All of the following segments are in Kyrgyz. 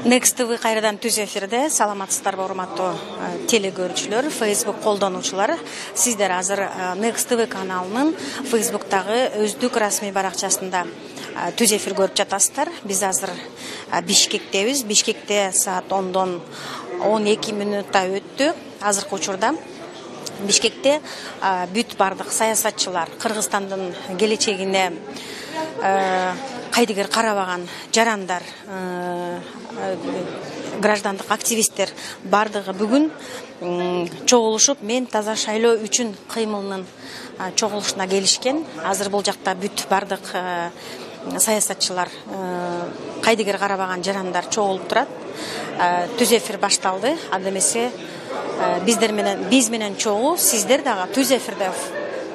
Next TV кайрадан түз эфирде. Саламатсыздарбы урматтуу телекөрүүчүлөр, Facebook колдонуучулар. Сиздер азыр Next TV каналынын Facebook'тагы өздүк расмий баракчасында түз эфир көрүп жатасыздар. Биз азыр Бишкектебиз. Бишкекте саат 10-дон 12 мүнөттө өттү. Азыркы учурда Бишкекте бүт бардык саясатчылар, Кыргызстандын келечегине кайдыгер карабаган жарандар, граждандык активисттер бардыгы бүгүн чогулушуп, мен таза шайлоо үчүн кыймылынын чогулушуна келишкен. Азыр бул жакта бүт бардык саясатчылар, кайдыгер карабаган жарандар чогулуп турат. Түз эфир башталды. Анда эмесе биз менен чогуу сиздер дагы түз эфирде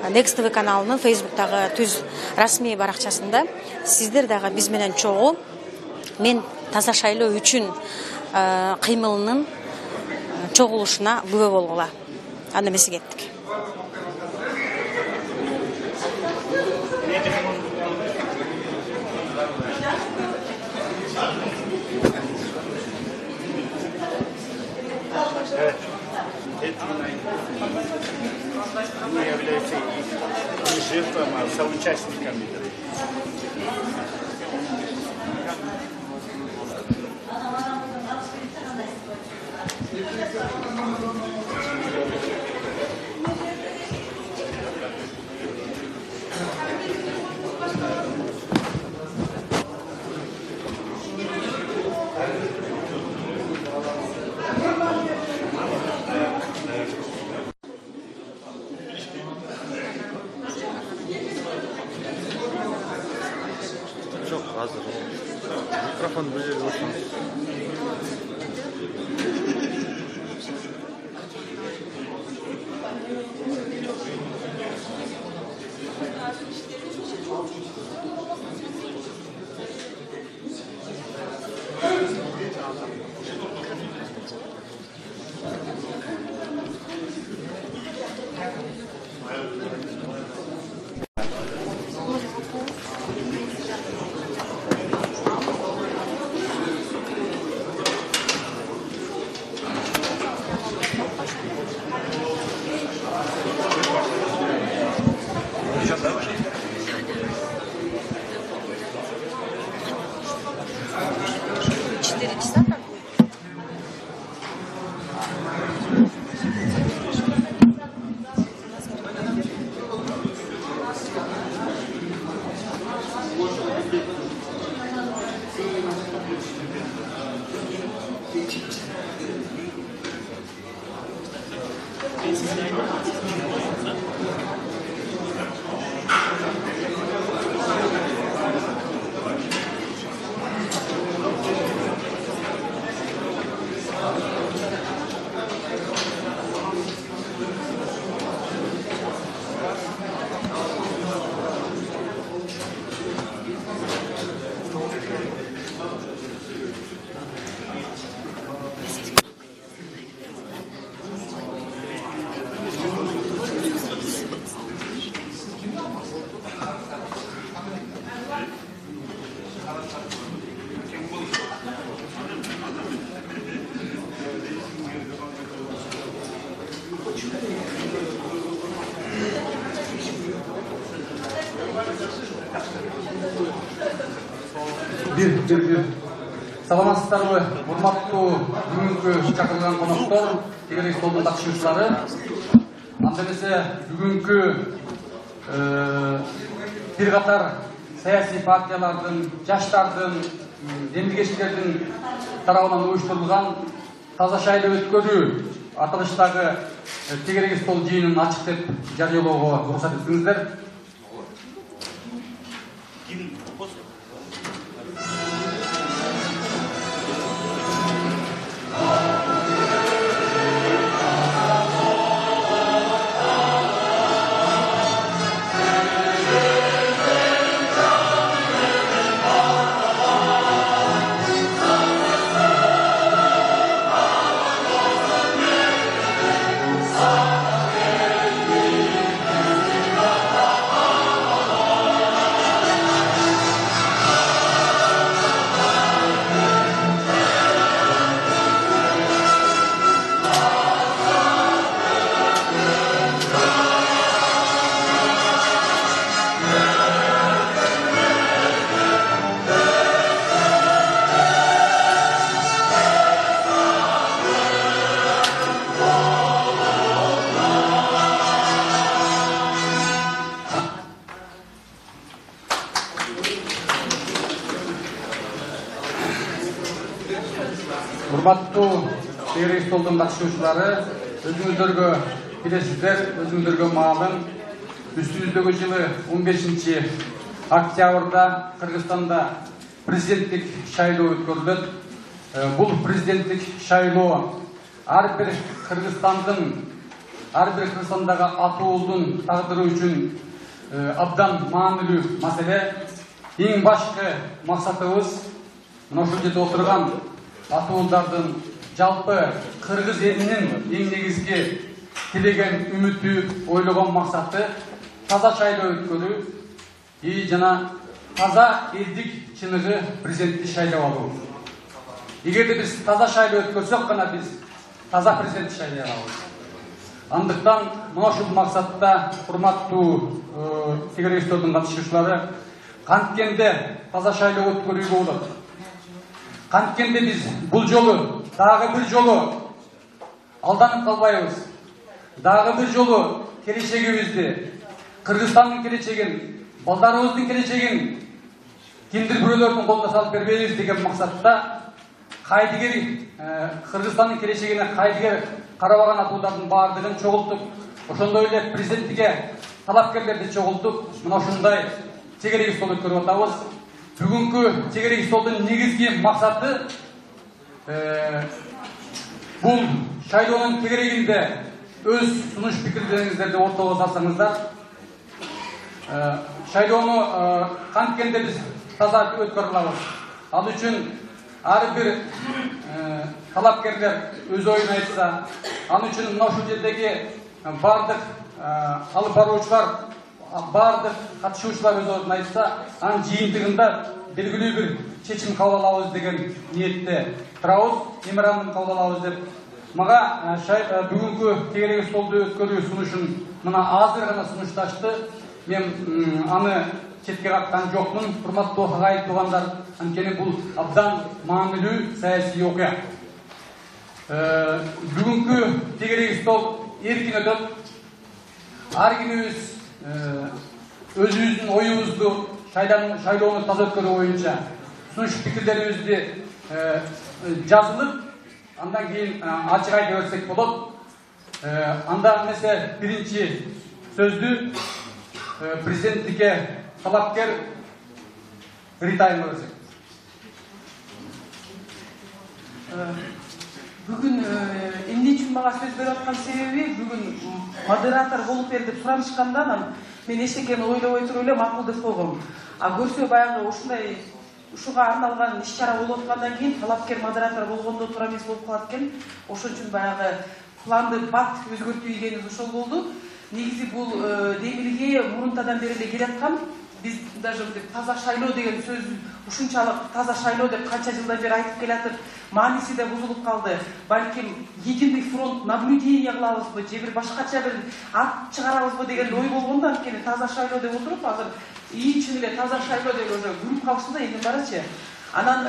Next TV каналынын Facebook'тагы түз расмий баракчасында сиздер дагы биз менен чогуу мен таза шайлоо үчүн кыймылынын чогулушуна күбө болгула. Анда эмесе кеттик. Не является не жертвой, а соучастниками. Микрофон bu yerga o'tamiz. Саламатсыздарбы, урматтуу бүгүнкү чакырылган коноктор, тегерек столдун катышуучулары. Анда эмесе бүгүнкү бир катар саясий партиялардын, жаштардын, демдикечтердин тарабынан уюштурулган таза шайлоо өткөрүү аталыштагы тегерек стол жыйынын ачык деп жарыялоого уруксат этиңиздер. урматтуу тегерек столдун катышуучулары, өзүңүздөргө билесиздер, өзүңүздөргө маалым, үстүбүздөгү жылы 15 октябрда Кыргызстанда президенттик шайлоо өткөрүлөт. Бул президенттик шайлоо ар бир Кыргызстандагы атуулдун тагдыры үчүн абдан маанилүү маселе. Эң башкы максатыбыз мына ушул жерде отурган атуулдардын жалпы кыргыз элинин эң негизги тилеген үмүтү, ойлогон максаты таза шайлоо өткөрүү жана таза элдик чыныгы президентти шайлап алуу. Эгерде биз таза шайлоо өткөрсөк гана биз таза президентти шайлай алабыз. Андыктан мына ушул максатта урматтуу тегерек столдун катышуучулары, канткенде таза шайлоо өткөрүүгө болот. Канткенде биз бул жолу дагы бир жолу алданып калбайбыз. Дагы бир жолу келечегибизди, Кыргызстандын келечегин, балдарыбыздын келечегин кимдир бирөөлөрдүн колуна салып бербейбиз деген максатта кайдыгер Кыргызстандын келечегине кайдыгер карабаган атуудардын баардыгын чогултуп, ошондой эле президенттикке талапкерлерди чогултуп, мына ушундай тегерек стол өткөрүп атабыз. Бүгүнкү тегерек столдун негизги максаты бул шайлоонун тегерегинде өз сунуш пикирлериңиздерди ортого салсаңыздар. Шайлоону канткенде биз таза өткөрө алабыз. Ал үчүн ар бир талапкерлер өз оюн айтса, ал үчүн мына ушул жердеги бардык алып баруучулар, бардык катышуучулар өз оюн айтса, анын жыйынтыгында белгилүү бир чечим кабыл алабыз деген ниетте турабыз, меморандум кабыл алабыз деп. Мага бүгүнкү тегерек столду өткөрүү сунушун мына азыр гана сунушташты. Мен аны четке каккан жокмун. Урматтуу агайын туугандар, анткени бул абдан маанилүү саясий окуя. Бүгүнкү тегерек стол эркин өтөт. Ар кимибиз өзүбүздүн оюбузду шайлоону таза өткөрүү боюнча сунуш пикирлерибизди жазылып, андан кийин ачык айта берсек болот. Анда эмесе биринчи сөздү президенттикке талапкер Рита айымга берсек. Бүгүн эмне үчүн мага сөз берип аткан себеби, бүгүн модератор болуп бер деп суранышканда мен эчтекени ойлобой туруп эле макул деп койгом. А көрсө баягы ушундай ушуга арналган иш-чара болуп аткандан кийин талапкер модератор болгондо туура эмес болуп калат экен. Ошон үчүн баягы планды бат өзгөртүү ийгенибиз ошол болду. Негизи бул демилге мурунтадан бери эле келаткан. Биз даже таза шайлоо деген сөз ушунчалык таза шайлоо деп канча жылдан бери айтып келатып, мааниси да бузулуп калды. Балким Единый фронт наблюдение кылабызбы, же бир башкача бир ат чыгарабызбы деген ой болгондо, анткени таза шайлоо деп отуруп, азыр чын эле таза шайлоо деп уже күрүп калышты да эндин барычы. Анан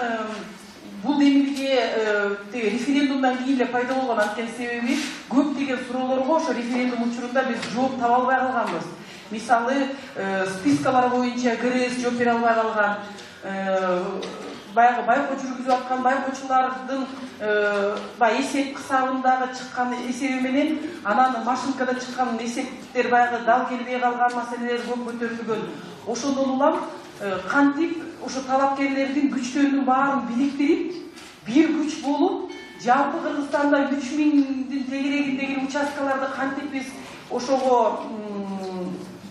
бул демилге референдумдан кийин эле пайда болгон, анткени себеби көптөгөн суроолорго ошо референдум учурунда биз жооп таба албай калганбыз. Мисалы, спискалар боюнча ГРС жооп бере албай калган, баягы байкоо жүргүзүп аткан байкоочулардын эсеп кысабындагы чыккан эсеби менен анан машинкада чыккан эсептер баягы дал келбей калган маселелер көп көтөрүлгөн. Ошондон улам кантип ошо талапкерлердин күчтөрүнүн баарын бириктирип, бир күч болуп, жалпы Кыргызстанда 3000-дин тегерегиндеги участкаларды кантип биз ошого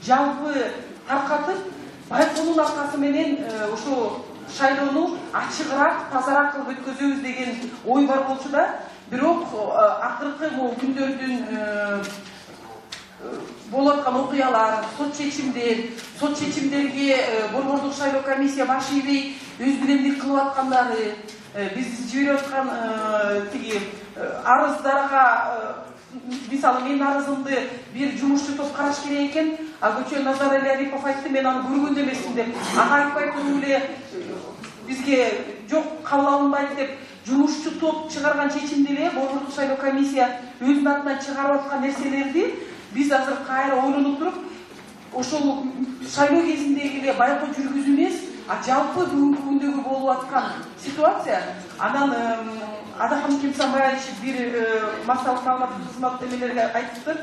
жалпы таркатып, байкоонун аркасы менен ошо шайлоону ачыгыраак, тазараак кылып өткөзөбүз деген ой бар болчу да. Бирок акыркы күндөрдүн болуп аткан окуялар, сот чечимдерге борбордук шайлоо комиссия баш ийбей өз билемдик кылып аткандары, биз жиберип аткан тиги арыздарга, мисалы менин арызымды бир жумушчу топ караш керек экен, Көчө Назарали Арипов айтты, мен аны көргөн эмесмин деп, ага айтпай туруп эле бизге жок кабыл алынбайт деп, жумушчу топ чыгарган чечимди эле борбордук шайлоо комиссия өзүнүн атынан чыгарып аткан нерселерди биз азыр кайра ойлонуп туруп, ошол шайлоо кезиндеги эле байкоо жүргүзүү эмес, жалпы бүгүнкү күндөгү болуп аткан ситуация анан Адахан Кимсанбаевич бир массалык маалыматтык кызмат эмелерге айтыптыр,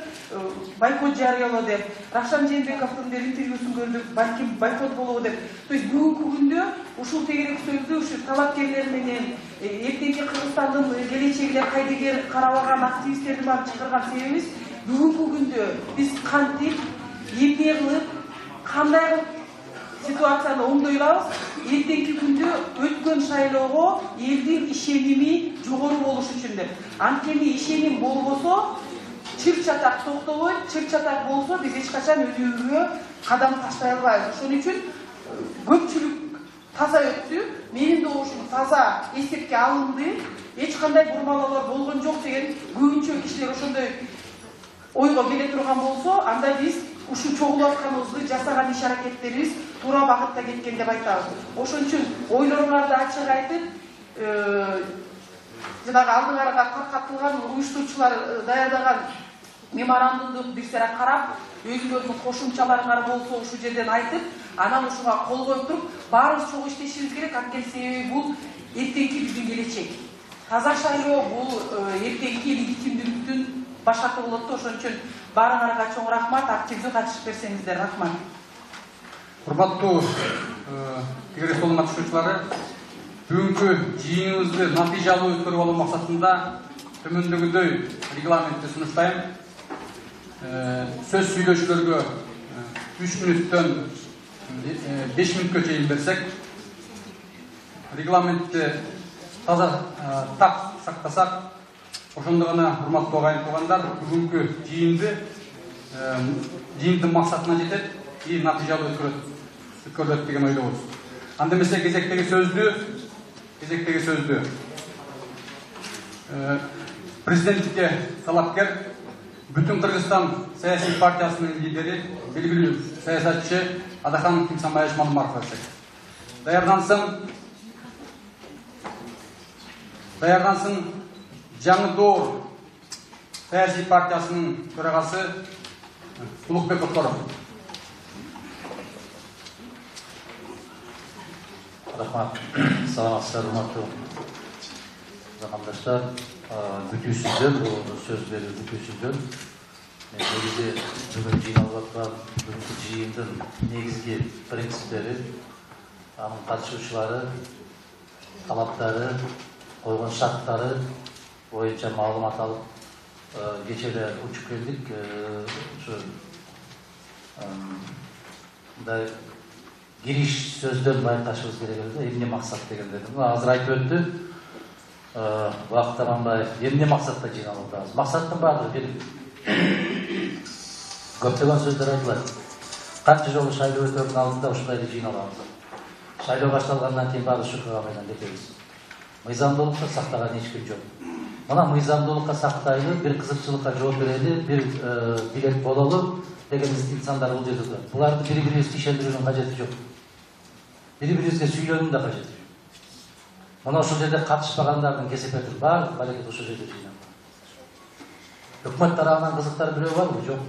бойкот жарыялоо деп. Рахшан Жээнбековдун бир интервьюсун көрдүк, балким бойкот болобу деп. То есть бүгүнкү күндө ушул тегерек сөздү ушу талапкерлер менен эртеңки Кыргызстандын келечегине кайдыгер карабаган активисттердин баарын чакырган себебибиз бүгүнкү күндө биз кантип, эмне кылып, кандай кылып ситуацияны оңдой алабыз, эртеңки күндө өткөн шайлоого элдин ишеними жогору болуш үчүн деп. Анткени ишеним болбосо, чыр-чатак токтобойт, чыр-чатак болсо биз эч качан өзүбүзгө кадам таштай албайбыз. Ошон үчүн көпчүлүк таза өттү, менин добушум таза эсепке алынды, эч кандай бурмалоолор болгон жок деген көбүнчө кишилер ошондой ойго келе турган болсо, анда биз ушу чогулуп атканыбызды, жасаган иш-аракеттерибиз туура багытта кеткен деп айтабыз. Ошон үчүн ойлоруңарды ачык айтып, жанагы алдыңарга таркатылган уюштуруучулар даярдаган меморандумду бир сыйра карап, өзүлөрүнүн кошумчаларыңар болсо ушул жерден айтып, анан ушуга кол коюп туруп, баарыбыз чогуу иштешибиз керек. Анткени себеби бул эртеңки биздин келечек. Таза шайлоо бул эртеңки легитимдүүлүктүн башаты болот да. Ошон үчүн баарыңарга чоң рахмат, активдүү катышып берсеңиздер. Рахмат. Урматтуу тегерек толун катышуучулары, бүгүнкү жыйыныбызды натыйжалуу өткөрүп алуу максатында төмөндөгүдөй регламентти сунуштайм. Сөз сүйлөшүүлөргө 3 мүнөттөн 5 мүнөткө чейин берсек, регламентти таза так сактасак, ошондо гана урматтуу агайын туугандар бүгүнкү жыйындын максатына жетет и натыйжалуу өткөрүлөт деген ойдобуз. Анда эмесе кезектеги сөздү президентке талапкер Бүтүн Кыргызстан саясий партиясынын лидери, белгилүү саясатчы Адахан Кимсанбаевич Малымбаров берсек. Даярдансын Жаңы Доор саясий партиясынын төрагасы Улукбек Оторов. Рахмат. Саламатсыздар, урматтуу замандаштар. Бүтүүсүздөр, бул сөз берүү бүтүүсүздөр. Негизи бүгүн жыйналып аткан бүгүнкү жыйындын негизги принциптери, анын катышуучулары, талаптары, койгон шарттары боюнча маалымат алып, кечээ эле учуп келдик. Ушу мындай кириш сөздөн байкашыбыз керек эле, эмне максат дегендерди. Азыр айтып өттү Бакыт Аманбаев, эмне максатта жыйналып атабыз? Максаттын баардыгы белгилүү. Көптөгөн сөздөр айтылат. Канча жолу шайлоо өтөрүнүн алдында ушундай эле жыйналабыз. Шайлоо башталгандан кийин баары шукага менен кетебиз. Мыйзамдуулукты сактаган эч ким жок. Мына мыйзамдуулукка сактайлы, бир кызыкчылыкка жооп берели, бир билет бололу деген инсандар бул жерде турат. Буларды бири-бирибизди ишендирүүнүн кажети жок. Бири-бирибизге сүйлөөнүн да кажети жок. Мына ошол жерде катышпагандардын кесепетин баардык аракет ошол жерде жыйнап. Өкмөт тарабынан кызыктар бирөө барбы? Жок.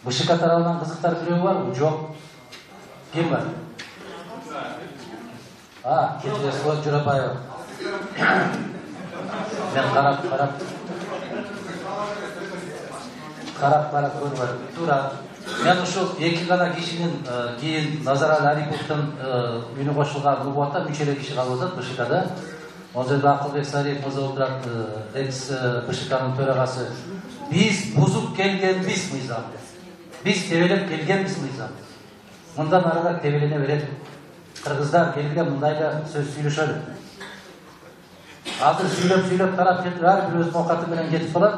БШК тарабынан кызыктар бирөө барбы? Жок. Ким бар? Кечиресиз, Журабаева. Мен карап көрбөдүм. Туура. Мен ушул эки гана кишинин кийин Назарали Ариповдун үнү кошулган УБАТа 3 эле киши калып атат БШКда. Ал жерде Акылбек Сариев мырза отурат, экс БШКнын төрагасы. Биз бузуп келгенбиз мыйзамды. Биз тебелеп келгенбиз мыйзамды. Мындан арыраак тебелене берет. Кыргыздар келгиле мындайда сөз сүйлөшөлү. Азыр сүйлөп тарап кетип, ар бир өзүнүн окаты менен кетип калат.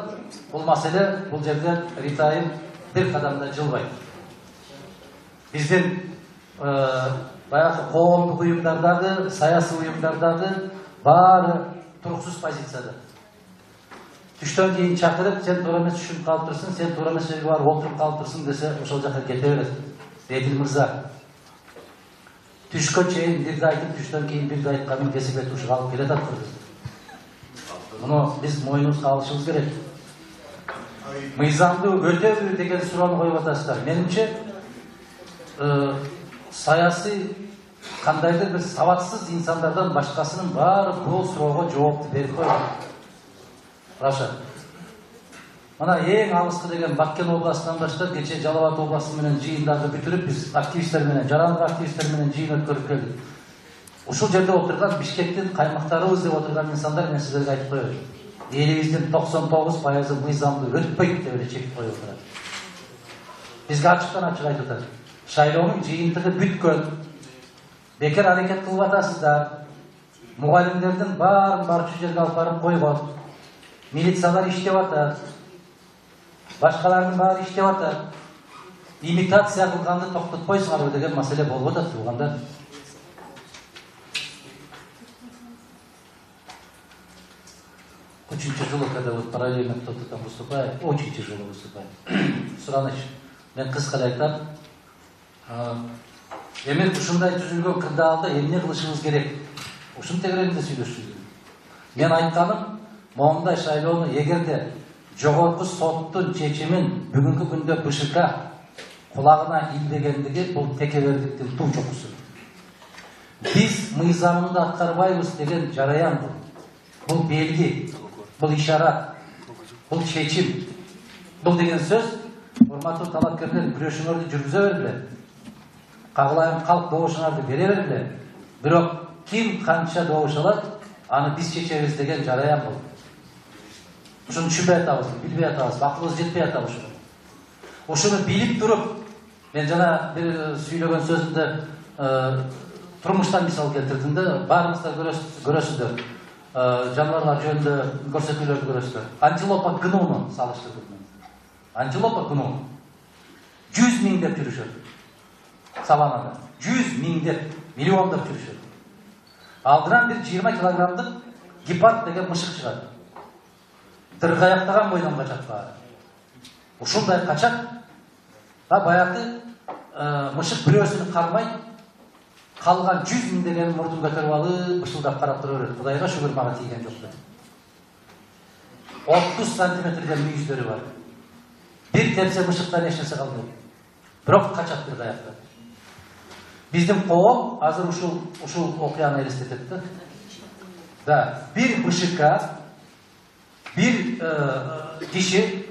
Бул маселе бул жерден ритайым бир кадамда жылбайт. Биздин баягы коомдук уюмдардагы, саясий уюмдардагы баары туруксуз позицияда. Түштөн кийин чакырып, сен туура эмес түшүнүп калып турсуң, сен туура эмес жерге барып отуруп калып турсуң десе, ошол жака кете берет. Эдил мырза түшкө чейин бирди айтып, түштөн кийин бирди айтканын кесипет ушуга алып келе жатат. Муну биз мойнубузга алышыбыз керек. Мыйзамды өтөбү деген суроону коюп атасыздар. Менимче саясий кандайдыр бир сабатсыз инсандардан башкасынын баары бул суроого жоопту берип койгон. Раша. Мына эң алыскы деген Баккен областынан баштап кече Жалал Абад областы менен жыйындарды бүтүрүп, биз активисттер менен, жарандык активисттер менен жыйын өткөрүп келдик. Ушул жерде отурган Бишкектин каймактарыбыз деп отурган инсандар мен сиздерге айтып коёюн. Элибиздин 99% мыйзамды өтпөйт деп эле чекип коюп турат. Бизге ачыктан ачык айтып атат. Шайлоонун жыйынтыгы бүткөн. Бекер аракет кылып атасыздар. Мугалимдердин баарын барчу жерге алып барып койгон. Милициялар иштеп атат. Башкалардын баары иштеп атат. Имитация кылганды токтотпойсуңарбы деген маселе болуп атат туугандар. Очень тяжело, когда вот параллельно кто-то там выступает. Очень тяжело выступает. Сураныч, мен кыскалай айтам. Эми ушундай түзүлгөн кырдаалда эмне кылышыбыз керек? Ушун тегерегинде сүйлөшүш керек. Мен айтканым, моундай шайлоону эгерде жогорку соттун чечимин бүгүнкү күндө БШК кулагына илбегендиги бул текебердиктин туу чокусу. Биз мыйзамды аткарбайбыз деген жараян бул. Бул белги, бул ишарат, бул чечим. Бул деген сөз, урматтуу талапкерлер, күрөшүңөрдү жүргүзө бергиле. Кагылайын калк добушуңарды бере бергиле. Бирок ким канча добуш алат, аны биз чечебиз деген жараян бул. Ушуну түшүнбөй атабыз, билбей атабыз, акылыбыз жетпей атабы ушуну. Ушуну билип туруп, мен жана бир сүйлөгөн сөзүмдө турмуштан мисал келтирдим да, баарыңыздар көрөсүздөр. Жаныбарлар жөнүндө көрсөтүүлөрдү көрөсүздөр. Антилопа гнуну салыштырдым мен. Антилопа гну 100 000 деп жүрүшөт. Саванада 100 000 деп, миллиондоп жүрүшөт. Алдынан бир 20 килограммдык гепард деген мышык чыгат. Дыргаяктаган бойдон качат баары. Ушундай качат. Баягы мышык бирөөсүн кармай, калган 100 000 деген мурдун көтөрүп алып, бышылдап карап тура берет. Кудайга шүгүр мага тийген жок деп. 30 сантиметрден мүйүздөрү бар. Бир тепсе мышыктан эч нерсе калбайт. Бирок качат дыргаяктан. Биздин коом азыр ушул окуяны элестетет да. Да, бир БШК, бир киши,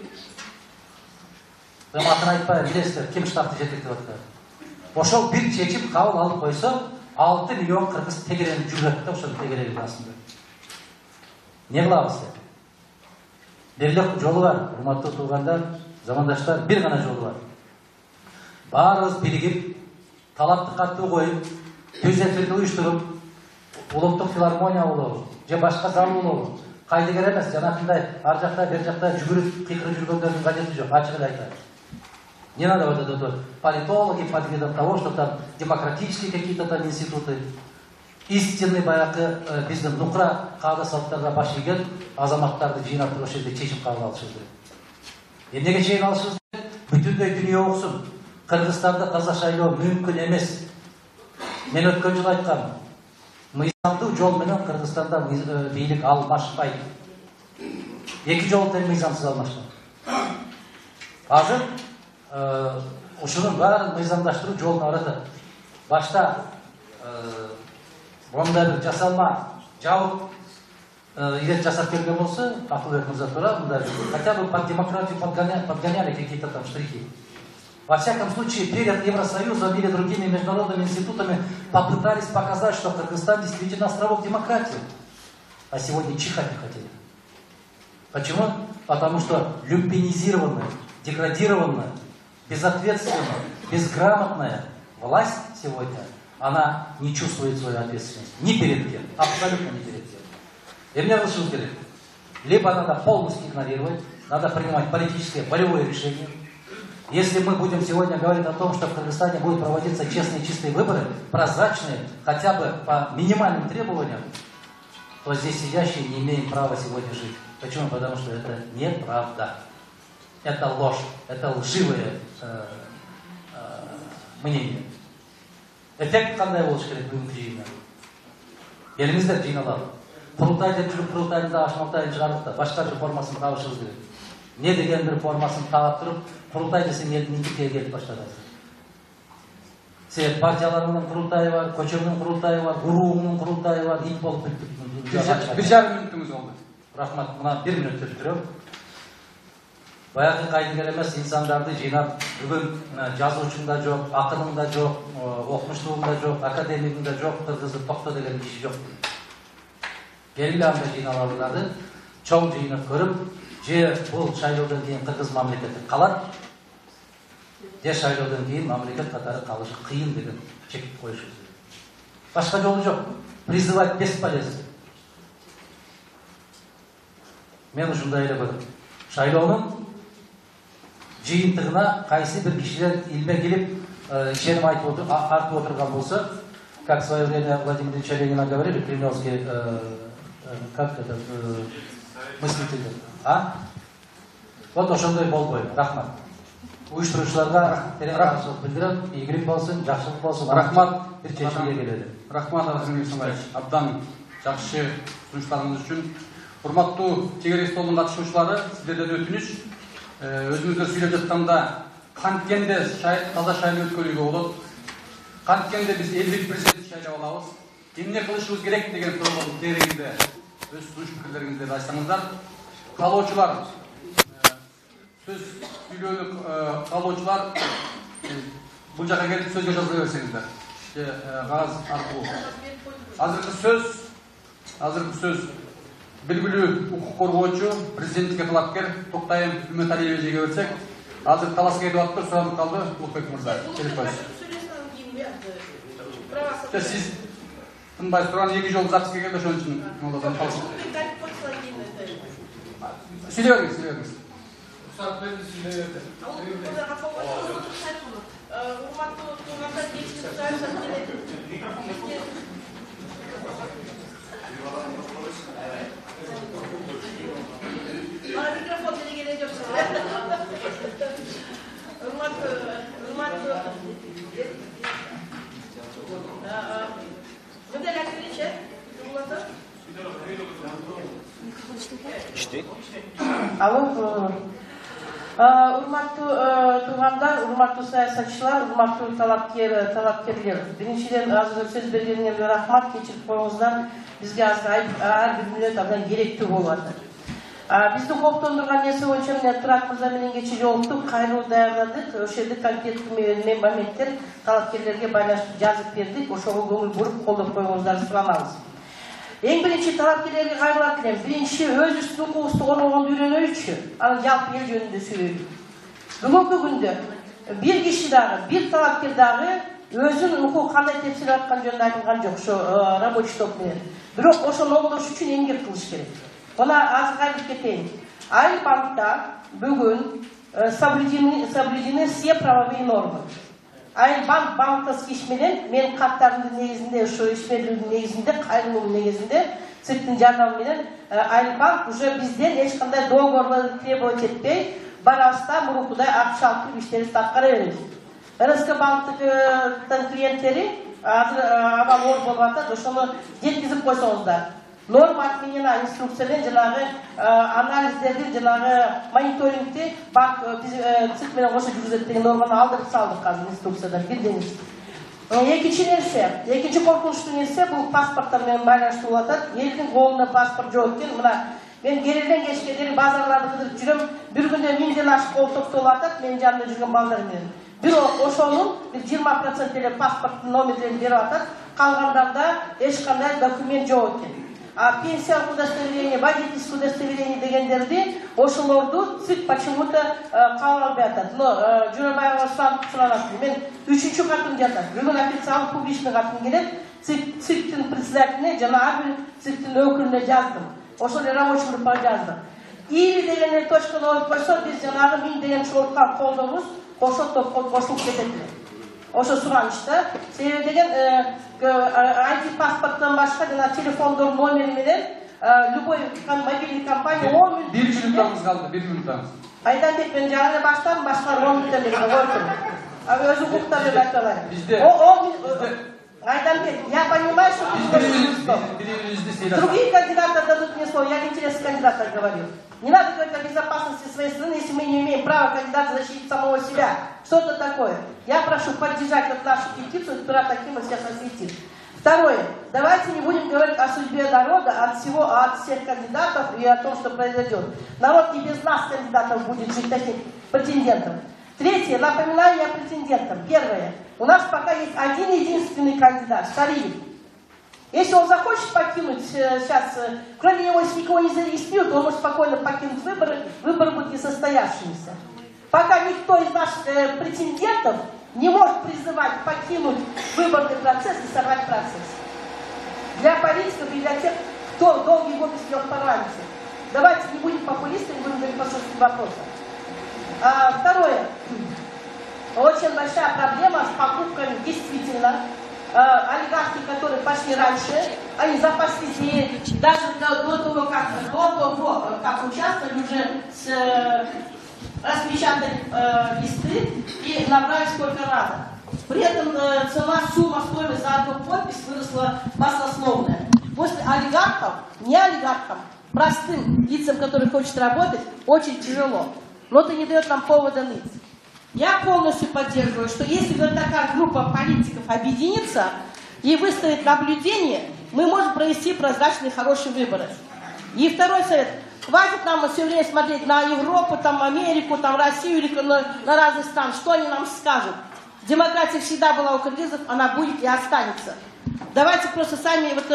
атын айтпай, билесиздер, ким штабты жетектеп атат. Ошол бир чечим кабыл алып койсо, 6 миллион кыргыз тегеренип жүрөт да ошол тегерегин астында. Не кылабыз? Бир эле жолу бар, урматтуу туугандар, замандаштар, бир гана жолу бар. Баарыбыз биригип, талапты каттуу коюп, түз эфирди уюштуруп, улуттук филармония болобу, же башка зал болобу, кайдыгер эмес, жанакындай ар жакта бер жакта жүгүрүп, кыйкырып жүргөндөрдүн кажети жок, ачык эле айтайын. Не надо вот это вот политологи под видом того, что там демократические какие-то там институты. Истинный баягы биздин нукра каада салттарга баш ийген азаматтарды жыйнап туруп ошол жерде чечим кабыл алышыбыз керек. Эмнеге чейин алышыбыз керек? Бүтүндөй дүйнө окусун. Кыргызстанда таза шайлоо мүмкүн эмес. Мен өткөн жылы айткам, мыйзамдуу жол менен Кыргызстанда бийлик алмашпайт. Эки жол тең мыйзамсыз алмашпайт. Азыр ушунун баарын мыйзамдаштыруу жолуна барат. Башта мондай бир жасалма жабык ирет жасап берген болсо, Акылбек мырза туура, мындай хотя бы под демократию подгоняли какие-то там штрихи. Во всяком случае, перед Евросоюзом или другими международными институтами попытались показать, что Кыргызстан действительно островок демократии. А сегодня чихать не хотели. Почему? Потому что люпинизированная, деградированная, безответственная, безграмотная власть сегодня, она не чувствует свою ответственность. Ни перед кем. Абсолютно ни перед кем. И мне решил говорить, либо надо полностью игнорировать, надо принимать политическое, волевое решение. Если мы будем сегодня говорить о том, что в Кыргызстане будут проводиться честные, чистые выборы, прозрачные, хотя бы по минимальным требованиям, то здесь сидящие не имеем права сегодня жить. Почему? Потому что это неправда. Это ложь, это лживое мнение. Эффект кандай болуш керек бүгүнкү жыйында? Келиңиздер жыйналалы. Курултай деп жүрүп, курултайда ашмактайын чыгардык да, башка бир формасын табышыбыз керек. Не деген бир формасын таап туруп, курултай десең элдин интикке келип баштады. себеп партияларынын курултайы бар, көчөнүн курултайы бар, уруунун курултайы бар, ит болуп бүттүк. 1,5 мүнөтүңүз болду. Рахмат, мына 1 мүнөт өттүрөм. Баягы кайдыгер эмес инсандарды жыйнап, бүгүн жазуучун да жок, акынын да жок, окумуштуун да жок, академиктин да жок, кыргызды токто деген киши жок. Келгиле анда жыйналаларды чоң жыйнап көрүп, же бул шайлоодон кийин кыргыз мамлекети калат, же шайлоодон кийин мамлекет катары калышы кыйын деген чек коюшубуз керек. Башка жолу жок. Призывать бесполезно. Мен ушундай эле көрөм. Шайлоонун жыйынтыгына кайсы бир кишилер илме келип, ишеним артып отурган болсо, как в свое время Владимир Ильич Ленина говорили, кремлевский как это мыслитель. Вот ошондой болбой. Рахмат. Уюштуруучуларга терең рахмат билдирем. Ийгилик болсун, жакшылык болсун. Рахмат. Бир чечимге келели. Рахмат Арсен Исмаилович. Абдан жакшы сунуштарыңыз үчүн. Урматтуу чегерек столдун катышуучулары, сиздерден өтүнүч. Өзүңүздөр сүйлөп жатканда канткенде таза шайлоо өткөрүүгө болот. Канткенде биз элдик президент шайлап алабыз. Эмне кылышыбыз керек деген суроолордун тегерегинде өз сунуш пикирлериңизди айтсаңыздар. Каалоочулар, сөз сүйлөөнү каалоочулар бул жака келип сөзгө жазыла берсеңиздер. Кагаз аркылуу. Азыркы сөз белгилүү укук коргоочу, президенттикке талапкер Токтайым Үмөталиевичке берсек, азыр талас кетип атып суранып калды Улукбек мырза. Келип коюңуз. Сиз тынбай турган 2 жол запись келгенде ошон үчүн молдодан калышып. Сүйлөй бериңиз. Урматтуу Mikrofon делегеле жоксуз. Урматтуу туугандар, урматтуу саясатчылар, урматтуу талапкерлер. Биринчиден азыр сөз бергениңерге рахмат, кечирип коюңуздар. Бизге азыр ар бир мүнөт абдан керектүү болуп атат. Бизди коптондурган нерсе боюнча мен Турат мырза менен кечээ жолуктук, кайрылуу даярдадык. Ошол жерде конкреттүү моменттер талапкерлерге байланыштуу жазып бердик. Ошого көңүл буруп колдоп коюңуздарды суранабыз. Эң биринчи талапкерлерге кайрылат элем. Биринчи өзүбүздүн укугубузду коргогонду үйрөнөйүчү, анан жалпы эл жөнүндө сүйлөйлүк. Бүгүнкү күндө бир киши дагы, бир талапкер дагы өзүнүн укугу кандай тепсирип аткан жөнүндө айтылган жок ошо рабочий топ менен. Бирок ошону оңдош үчүн эмгек кылыш керек. Мына азыр айтып кетейин. Айылбанкта бүгүн соблюдены все правовые нормы. Айылбанк банковский иш менен мен каттардын негизинде, ошо ишмерлүүнүн негизинде, кайрылуунун негизинде ЦИКтин жардамы менен Айылбанк уже бизден эч кандай договорлорду требовать этпей, барабызда мурункудай акча алып иштерибизди аткара беребиз. РСК банктын клиенттери азыр аба оор болуп атат, ошону жеткизип койсоңуздар. Норма отменена инструкциямен жанагы анализдерди, жанагы мониторингти банк ЦИК менен кошо жүргүзөт деген норманы алдырып салдык азыр инструкциядан билдиңиз. Экинчи нерсе, экинчи коркунучтуу нерсе бул паспорттор менен байланыштуу болуп атат. Элдин колунда паспорт жок экен. Мына мен келелен кечке дейин базарларды кыдырып жүрөм. Бир күндө 1000ден ашык кол топтолуп атат менин жанымда жүргөн балдар менен. Бирок ошонун 20% эле паспорттун номерлерин берип атат. Калгандарда эч кандай документ жок экен. А пенсиялык удостоверение, водительское удостоверение дегендерди ошолорду ЦИК почему-то кабыл албай атат. Но Журабаева суранат. Мен 3-чү катым жатат. Бүгүн официалдык публичный катым келет. ЦИКтин председателине жана ар бир ЦИКтин өкүлүнө жаздым. Ошол эле рабочий группага жаздым. Или деген точканы коюп койсо биз жанагы 1000 деген чогулткан колдобуз кошо топко кошулуп кетет эле. Ошо суранычта. Себеби деген ID паспорттон башка жана телефондордун номери менен любой мобильный компания 10 мүнөт. 1 мүнөтүңүз калды, 1 мүнөтүңүз. Айданбек мен жаңы эле баштадым, башкалар 10 мүнөттөн бери койдум. Өзү укуктар деп айтып алайын. Айданбек, я понимаю, что ты бирибизди другие кандидаты дадут мне слово, я в интересах кандидата говорю. Не надо говорить о безопасности своей страны, если мы не имеем права кандидата защитить самого себя. Что это такое? Я прошу поддержать вот нашу петицию, которая таким сейчас осветит. Второе. Давайте не будем говорить о судьбе народа, от всех кандидатов и о том, что произойдет. Народ не без нас, кандидатов, будет жить, таких претендентов. Третье. Напоминаю я претендентам. Первое. У нас пока есть один единственный кандидат, Шариев. Если он захочет покинуть сейчас, кроме него, если никого не зарегистрируют, он может спокойно покинуть выборы, выборы будут несостоявшимися. Пока никто из наших претендентов не может призывать покинуть выборный процесс и сорвать процесс. Для политиков и для тех, кто долгие годы сидел в парламенте. Давайте не будем популистами, будем говорить по сути вопроса. Второе. Очень большая проблема с покупками, действительно. Олигархи, которые пошли раньше, они запаслись и даже до того, как участвовали, уже распечатали листы и набрали сколько надо. При этом сумма стоимость за одну подпись выросла баснословная. После олигархов, не олигархам, простым лицам, которые хотят работать, очень тяжело. Но это не дает нам повода ныть. Я полностью поддерживаю, что если вот такая группа политиков объединится и выставит наблюдение, мы можем провести прозрачные хорошие выборы. И второй совет. Хватит нам все время смотреть на Европу, там, Америку, там, Россию или на разные страны. Что они нам скажут? Демократия всегда была у кыргызов, она будет и останется. Давайте просто сами, вот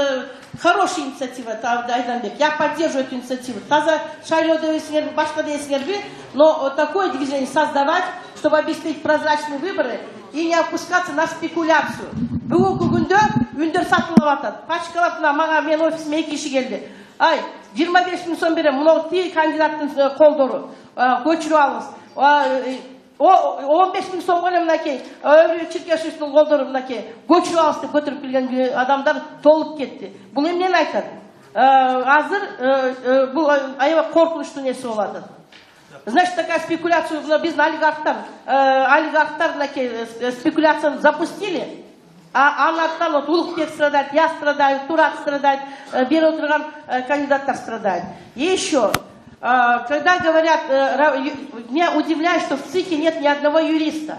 хорошая инициатива, Айданбек, я поддерживаю эту инициативу. Таза шайлоды, башка дейсіңерби, но такое движение создавать, чтобы обеспечить прозрачные выборы и не опускаться на спекуляцию. Бүгінгі күнде үндер сатылып атат. Пачкалап маған мен офисіме 2 киши келди. Ай, 25 000 сом берем, мынау тей кандидаттың қолдору, көчіріп алыңыз. 15 000 сом қойым мынакей, Черкешевтің қолдору мынакей, көчіріп алыңыз деп көтеріп келген адамдар толып кетті. Бұл емнен айтады? Азыр бұл аябай қорқынышты несі болады. Значит, такая спекуляция, біз олигархтар спекуляцияны запустили, а анаттан вот Улукбек страдает, я страдаю, Турат страдает, бері отырған кандидаттар страдают. И еще, когда говорят, меня удивляет, что в ЦИКе нет ни одного юриста.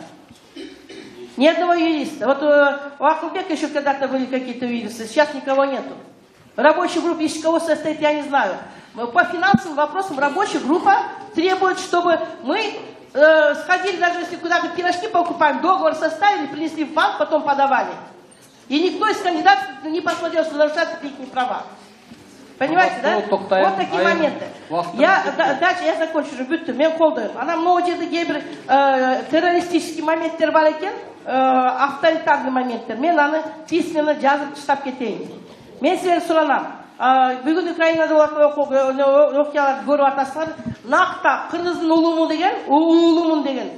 Ни одного юриста. Вот у Акылбека еще когда-то были какие-то юристы, сейчас никого нету. Рабочая группа из кого состоит, я не знаю. По финансовым вопросам рабочая группа требует, чтобы мы сходили, даже если куда-то пирожки покупаем, договор составили, принесли в банк, потом подавали. И никто из кандидатов не посмотрел, что нарушаются их права. Понимаете, да? Вот такие моменты. Дальше я закончу уже, бүтті, мен қолдаймын. Ана мынау жерде кейбір террористический моменттер бар екен, авторитарный моменттер. Мен аны письменно жазып штаб кетейін. Мен сіздер сұранам. Бүгін Украинада оқияларды көріп атасыздар. Нақта қырғыздың улумун деген,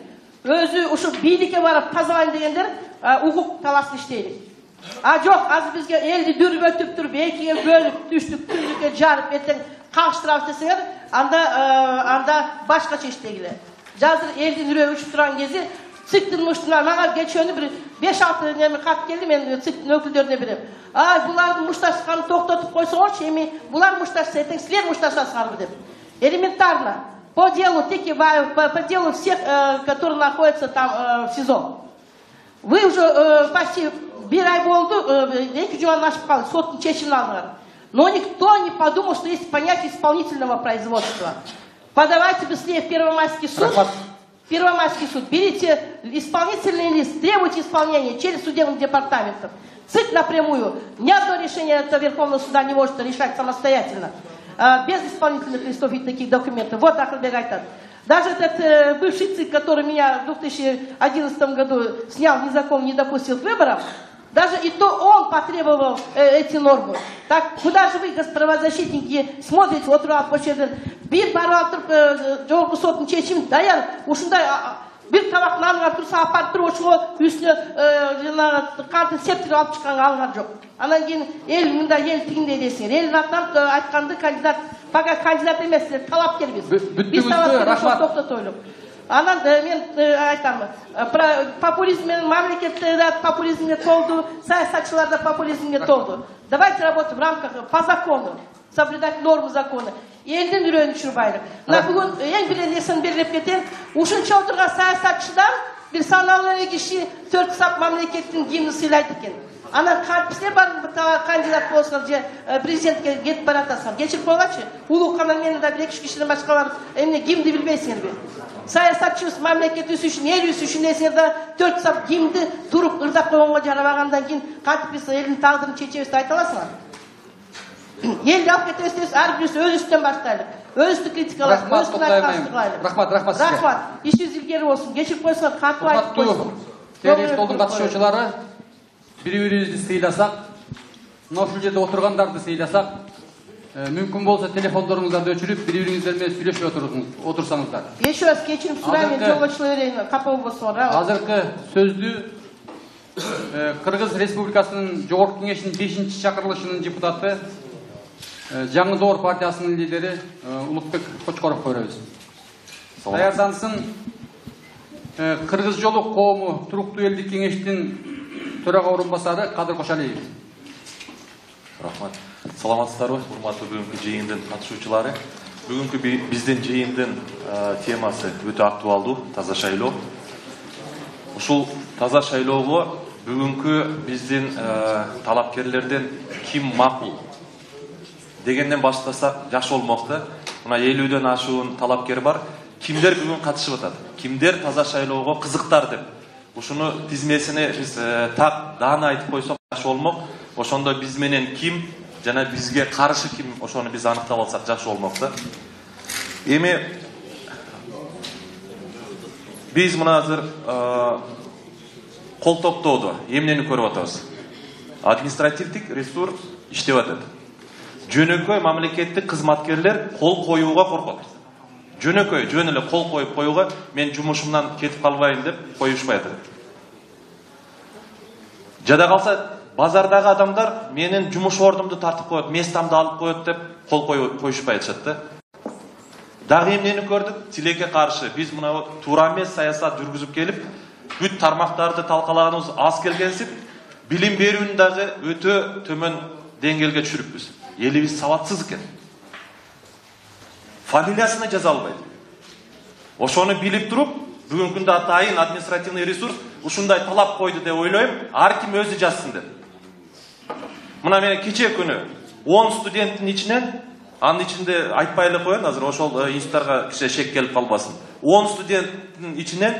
өзі ұшып билікке барып тазалайын дегендер ұқық таласын іштейді. Жоқ, азыр бізге елді дүрбөтіп тұрып, екіге бөліп, түштік, түрлікке жарып, ертең қағыштырап десеңер, анда башқаша іштегілер. Жазыр елдің үрі үшіп тұрған кезде, ЦИКтің мұштына, маған geçені бір 5-6 неме қат келді, мен ЦИКтің өкілдеріне берем. Бұлардың мұшташқанын тоқтатып қойсыңыз, еме, бұлар мұшташса, ертең сілер мұшташасыңар деп. Элементарно. По делу всех, которые находятся там в СИЗО. Вы уже почти bir ay oldu, 2 жуманы ашып қалды, соттың шешімін алыңдар. Но никто не подумал, что есть понятие исполнительного производства. Подавайте быстрее в Первомайский суд. Первомайский суд. Берите исполнительный лист, требуйте исполнения через судебных департаментов. ЦИК напрямую. Ни одно решение этого Верховного суда не может решать самостоятельно. Без исполнительных листов и таких документов. Вот Акылбек айтат. Даже этот бывший ЦИК, который меня в 2011 году снял незаконно, не допустил к выборам, даже и то он потребовал эти нормы. Так, куда же вы, правозащитники, смотрите, вот bir барып тұрып, жолғы соттың шешімін даяр, ушындай bir табақ нанға тұрса апарып тұрып, ошығы үстіне қантын септір алып шыққанға алынған жоқ. Анан кейін ел мында ел тігінде десіңер. Елдің атынан айтқанды кандидат, пока кандидат емес, талапкер біз. Біз талапкер тоқтат ойлып. Анан мен айтамын, популизммен мамлекетте популизмге толду, саясатчылар да популизмге толду. Давайте работать в рамках по закону. соблюдать нормы закона. Элдин үрөнү түшүрбайлык. Мына бүгүн эң бир нерсени белгилеп кетем. Ушунча отурган саясатчыдан бир саналуу киши 4 сап мамлекеттин гимнин сыйлайт экен. Анан кантипсине бар кандидат болсоңор же президентке кетип баратасыңар. Кечирип койгачы. Улууканан менен да 1-2 кишиден башкалар эмне гимнди билбейсиңерби? Саясатчыбыз мамлекетибиз үчүн, элибиз үчүн десеңер да 4 сап гимнди туруп ырдап койгонго жарабагандан кийин кантип биз элдин тагдырын чечебиз деп айта аласыңар? Элди алып кетебиз десек, ар бирибиз өзүбүздөн баштайлык. Өзүбүздү критикалайбыз, өзүбүздүн айтканыбызды кылайлык. Рахмат сизге. Рахмат. Ишибиз илгери болсун. Кечирип койсоңор, кантип айтып койсун. Келиş толдун катышуучулары бири-бирибизди сыйласак, мына ушул жерде отургандарды сыйласак, мүмкүн болсо телефондоруңуздарды өчүрүп, бири-бириңиздер менен сүйлөшүп отурсаңыздар. Еще раз кечирип сурайм, жолго чыга берейин, капа болбосоңор. Азыркы сөздү Кыргыз Республикасынын Жогорку Кеңешинин 5-чакырылышынын депутаты, Жаңы Доор партиясынын лидери Улукбек Кочкоровго беребиз. Даярдансын. Кыргыз жолу коому туруктуу элдик кеңештин төрага орун басары Кадыр Кошалиев. Рахмат. Саламатсыздарбы, урматтуу бүгүнкү жыйындын катышуучулары. Бүгүнкү биздин жыйындын темасы өтө актуалдуу, таза шайлоо. Ушул таза шайлоого бүгүнкү биздин талапкерлерден ким макул дегенден баштасак жакшы болмок да. Мына 50дөн ашуун талапкер бар. Кимдер бүгүн катышып атат? Кимдер таза шайлоого кызыктар деп? Ушуну тизмесине биз так даана айтып койсок жакшы болмок. Ошондо биз менен ким жана бизге каршы ким, ошону биз аныктап алсак жакшы болмок да. Эми биз мына азыр кол топтоодо эмнени көрүп атабыз? Административдик ресурс иштеп атат. Жөнөкөй мамлекеттик кызматкерлер кол коюуга коркот. Жөнөкөй, жөн эле кол коюп коюуга, мен жумушумдан кетип калбайын деп коюшпай атат. Жада калса базардагы адамдар менин жумуш ордумду тартып коет, местамды алып коет деп кол коюшпай атышат да. Дагы эмнени көрдүк? Тилекке каршы биз мына туура эмес саясат жүргүзүп келип, бүт тармактарды талкалаганыбыз аз келгенсип, билим берүүнү дагы өтө төмөн деңгээлге түшүрүпбүз. Элибиз сабатсыз экен. Фамилиясына жаза албайт. Ошону билип туруп, бүгүнкү күндө атайын административный ресурс ушундай талап койду деп ойлойм, ар ким өзү жазсын деп. Мына мен кече күнү 10 студенттин ичинен, анын ичинде айтпай эле коеюн, азыр ошол институттарга кичи шек келип калбасын. 10 студенттин ичинен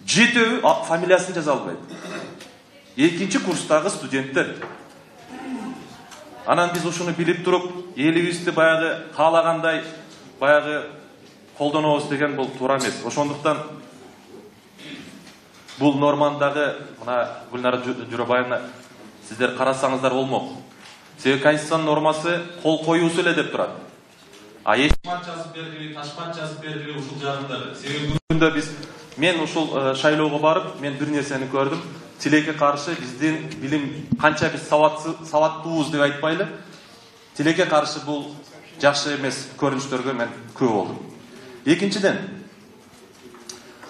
7 фамилиясын жаза албайт. Экинчи курстагы студенттер. Анан биз ушуну билип туруп, элибизди баягы каалагандай баягы колдонобуз деген бул туура эмес. Ошондуктан бул нормандагы мына Гүлнара Журабаевна сиздер карасаңыздар болмок. Себеби конституциянын нормасы кол коюусу эле деп турат. А эшмат жазып бердиби, ташмат жазып бердиби ушул жагында. Себеби бүгүндө мен ушул шайлоого барып, мен бир нерсени көрдүм. Тилекке каршы биздин билим канча биз сабаттуубуз деп айтпайлы. Тилекке каршы бул жакшы эмес көрүнүштөргө мен көп болдум. Экинчиден,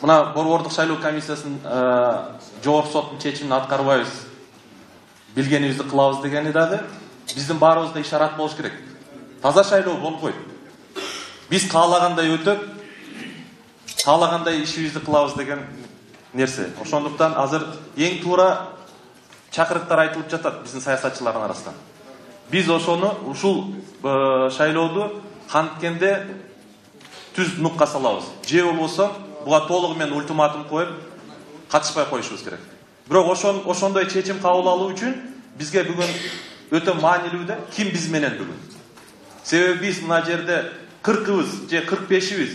мына борбордук шайлоо комиссиясынын жогорку соттун чечимин аткарбайбыз, билгенибизди кылабыз дегени дагы биздин баарыбызда ишарат болуш керек. Таза шайлоо болбойт. Биз каалагандай өтөп, каалагандай ишибизди кылабыз деген нерсе. Ошондуктан азыр эң туура чакырыктар айтылып жатат биздин саясатчылардын арасынан. Биз ошону ушул шайлооду канткенде түз нукка салабыз. Же болбосо буга толугу менен ультиматум коюп катышпай коюшубуз керек. Бирок ошондой чечим кабыл алуу үчүн бизге бүгүн өтө маанилүү да ким биз менен бүгүн. Себеби биз мына жерде 40-быз же 45-биз,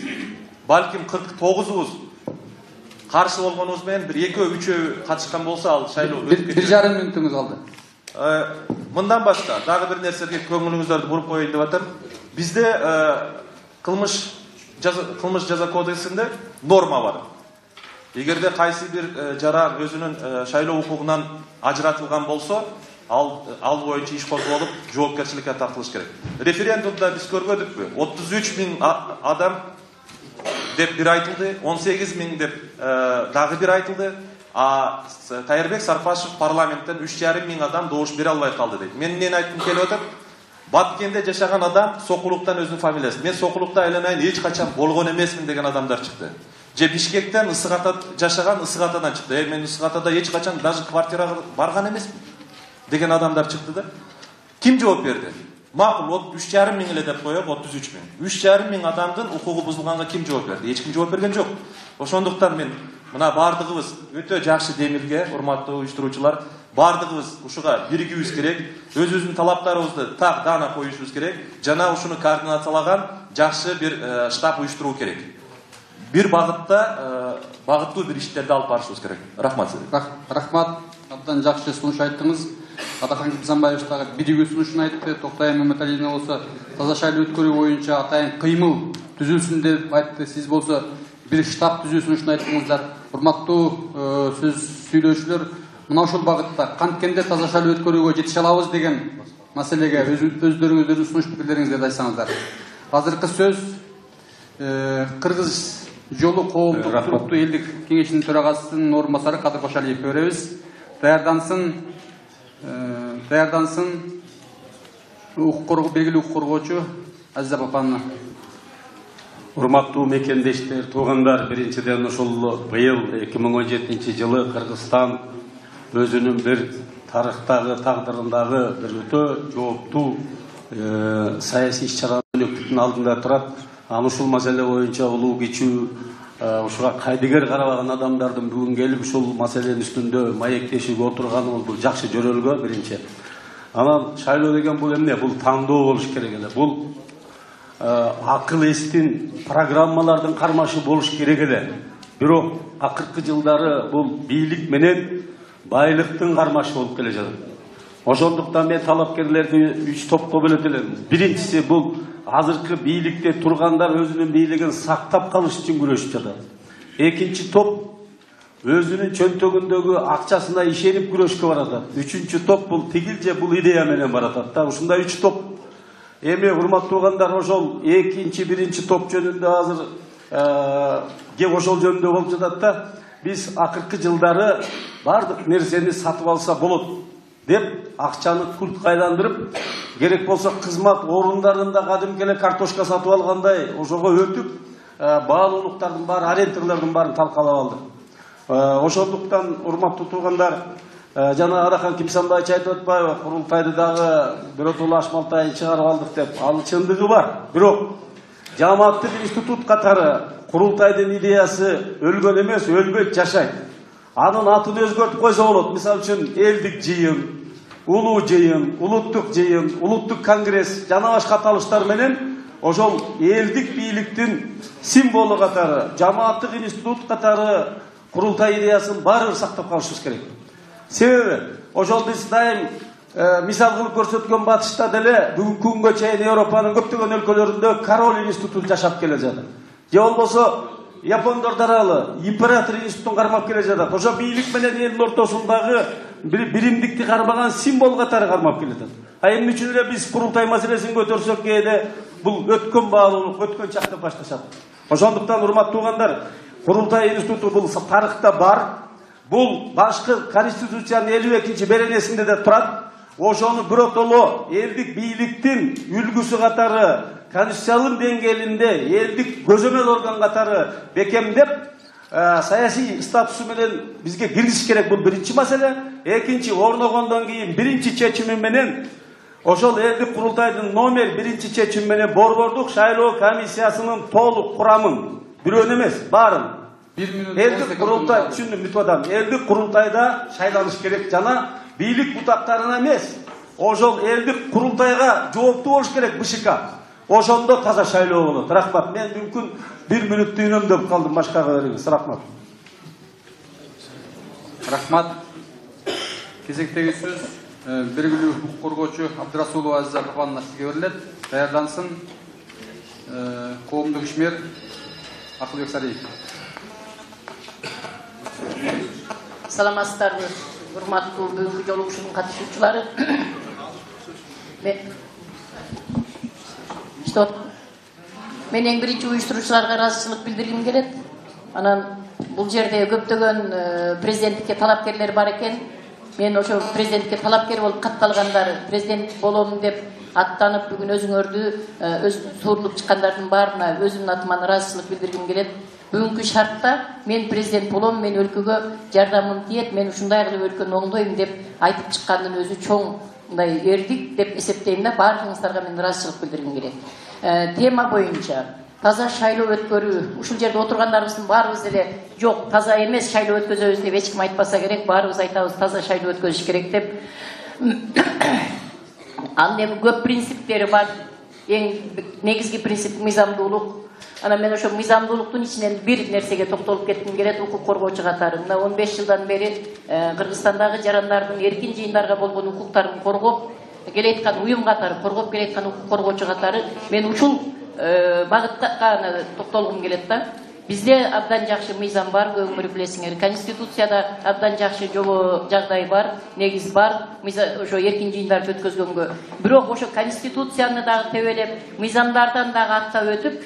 балким 49-быз каршы болгонубуз менен бир 2-3 катышкан болсо ал шайлоо өтүп кетет. 1,5 мүнөтүңүз калды. Мындан башка дагы бир нерсеге көңүлүңүздөрдү буруп коеюн деп атам. Бизде кылмыш жаза кодексинде норма бар. Эгерде кайсы бир жара өзүнүн шайлоо укугунан ажыратылган болсо, ал боюнча иш козголуп, жоопкерчиликке тартылыш керек. Референдумда биз көрбөдүкпү? 33 000 адам деп бир айтылды, 18 000 деп дагы бир айтылды. Кайырбек Сарпашев парламенттен 3,5 000 адам добуш бере албай калды дейт. Мен эмнени айткым келип атат? Баткенде жашаган адам Сокулуктан өзүнүн фамилиясы. Мен Сокулукта айланайын эч качан болгон эмесмин деген адамдар чыкты. Же Бишкектен Ысык Ата жашаган Ысык Атадан чыкты. Мен Ысык Атада эч качан даже квартирага барган эмесмин деген адамдар чыкты да. Ким жооп берди? Макул 3,5 миң эле деп коёк, 33 миң. 3,5 миң адамдын укугу бузулганга ким жооп берди? Эч ким жооп берген жок. Ошондуктан мен мына бардыгыбыз өтө жакшы демилге, урматтуу уюштуруучулар, бардыгыбыз ушуга биригибиз керек, өзүбүздүн талаптарыбызды так даана коюшубуз керек, жана ушуну координациялаган жакшы бир штаб уюштуруу керек. Бир багытта багыттуу бир иштерди алып барышыбыз керек. Рахмат сизге. Рахмат. Абдан жакшы сунуш айттыңыз. Атакан Кимсанбаев дагы биригүү сунушун айтты. Токтай Маматалиевна болсо таза шайлоо өткөрүү боюнча атайын кыймыл түзүлсүн деп айтты. Сиз болсо бир штаб түзүү сунушун айттыңыздар. Урматтуу сөз сүйлөөчүлөр, мына ошол багытта канткенде таза шайлоо өткөрүүгө жетише алабыз деген маселеге өздөрүңүздөрдүн сунуш пикирлериңизди айтсаңыздар. Азыркы сөз Кыргыз жолу коомдук туруктуу элдик кеңешинин төрагасынын орун басары Кадыр Кошалиевке беребиз. Даярдансын белгилүү укук коргоочу Азиза Папановна. Урматтуу мекендештер, туугандар, биринчиден ушул быйыл 2017-жылы Кыргызстан өзүнүн бир тарыхтагы, тагдырындагы бир өтө жооптуу саясий иш-чаралардын алдында турат. Аны ушул маселе боюнча улуу кичүү ушуга кайдыгер карабаган адамдардын бүгүн келип ушул маселенин үстүндө маектешип отурганыбыз бул жакшы жөрөлгө биринчи. Анан шайлоо деген бул эмне? Бул тандоо болуш керек эле. Бул акыл эстин программалардын кармашы болуш керек эле. Бирок акыркы жылдары бул бийлик менен байлыктын кармашы болуп келе жатат. Ошондуктан мен талапкерлерди 3 топко бөлөт элем. Биринчиси бул азыркы бийликте тургандар өзүнүн бийлигин сактап калыш үчүн күрөшүп жатат. Экинчи топ өзүнүн чөнтөгүндөгү акчасына ишенип күрөшкө баратат. Үчүнчү топ бул тигил же бул идея менен баратат да. Ушундай 3 топ. Эми урматтуугандар, ошол экинчи, биринчи топ жөнүндө азыр ошол жөнүндө болуп жатат да. Биз акыркы жылдары бардык нерсени сатып алса болот деп акчаны куртка айландырып, керек болсо кызмат орундарында кадимки эле картошка сатып алгандай ошого өтүп, баалуулуктардын баары, арендалардын баарын талкалап алдык. Ошондуктан урматтуу туугандар, жана Атакан Кимсанбаевич айтып атпайбы, курултайды дагы биротоло ашмалтайын чыгарып алдык деп. Ал чындыгы бар. Бирок жамааттык институт катары курултайдын идеясы өлгөн эмес, өлбөйт, жашайт. Анын атын өзгөртүп койсо болот. Мисалы үчүн элдик жыйын, улуу жыйын, улуттук жыйын, улуттук конгресс жана башка аталыштар менен ошол элдик бийликтин символу катары, жамааттык институт катары курултай идеясын баары сактап калышыбыз керек. Себеби ошол биз дайым мисал кылып көрсөткөн батышта деле бүгүнкү күнгө чейин Европанын көптөгөн өлкөлөрүндө король институту жашап келе жатат. Же болбосо Япондор даралы император институтун кармап келе жатат. Ошо бийлик менен элдин ортосундагы биримдикти кармаган символ катары кармап келе жатат. Эмне үчүн эле биз курултай маселесин көтөрсөк кээде бул өткөн баалуулук, өткөн чак деп башташат. Ошондуктан урматтуугандар, курултай институту бул тарыхта бар. Бул башкы конституциянын 52-беренесинде де турат. Ошону биротоло элдик бийликтин үлгүсү катары, конституциялык деңгээлинде элдик көзөмөл орган катары бекемдеп, саясий статусу менен бизге киргизиш керек. Бул биринчи маселе. Экинчи, орногондон кийин биринчи чечими менен ошол элдик курултайдын номер 1 чечими менен борбордук шайлоо комиссиясынын толук курамын, бирөөнү эмес, баарын элдик курултай, түшүндүм, бүтүп атам. Элдик курултайда шайланыш керек жана бийлик бутактарына эмес, ошол элдик курултайга жооптуу болуш керек БШК. Ошондо таза шайлоо болот. Рахмат. Мен мүмкүн 1 мүнөттү үнөмдөп калдым, башкага бериңиз. Рахмат. Рахмат. Кезектеги сөз белгилүү укук коргоочу Абдырасулова Азиза Папановна сизге берилет. Даярдансын коомдук ишмер Акылбек Сариев. Саламатсыздарбы, урматтуу бүгүнкү жолугушуунун катышуучулары. Мен эң биринчи уюштуруучуларга ыраазычылык билдиргим келет. Анан бул жерде көптөгөн президенттикке талапкерлер бар экен. мен ошо президентке талапкер болуп катталгандар президент болом деп аттанып бүгүн өзүңөрдү өз суурулуп чыккандардын баарына өзүмдүн атыман ыраазычылык билдиргим келет. Бүгүнкү шартта мен президент болом, мен өлкөгө жардамым тиет, мен ушундай кылып өлкөнү оңдойм деп айтып чыккандын өзү чоң мындай эрдик деп эсептейм да. Баардыгыңыздарга мен ыраазычылык билдиргим келет. Тема боюнча таза шайлоо өткөрүү. Ушул жерде отургандарыбыздын баарыбыз эле жок, таза эмес шайлоо өткөзөбүз деп эч ким айтпаса керек. Баарыбыз айтабыз таза шайлоо өткөзүш керек деп. Анын эми көп принциптери бар. Эң негизги принцип мыйзамдуулук. Ана мен ошо мыйзамдуулуктун ичинен бир нерсеге токтолуп кетким келет. Укук коргоочу катары мына 15 жылдан бери Кыргызстандагы жарандардын эркин жыйындарга болгон укуктарын коргоп келеаткан уюм катары, коргоп келеаткан укук коргоочу катары мен ушул багытка токтолгум келет да. Бизде абдан жакшы мыйзам бар, көңүл билесиңер. Конституцияда абдан жакшы жагдай бар, негиз бар, ошо эркин жыйындарды өткөзгөнгө. Бирок ошо конституцияны дагы тебелеп, мыйзамдардан дагы аттап өтүп,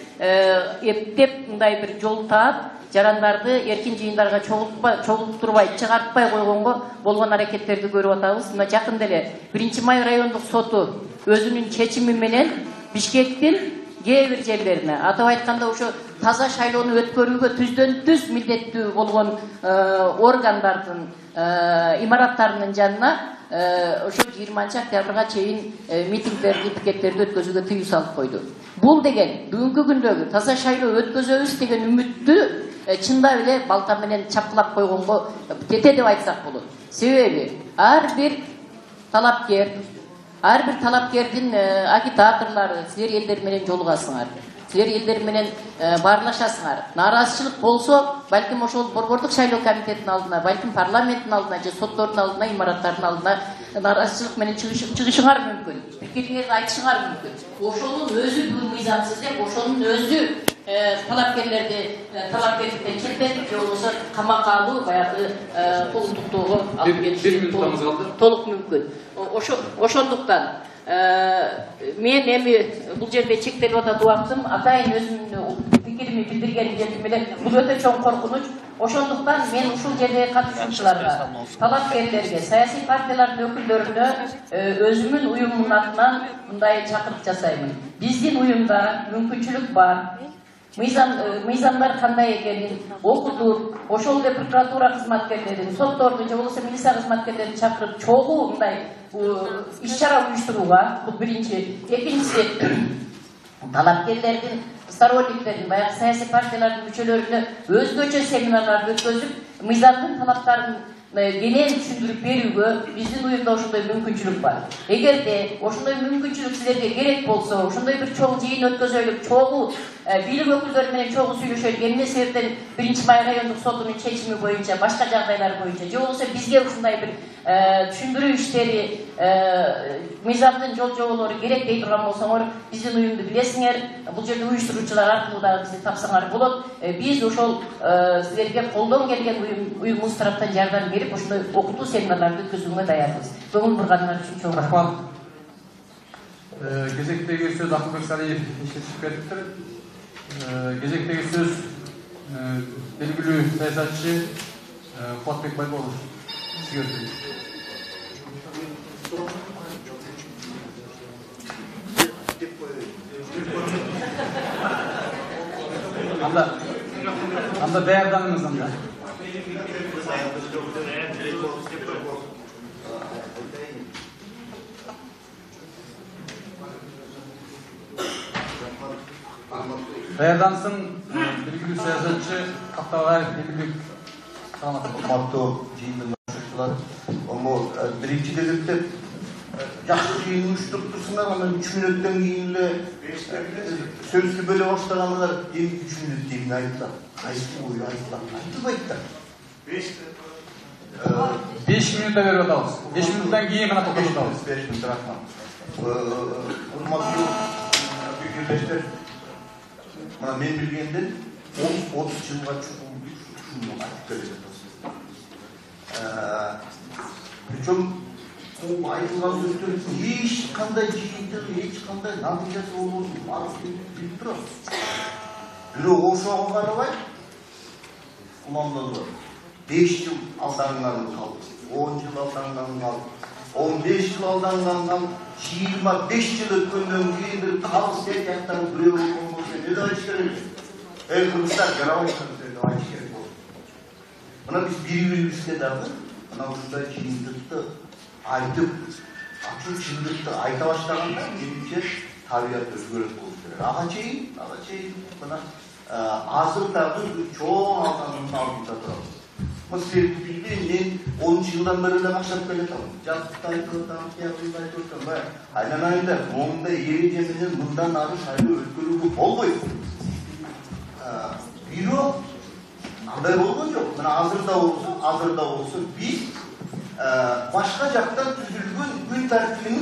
эптеп мындай бир жол таап, жарандарды эркин жыйындарга чогултурбай, чыгартпай койгонго болгон аракеттерди көрүп атабыз. Мына жакында эле 1-Май райондук соту өзүнүн чечими менен Бишкектин кээ бир жерлерине, атап айтканда ошо таза шайлоону өткөрүүгө түздөн-түз милдеттүү болгон органдардын имараттарынын жанына ошо 20-октябрга чейин митингдерди, пикеттерди өткөзүүгө тыюу салып койду. Бул деген бүгүнкү күндөгү таза шайлоо өткөзөбүз деген үмүттү чындап эле балта менен чапкылап койгонго тете деп айтсак болот. Себеби ар бир талапкердин агитаторлору силер элдер менен жолугасыңар. Силер элдер менен баарлашасыңар. Нааразычылык болсо, балким ошол борбордук шайлоо комитетинин алдына, балким парламенттин алдына же соттордун алдына, имараттардын алдына нааразычылык менен чыгышыңар мүмкүн. Пикириңерди айтышыңар мүмкүн. Ошонун өзү бүгүн мыйзамсыз деп, ошонун өзү талапкерликтен четтетип, же болбосо камакка алуу, баягы колдуктоого алып кетиши толук мүмкүн. Ошондуктан мен эми бул жерде чектелип атат убактым, атайын өзүмдүн пикирими билдиргеним жердим эле. Бул өтө чоң коркунуч. Ошондуктан мен ушул жердеги катышуучуларга, талапкерлерге, саясий партиялардын өкүлдөрүнө өзүмдүн уюмумдун атынан мындай чакырык жасаймын. Биздин уюмда мүмкүнчүлүк бар. Мыйзамдар кандай экенин окутуп, ошол эле прокуратура кызматкерлерин, сотторду же болбосо милиция кызматкерлерин чакырып, чогуу мындай иш-чара уюштурууга, бул биринчи. Экинчиси, талапкерлердин, сторонниктердин, баягы саясий партиялардын мүчөлөрүнө өзгөчө семинарларды өткөзүп, мыйзамдын талаптарын кенен түшүндүрүп берүүгө биздин уюмда ошондой мүмкүнчүлүк бар. Эгерде ошондой мүмкүнчүлүк силерге керек болсо, ошондой бир чоң жыйын өткөзөлүп, чогуу бийлик өкүлдөрү менен чогуу сүйлөшөлүк, эмне себептен 1-Май райондук сотунун чечими боюнча, башка жагдайлар боюнча, же болбосо бизге ушундай бир түшүндүрүү иштери, мыйзамдын жол жоболору керек дей турган болсоңор, биздин уюмду билесиңер, бул жерде уюштуруучулар аркылуу дагы бизди тапсаңар болот. Биз ошол силерге колдон келген уюмубуз тараптан жардам берип, ошондой окутуу семинарларды өткөзүүгө даярбыз. Көңүл бурганыңар үчүн чоң рахмат. Кезектеги сөз Акылбек Салиев иштетип бериптир. Кезектеги сөз белгилүү саясатчы Кубатбек Байболов. Анда даярданыңыз анда. Даярдансын белгилүү саясатчы Каптабаев Элбек. Урматтуу жыйындын катышуучулары, биринчи кезекте жакшы жыйын уюштуруптурсуңар, анан 3 мүнөттөн кийин эле сөздү бөлө баштагандар, эми 3 мүнөт дейм айтылат. Айтылбайт да. 5 мүнөттө берип атабыз. 5 мүнөттөн кийин гана токтотуп атабыз. 5 мүнөт рахмат. Урматтуу пикирлештер, мына мен билгенден 30 жылга чукул ушуну айтып келе причем айтылган сөздөрдүн эч кандай жыйынтыгы, эч кандай натыйжасы болбосун, баарын билип турабыз. Бирок ошого карабай уландырылат. 5 жыл алданған қалды, 10 жыл алданған қалды, 15 жыл алданған қалды, 25 жыл өткөндөн кейін бір қалыс жақтан біреу болған болса, не де айтыш керек? Кыргызстан жарабайсыңыз деп айтыш керек болды. Мына біз бири-бирибизге дагы мына ушундай чындыкты айтып, ачык чындыкты айта баштаганда, менимче табият өзгөрөт болуш керек. Ага чейин мына азыр дагы чоң алгандын алдында турабыз. Себеби мен 10 жылдан бери эле баштап келатам. Жактыкты айтып атам, кыягымды айтып атам. Айнанайында момундай эреже менен мындан ары шайлоо өткөрүүгө болбойт. Бирок андай болгон жок. Мына азырда болсо биз башка жактан түзүлгөн күн тартибин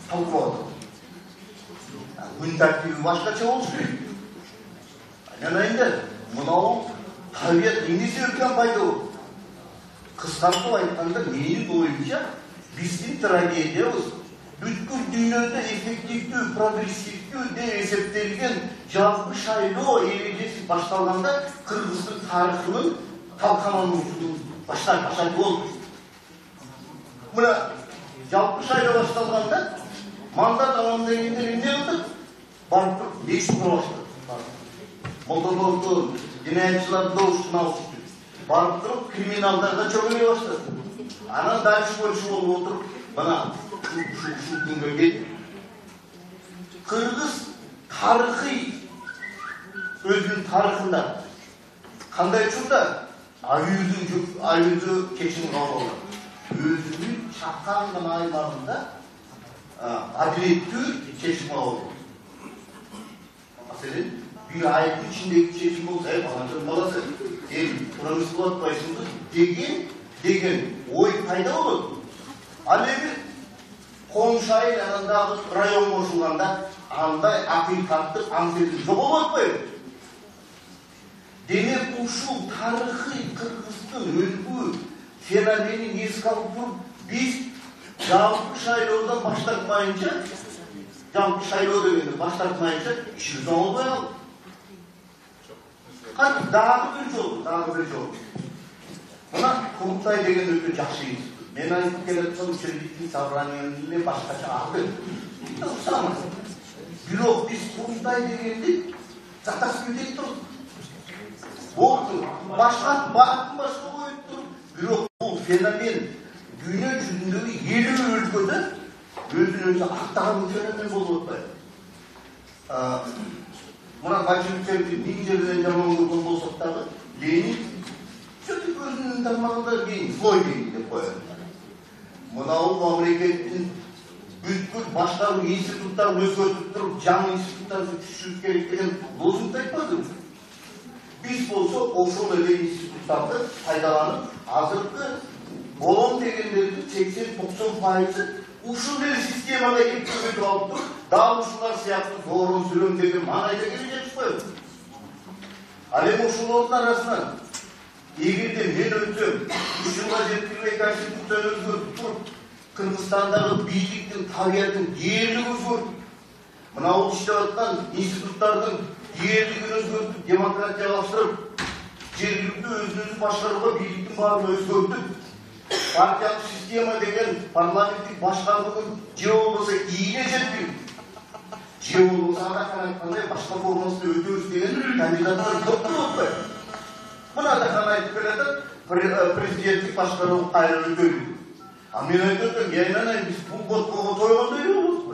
талкуулап атабыз. Күн тартиби башкача болуш керек. Айнанайында мынау табият эмнеси өткөн пайда болду? Кыскартып айтканда, менин оюмча, биздин трагедиябыз бүткүл дүйнөдө эффективдүү, прогрессивдүү деп эсептелген жалпы шайлоо эрежеси башталганда Кыргыздын тарыхынын талкалануусунун башталышы болду. Мына жалпы шайлоо башталганда мандат алган дегенде эмне кылдык? Барып туруп мешит кура баштадык. Молдолорду, жинаятчыларды ушуна алышты. Барып туруп криминалдарга чөгөлөй баштады. Анан дальше болуп отуруп, мына ушул күнгө келди. Кыргыз тарыхый өзүнүн тарыхында кандай учурда аюудуу чечим кабыл алды. Өзүнүн чакан гана аймагында адилеттүү чечим кабыл алды. Маселен, bir ayın içindeki çekim olsa hep anlatır malası. Buranız kulaklayısınız degen oy payda olur. Alevi konuşayın yanında rayon koşulanda anda akıl kattık anselik çok olmayın. Demek uşul tarihi Kırgız'ın ölgü fenomenin eski alıp durup biz жалпы шайлоодан баштатмайынча, жалпы шайлоо дегенди баштатмайынча işimiz olmay aldı. Hadi dagы bir жол. Мына Курултай деген өтө жакшы институт. Мен айтып келаткан учредительный собраниянын эле башкача аты. Бирок биз Курултай дегенди затасып кетип туруп. Болду. Башкатын башка коюп туруп. Бирок бул феномен дүйнө жүзүндөгү 50 өлкөдө өзүн-өзү актаган феномен болуп атпайбы? Мына большевиктерди 1000 жерден жаман көргөн болсок дагы Ленин сөйтүп өзүнүн тармагында Ленин злой Ленин деп коет. Мынау мамлекеттин бүткүл башкаруу институттарын өзгөртүп туруп, жаңы институттарды түшүрүш керек деген лозунг айтпадыбы? Биз болсо ошол эле институттарды пайдаланып, азыркы болом дегендердин 80-90% ушул эле системага жеткизип алып туруп, дагы ушулар сыяктуу зорун сүрөм деген маанайда келе жатышпайбы? Ал эми ушулардын арасынан эгерде мен өтсөм, 3 жылга жеткирбей конституцияны өзгөртүп туруп, Кыргызстандагы бийликтин табиятын дээрлик өзгөртүп, мына бул иштеп аткан институттардын дээрлигин өзгөртүп, демократиялаштырып, жергиликтүү өзүн-өзү башкарууга бийликтин баарын өзгөртүп, партиялык система деген парламенттик башкарууну же болбосо ийне жеткирип, же болбосо ага карайткандай башка формасында өтөбүз деген кандидаттар көп болуп атпайбы? Мына да кана айтып келатат, президенттик башкаруу кайра өтөлү. А мен айтып атам, айнанай биз бул боткого тойгондой эле болуппу.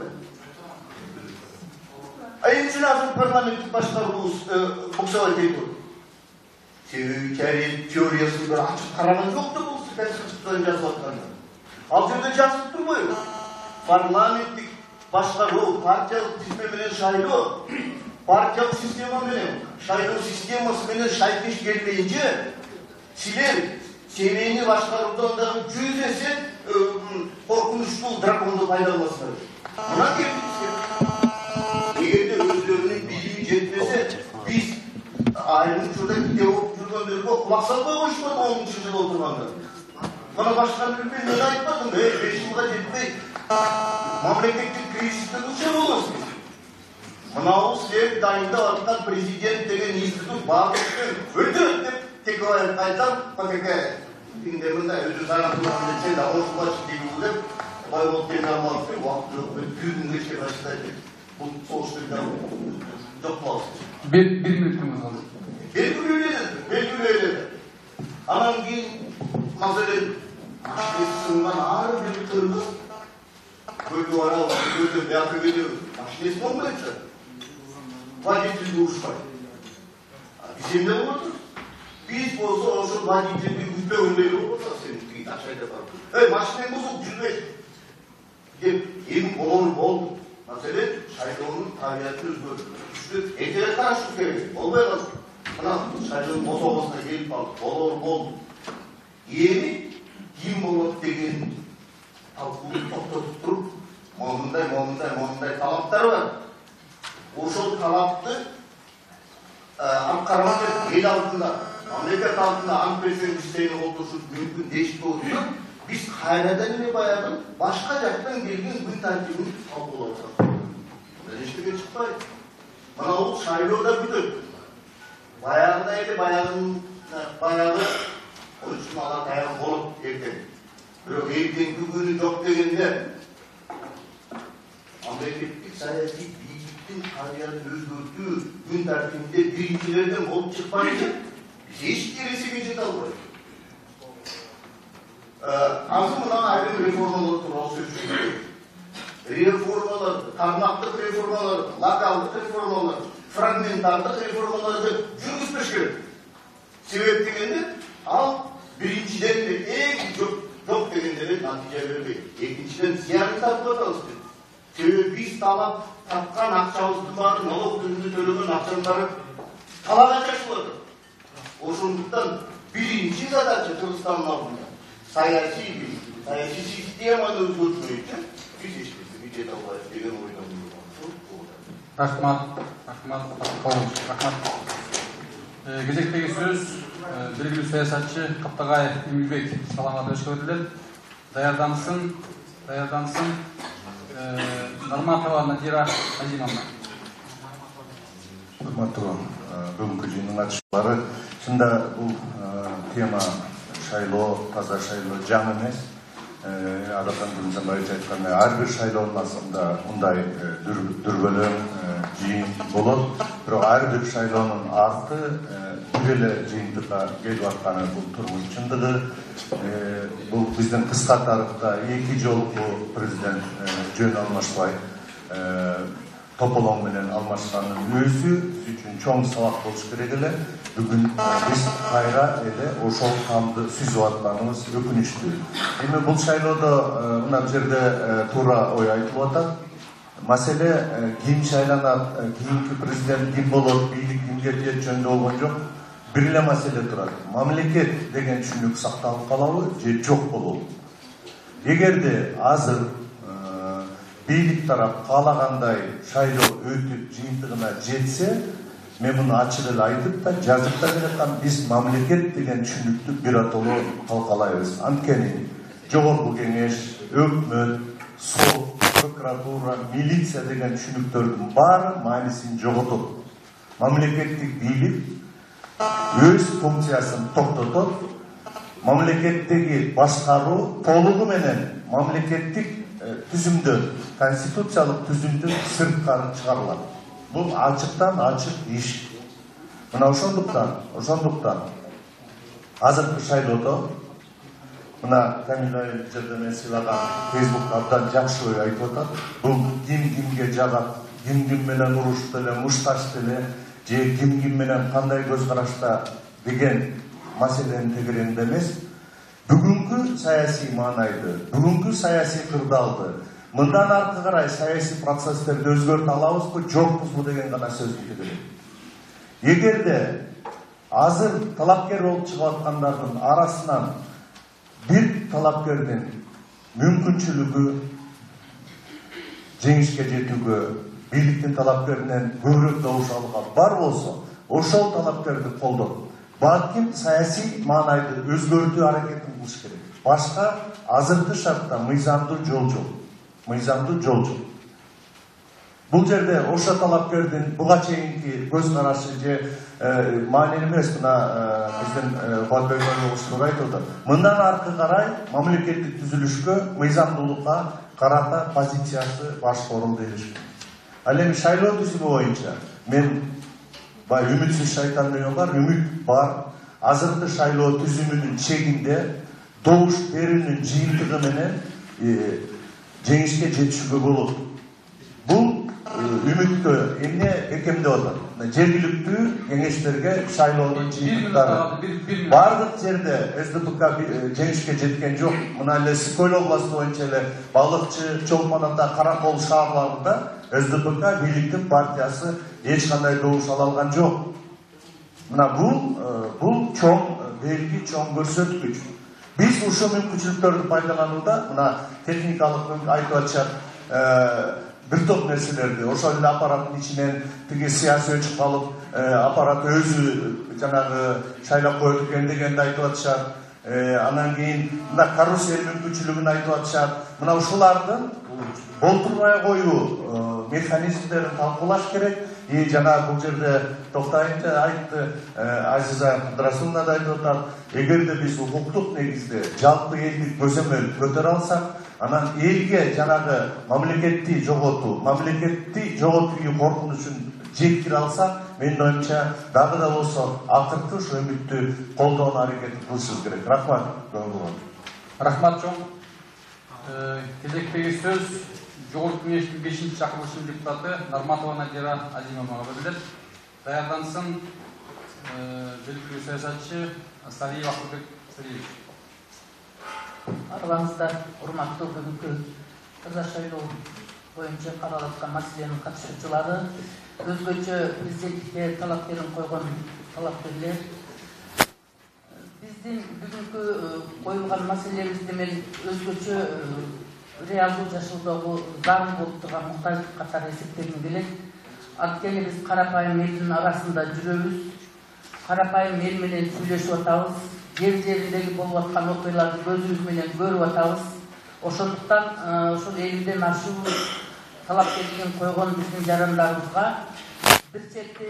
Эмне үчүн азыр парламенттик башкаруубуз буксабай кетип атат? Себеби теориясын бир ачык караган жок да бул конституцияны жазып атканда. Ал жерде жазып турбайбы? Парламенттик башкаруу, партиялык тизме менен шайлоо, партиялык система менен шайлоо системасы менен шайкеш келмейинче, силер семейни башкаруудан дагы 100 эсе коркунучтуу драконду пайдаланасыздар. Мына келдик. Эгерде өздөрүнүн билими жетпесе, биз айрым учурда ките болуп жүргөндөргө кулак салбай коюшпайбы 10-жылда отурганда. Мына башка бир мен айтпадым, 5 жылга жетпей мамлекеттик кризисте ушул болосуз. Мына силер дайындап аткан президент деген институт баардыгын өтөт деп Текебаев айтсам, Тиңдеминде өзү зараттууларды сен да ошулачы дейбиз деп байбол тен алмап убакыт жок бүгүн кечке баштайт. Бул соғыштарда жок кылабыз. Bir minutыңыз kaldı. Belgiledi. Анан кийин маселен машинесиңан ар бир кыргыз көлгө барабыз, көлдө бияка келебиз. Машинеси болбойчу. Водительди урушпайт. Биз эмне болуп атат? Биз болсо ошол водительди үзбөгөндөй болуп атат. Сен кийин акчайда барып. Машинең бузуп жүрбөйт. Деп эми болду. Маселен, шайлоонун табиятын өзгөртүп, экеге карашы керек. Болбой калды. Мына шайлоонун бособосуна келип калды. Болду. Эми ким болот деген талкууну токтотуп туруп, момундай талаптар бар. Ошол талапты аткармак эл алдында, мамлекет алдында ант берсең иштейин олтурушубуз мүмкүн дешип отурса, биз кайрадан эле баягы башка жактан келген күн тартибин талкуулап жатабыз. Эчтеке чыкпайт. Мына бул шайлоодо бүтөт. Баягыдай эле баягы oysun ala dayan bolup erken. Bирок эртеңки күнү жок дегенде мамлекеттик саясий бийликтин табиятын өзгөртүү күн тартибинде биринчилерден болуп чыкпайчы. Биз эч нерсеге жете албайбыз. Азыр мына айрым реформалар тууралуу сөз жүргүзөбүз. Реформалар, тармактык реформалар, локалдык реформалар, фрагментардык реформаларды жүргүзбөш керек. Себеп дегенде ал биринчиден эң жок дегендер натыйжа бербейт. Экинчиден зыянын тартып атабыз. Себеби биз талап тапкан акчабыздын баары, налог түрүндө төлөгөн акчанын баары талага чачылып атат. Ошондуктан биринчи задача Кыргызстандын алдында саясий системаны өзгөртүү үчүн биз эч нерсеге жете албайбыз деген ойдомун. Рахмат. Кезектеги сөз белгилүү саясатчы Каптагай Эмилбек Саламат Өчкөрүлөр. Даярдансын. Нарматова Надира Азимовна. Урматтуу бүгүнкү жыйындын катышуучулары, чында бул тема шайлоо, таза шайлоо жаңы эмес. Адахан Гүлзамбаевич айткандай, ар бир шайлоонун астында мындай дүрбөлөң жыйын болот. Бирок ар бир шайлоонун арты бир эле жыйынтыкка келип атканы бул турмуш чындыгы. Бул биздин кыска тарыхта эки жолку президент жөн алмашпай тополоң менен алмашкандын өзү үчүн чоң сабак болуш керек эле. Бүгүн биз кайра эле ошол камды сүзүп атканыбыз өкүнүчтүү. Эми бул шайлоодо мына бул жерде туура ой айтылып атат. Маселе ким шайланат, кийинки президент ким болот, бийлик кимге тиет жөнүндө болгон жок. Бир эле маселе турат. Мамлекет деген түшүнүк сакталып калабы же жок болобу? Эгерде азыр бийлик тарап каалагандай шайлоо өтүп жыйынтыгына жетсе, мен муну ачык эле айтып да жазып да бераткам, биз мамлекет деген түшүнүктү биротоло талкалайбыз. Анткени жогорку кеңеш, өкмөт, сот, прокуратура, милиция деген түшүнүктөрдүн баары маанисин жоготот. Мамлекеттик бийлик өз функциясын токтотот. Мамлекеттеги башкаруу толугу менен мамлекеттик түзүмдөн, конституциялык түзүмдөн сырткары чыгарылат. Бул ачыктан ачык иш. Мына ошондуктан азыркы шайлоодо мына Камил айыл жерде мен сыйлаган Фейсбукта абдан жакшы ой айтып атат. Бул кимге жагат, ким менен урушты эле, мушташты эле, же ким менен кандай көз карашта деген маселенин тегерегинде эмес. Бүгүнкү саясий маанайды, бүгүнкү саясий кырдаалды, мындан аркы карай саясий процесстерди өзгөртө алабызбы, жокпузбу деген гана сөздү керек. Эгерде азыр талапкер болуп чыгып аткандардын арасынан бир талапкердин мүмкүнчүлүгү жеңишке жетүүгө, бийликтин талапкеринен көбүрөөк добуш алууга бар болсо, ошол талапкерди колдоп, балким саясий маанайды өзгөртүү аракетин кылыш керек. Башка азыркы шартта мыйзамдуу жол жок. Бул жерде ошо талапкердин буга чейинки көз карашы же маанилүү эмес мына биздин Батбек айтылды. Мындан аркы карай мамлекеттик түзүлүшкө, мыйзамдуулукка карата позициясы башка орун беришкен. Ал эми шайлоо түзүмү боюнча мен үмүтсүз шайтан деген бар, үмүт бар. Азыркы шайлоо түзүмүнүн чегинде добуш берүүнүн жыйынтыгы менен жеңишке жетишүүгө болот. Бул үмүттө эмне бекемдеп атат? Жергиликтүү кеңештерге шайлоонун жыйынтыктары. Бардык жерде СДПК жеңишке жеткен жок. Мына эле Сыкөл областы боюнча эле Балыкчы, Чолпон Ата, Каракол шаарларында СДПК бийликтин партиясы эч кандай добуш ала алган жок. Мына бул чоң белги, чоң көрсөткүч. Биз ушул мүмкүнчүлүктөрдү пайдаланууда мына техникалык айтып атышат бир топ нерселерди. Ошол эле аппараттын ичинен тиги саясий өчүп калып, аппарат өзү жанагы шайлап коет экен дегенди айтып атышат. Анан кийин мына карусель мүмкүнчүлүгүн айтып атышат. Мына ушулардын болтурбай коюу механизмдерин талкуулаш керек. Жана бул жерде Токтоев айтты, Азиза Кыдрасуловна да айтып атат. Эгерде биз укуктук негизде жалпы элдик көзөмөл көтөрө алсак, анан элге жанагы мамлекетти жоготууга коркунучун жеткире алсак, менин оюмча дагы да болсо акыркы ошо үмүттү колдоону аракет кылышыбыз керек. Рахмат. Рахмат чоң. Кезектеги сөз Жогорку кеңештин 5-чи чакырылышынын депутаты Нарматова Надира Азимовага берилет. Даярдансын белгилүү саясатчы Сариев Акылбек Сариевич. Араларыңызда урматтуу бүгүнкү таза шайлоо боюнча каралып аткан маселенин катышуучулары, өзгөчө президенттикке талапкерин койгон талапкерлер, биздин бүгүнкү коюлган маселебизди мен өзгөчө реалдуу жашоодогу зарыл болуп турган муктаждык катары эсептегим келет. Анткени биз карапайым элдин арасында жүрөбүз, карапайым эл менен сүйлөшүп атабыз, жер жериндеги болуп аткан окуяларды көзүбүз менен көрүп атабыз. Ошондуктан ошол элден ашуу талапкерлигин койгон биздин жарандарыбызга бир чети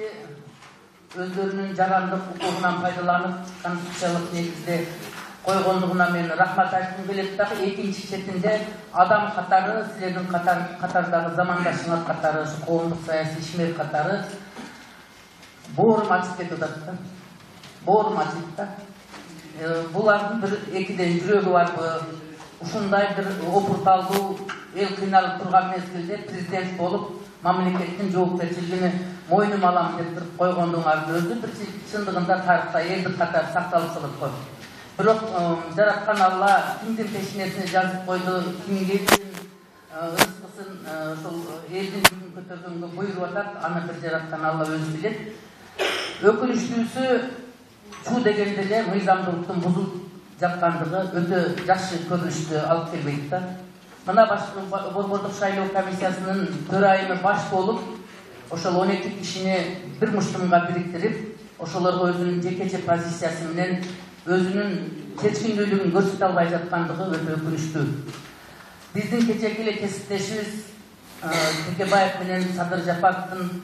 өздөрүнүн жарандык укугунан пайдаланып конституциялык негизде койгондугуна мен рахмат айткым келет дагы, экинчи четинде адам катары, силердин катардагы замандашыңар катары, ушу коомдук саясий ишмер катары боорум ачып кетип атат да. Боорум ачып да. Булардын бир экиден жүрөгү барбы? Ушундай бир опурталдуу эл кыйналып турган мезгилде президент болуп, мамлекеттин жоопкерчилигин мойнума алам деп туруп койгондуңардын өзү бир чындыгында тарыхта элдик катары сакталып калат го. Бирок жараткан Алла кимдин пешинесине жазып койду, кимге рызкысын ошол элдин жүгүн көтөргөнгө буйруп атат, аны бир жараткан Алла өзү билет. Өкүнүчтүүсү чуу дегенде эле мыйзамдуулуктун бузулуп жаткандыгы өтө жакшы көрүнүштү алып келбейт да. Мына Борбордук шайлоо комиссиясынын төрайымы баш болуп, ошол 12 кишини бир муштумга бириктирип, ошолорго өзүнүн жекече позициясы менен өзүнүн чечкиндүүлүгүн көрсөтө албай жаткандыгы өтө өкүнүчтүү. Биздин кечээки эле кесиптешибиз Текебаев менен Садыр Жапаровдун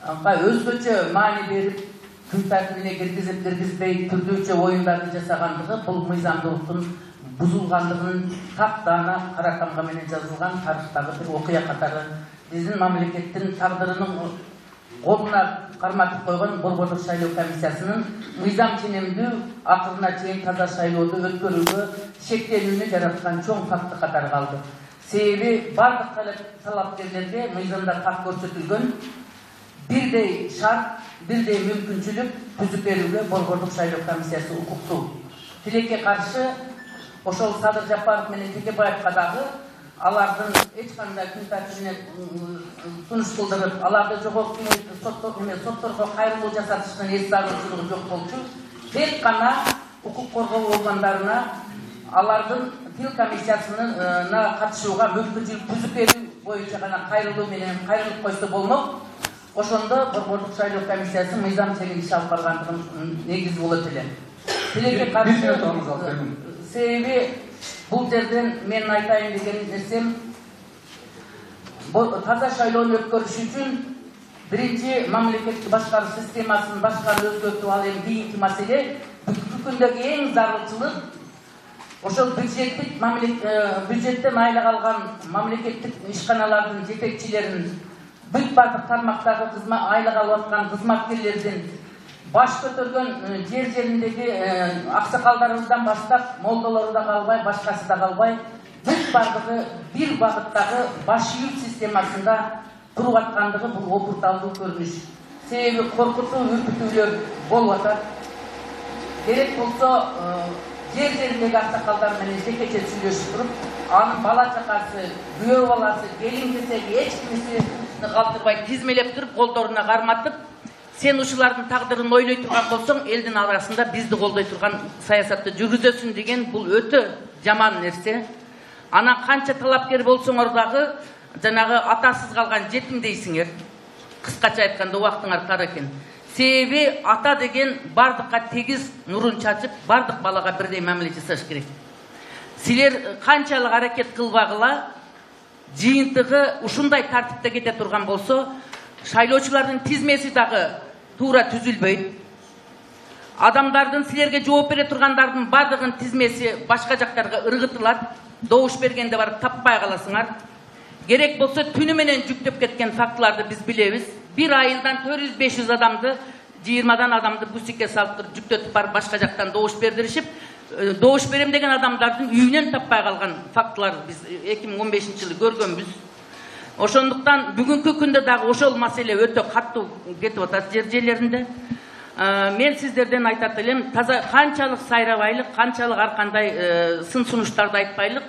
өзгөчө маани берип, күн тартибине киргизбей түрдүүчө оюндарды жасагандыгы бул мыйзамдуулуктун бузулгандыгынын таптаана каракамга менен жазылган тарыхтагы бир окуя катары биздин мамлекеттин тагдырынын колуна карматып койгон Борбордук шайлоо комиссиясынын мыйзам ченемдүү акырына чейин таза шайлоодо өткөрүүгө шектенүүнү жараткан чоң факты катары калды. Себеби бардык талапкерлерге мыйзамда так көрсөтүлгөн бирдей шарт, бирдей мүмкүнчүлүк түзүп берүүгө Борбордук шайлоо комиссиясы укуктуу. Тилекке каршы ошол Садыр Жапаров менен Текебаевка дагы алардын эч кандай күн тартибине сунуш кылдырып, аларды жогорку сотторго кайрылуу жасатыштын эс зарылчылыгы жок болчу. Тек гана укук коргоо органдарына алардын тил комиссиясына катышууга мүмкүнчүлүк түзүп берүү боюнча гана кайрылуу менен кайрылып койсо болмок. Ошондо Борбордук шайлоо комиссиясы мыйзам чегин иш алып баргандыгын негиз болот эле. Тилекке каршы себеби бул жерден мен айтайын деген нерсем таза шайлоону өткөрүш үчүн биринчи мамлекеттик башкаруу системасын башкаруу өзгөртүп ал эми кийинки маселе. Бүгүнкү күндөгү эң зарылчылык ошол бюджеттен айлык алган мамлекеттик ишканалардын жетекчилерин бүт бардык тармактагы айлык алып аткан кызматкерлердин баш көтөргөн жер жериндеги аксакалдарыбыздан баштап молдолору да калбай, башкасы да калбай, бүт бардыгы бир багыттагы баш ийүү системасында туруп аткандыгы бул опурталдуу көрүнүш. Себеби коркутуу, үркүтүүлөр болуп атат. Керек болсо жер жериндеги аксакалдар менен жекече сүйлөшүп туруп, анын бала чакасы, күйөө баласы, келин кесеги эч кимисин калтырбай тизмелеп туруп, колдоруна карматып, сен ушулардын тагдырын ойлой турган болсоң, элдин арасында бизди колдой турган саясатты жүргүзөсүң деген бул өтө жаман нерсе. Анан канча талапкер болсоңор дагы жанагы атасыз калган жетим дейсиңер. Кыскача айтканда убактыңар тар экен. Себеби ата деген бардыкка тегиз нурун чачып, бардык балага бирдей мамиле жасаш керек. Силер канчалык аракет кылбагыла, жыйынтыгы ушундай тартипте кете турган болсо, шайлоочулардын тизмеси дагы туура түзүлбөйт. Адамдардын, силерге жооп бере тургандардын бардыгынын тизмеси башка жактарга ыргытылат. Добуш бергенде барып таппай каласыңар. Керек болсо түнү менен жүктөп кеткен фактыларды биз билебиз. Bir айылдан 400-500 адамды, 20 адамды бусикке салып туруп жүктөтүп барып башка жактан добуш бердиришип, добуш берем деген адамдардын үйүнөн таппай калган фактылар биз 2015-жылы көргөнбүз. Ошондуктан бүгүнкү күндө дагы ошол маселе өтө каттуу кетип атат жер жерлеринде. Мен сиздерден айтат элем, таза канчалык сайрабайлык, канчалык ар кандай сын сунуштарды айтпайлык,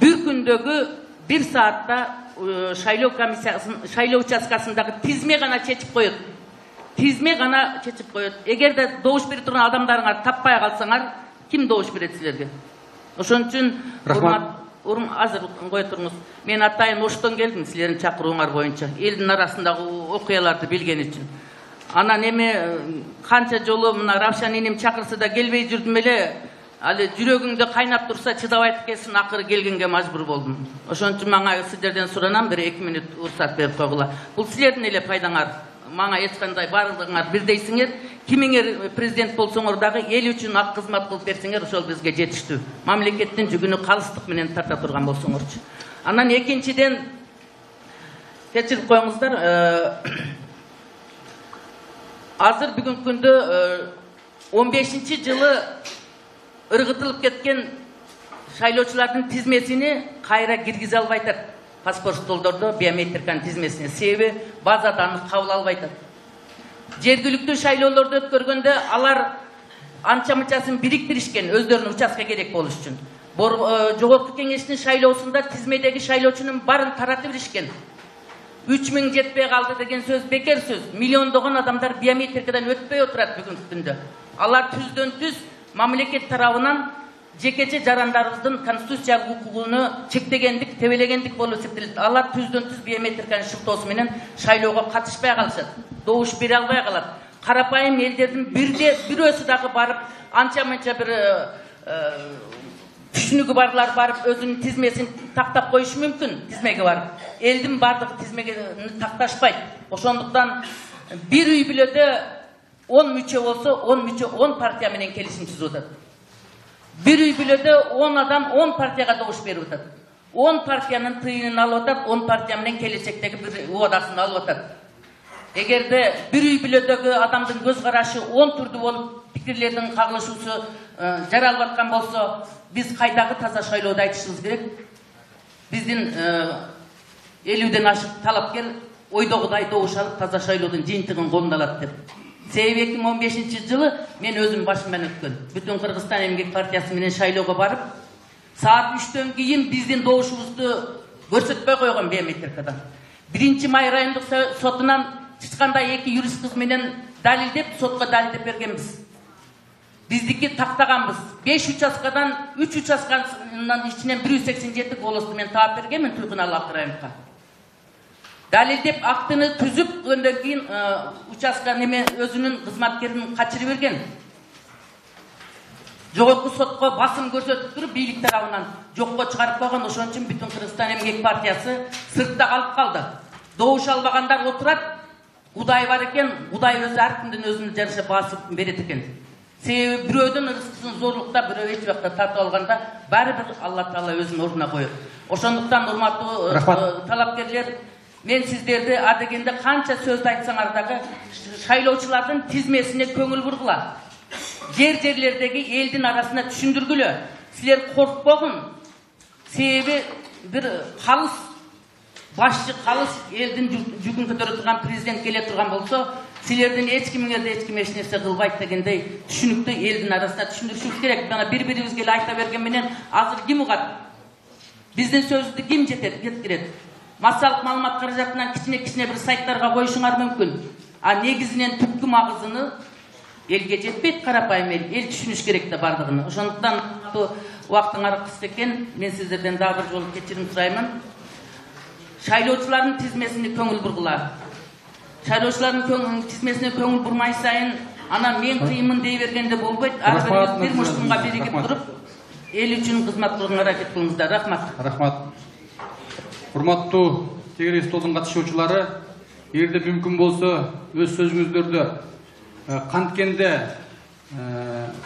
бир күндөгү 1 саатта шайлоо комиссиясын, шайлоо участкасындагы тизме гана чечип коет. Тизме гана чечип коет. Эгерде добуш берип турган адамдарыңар таппай калсаңар, ким добуш берет силерге? Ошон үчүн азыр кое туруңуз. Мен атайын Оштон келдим силердин чакырууңар боюнча. Элдин арасындагы окуяларды билген үчүн. Анан эми канча жолу мына Равшан энем чакырса да келбей жүрдүм эле. Али жүрөгүңдө кайнап турса чыдабайт экенсиң, акыры келгенге мажбур болдум. Ошон үчүн мага сиздерден суранам, бир 2 мүнөт уруксат берип койгула. Бул силердин эле пайдаңар. Мага эч кандай бардыгыңар бирдейсиңер. Кимиңер президент болсоңор дагы эл үчүн ак кызмат кылып берсеңер, ошол бизге жетиштүү. Мамлекеттин жүгүнү калыстык менен тарта турган болсоңорчу. Анан экинчиден кечирип коюңуздар, азыр бүгүнкү күндө 15-жылы ыргытылып кеткен шайлоочулардын тизмесини кайра киргизе албай атат. Паспорт столдордо биометриканын тизмесине. Себеби базада аны кабыл албай атат. Жергиликтүү шайлоолорду өткөргөндө алар анча-мынчасын бириктиришкен өздөрүнүн участка керек болуш үчүн. Жогорку кеңештин шайлоосунда тизмедеги шайлоочунун барын таратып беришкен. 3000 жетпей калды деген сөз бекер сөз. Миллиондогон адамдар биометрикадан өтпөй отурат бүгүнкү күндө. Алар түздөн түз мамлекет тарабынан жекече жарандарыбыздын конституциялык укугуну чектегендик, тебелегендик болуп эсептелет. Алар түздөн түз биометриканын шылтоосу менен шайлоого катышпай калышат. Добуш бере албай калат. Карапайым элдердин бирөөсү дагы барып, анча-мынча бир түшүнүгү барлар барып өзүнүн тизмесин тактап коюшу мүмкүн, тизмеге барып. Элдин бардыгы тизмеге такташпайт. Ошондуктан бир үй бүлөдө 10 мүчө болсо, 10 мүчө 10 партия менен келишим түзүп атат. Bir үй бүлөдө 10 адам 10 партияга добуш берип атат. 10 партиянын тыйынын алып атат, 10 партия менен келечектеги бир убадасын алып атат. Эгерде bir үй бүлөдөгү адамдын көз карашы 10 түрдүү болуп, пикирлердин кагылышуусу жаралып аткан болсо, биз кайдагы таза шайлоодо айтышыбыз керек. Биздин 50ден ашык талапкер ойдогудай добуш алып, таза шайлоодун жыйынтыгын колуна алат деп. Себеби 2015-жылы мен өзүм башымдан өткөн. Бүтүн Кыргызстан Эмгек партиясы менен шайлоого барып, саат 3төн кийин биздин добушубузду көрсөтпөй койгон биометрикадан. 1-май райондук сотунан чычкандай 2 юрист кыз менен далилдеп, сотко далилдеп бергенбиз. Биздики тактаганбыз. 5 участкадан 3 участканын ичинен 187 голосду мен таап бергенмин Туйкуналы Акырайымовго. Далилдеп актыны түзүп, өндөн кийин участка неме өзүнүн кызматкерин качырып берген. жогорку сотко басым көрсөтүп туруп бийлик тарабынан жокко чыгарып койгон. Ошон үчүн бүтүн Кыргызстан эмгек партиясы сыртта калып калды. Добуш албагандар отурат, Кудай бар экен, Кудай өзү ар кимдин өзүнүн жараша баасы берет экен. Себеби бирөөдөн рызкысын зорлукта, бирөө эч убакта тартып алганда баары бир Алла Таала өзүнүн ордуна коет. Ошондуктан урматтуу талапкерлер, мен сиздерди адегенде канча сөздү айтсаңар дагы шайлоочулардын тизмесине көңүл бургула. Жерлердеги элдин арасына түшүндүргүлө. Силер коркпогун. Себеби бир калыс башчы, калыс элдин жүгүн көтөрө турган президент келе турган болсо, силердин эч кимиңерди эч ким эч нерсе кылбайт дегендей түшүнүктү элдин арасына түшүндүрүшүбүз керек. Мына бири-бирибизге эле айта берген менен азыр ким угат? Биздин сөздү ким жеткирет? Массалык маалымат каражатынан кичине бир сайттарга коюшуңар мүмкүн. А негизинен түпкү магызыны элге жетпейт, карапайым эл түшүнүш керек да бардыгын. Ошондуктан убактыңар кыска экен, мен сиздерден дагы бир жолу кечирим сураймын. Шайлоочулардын тизмесине көңүл бургула. Шайлоочулардын тизмесине көңүл бурмай сайын, анан мен кыймын дей бергенде болбойт. Ар бирибиз бир мушкунга биригип туруп, эл үчүн кызмат кылууга аракет кылыңыздар. Рахмат. Рахмат. Урматтуу тегерек столдун катышуучулары, эгерде мүмкүн болсо өз сөзүңүздөрдө канткенде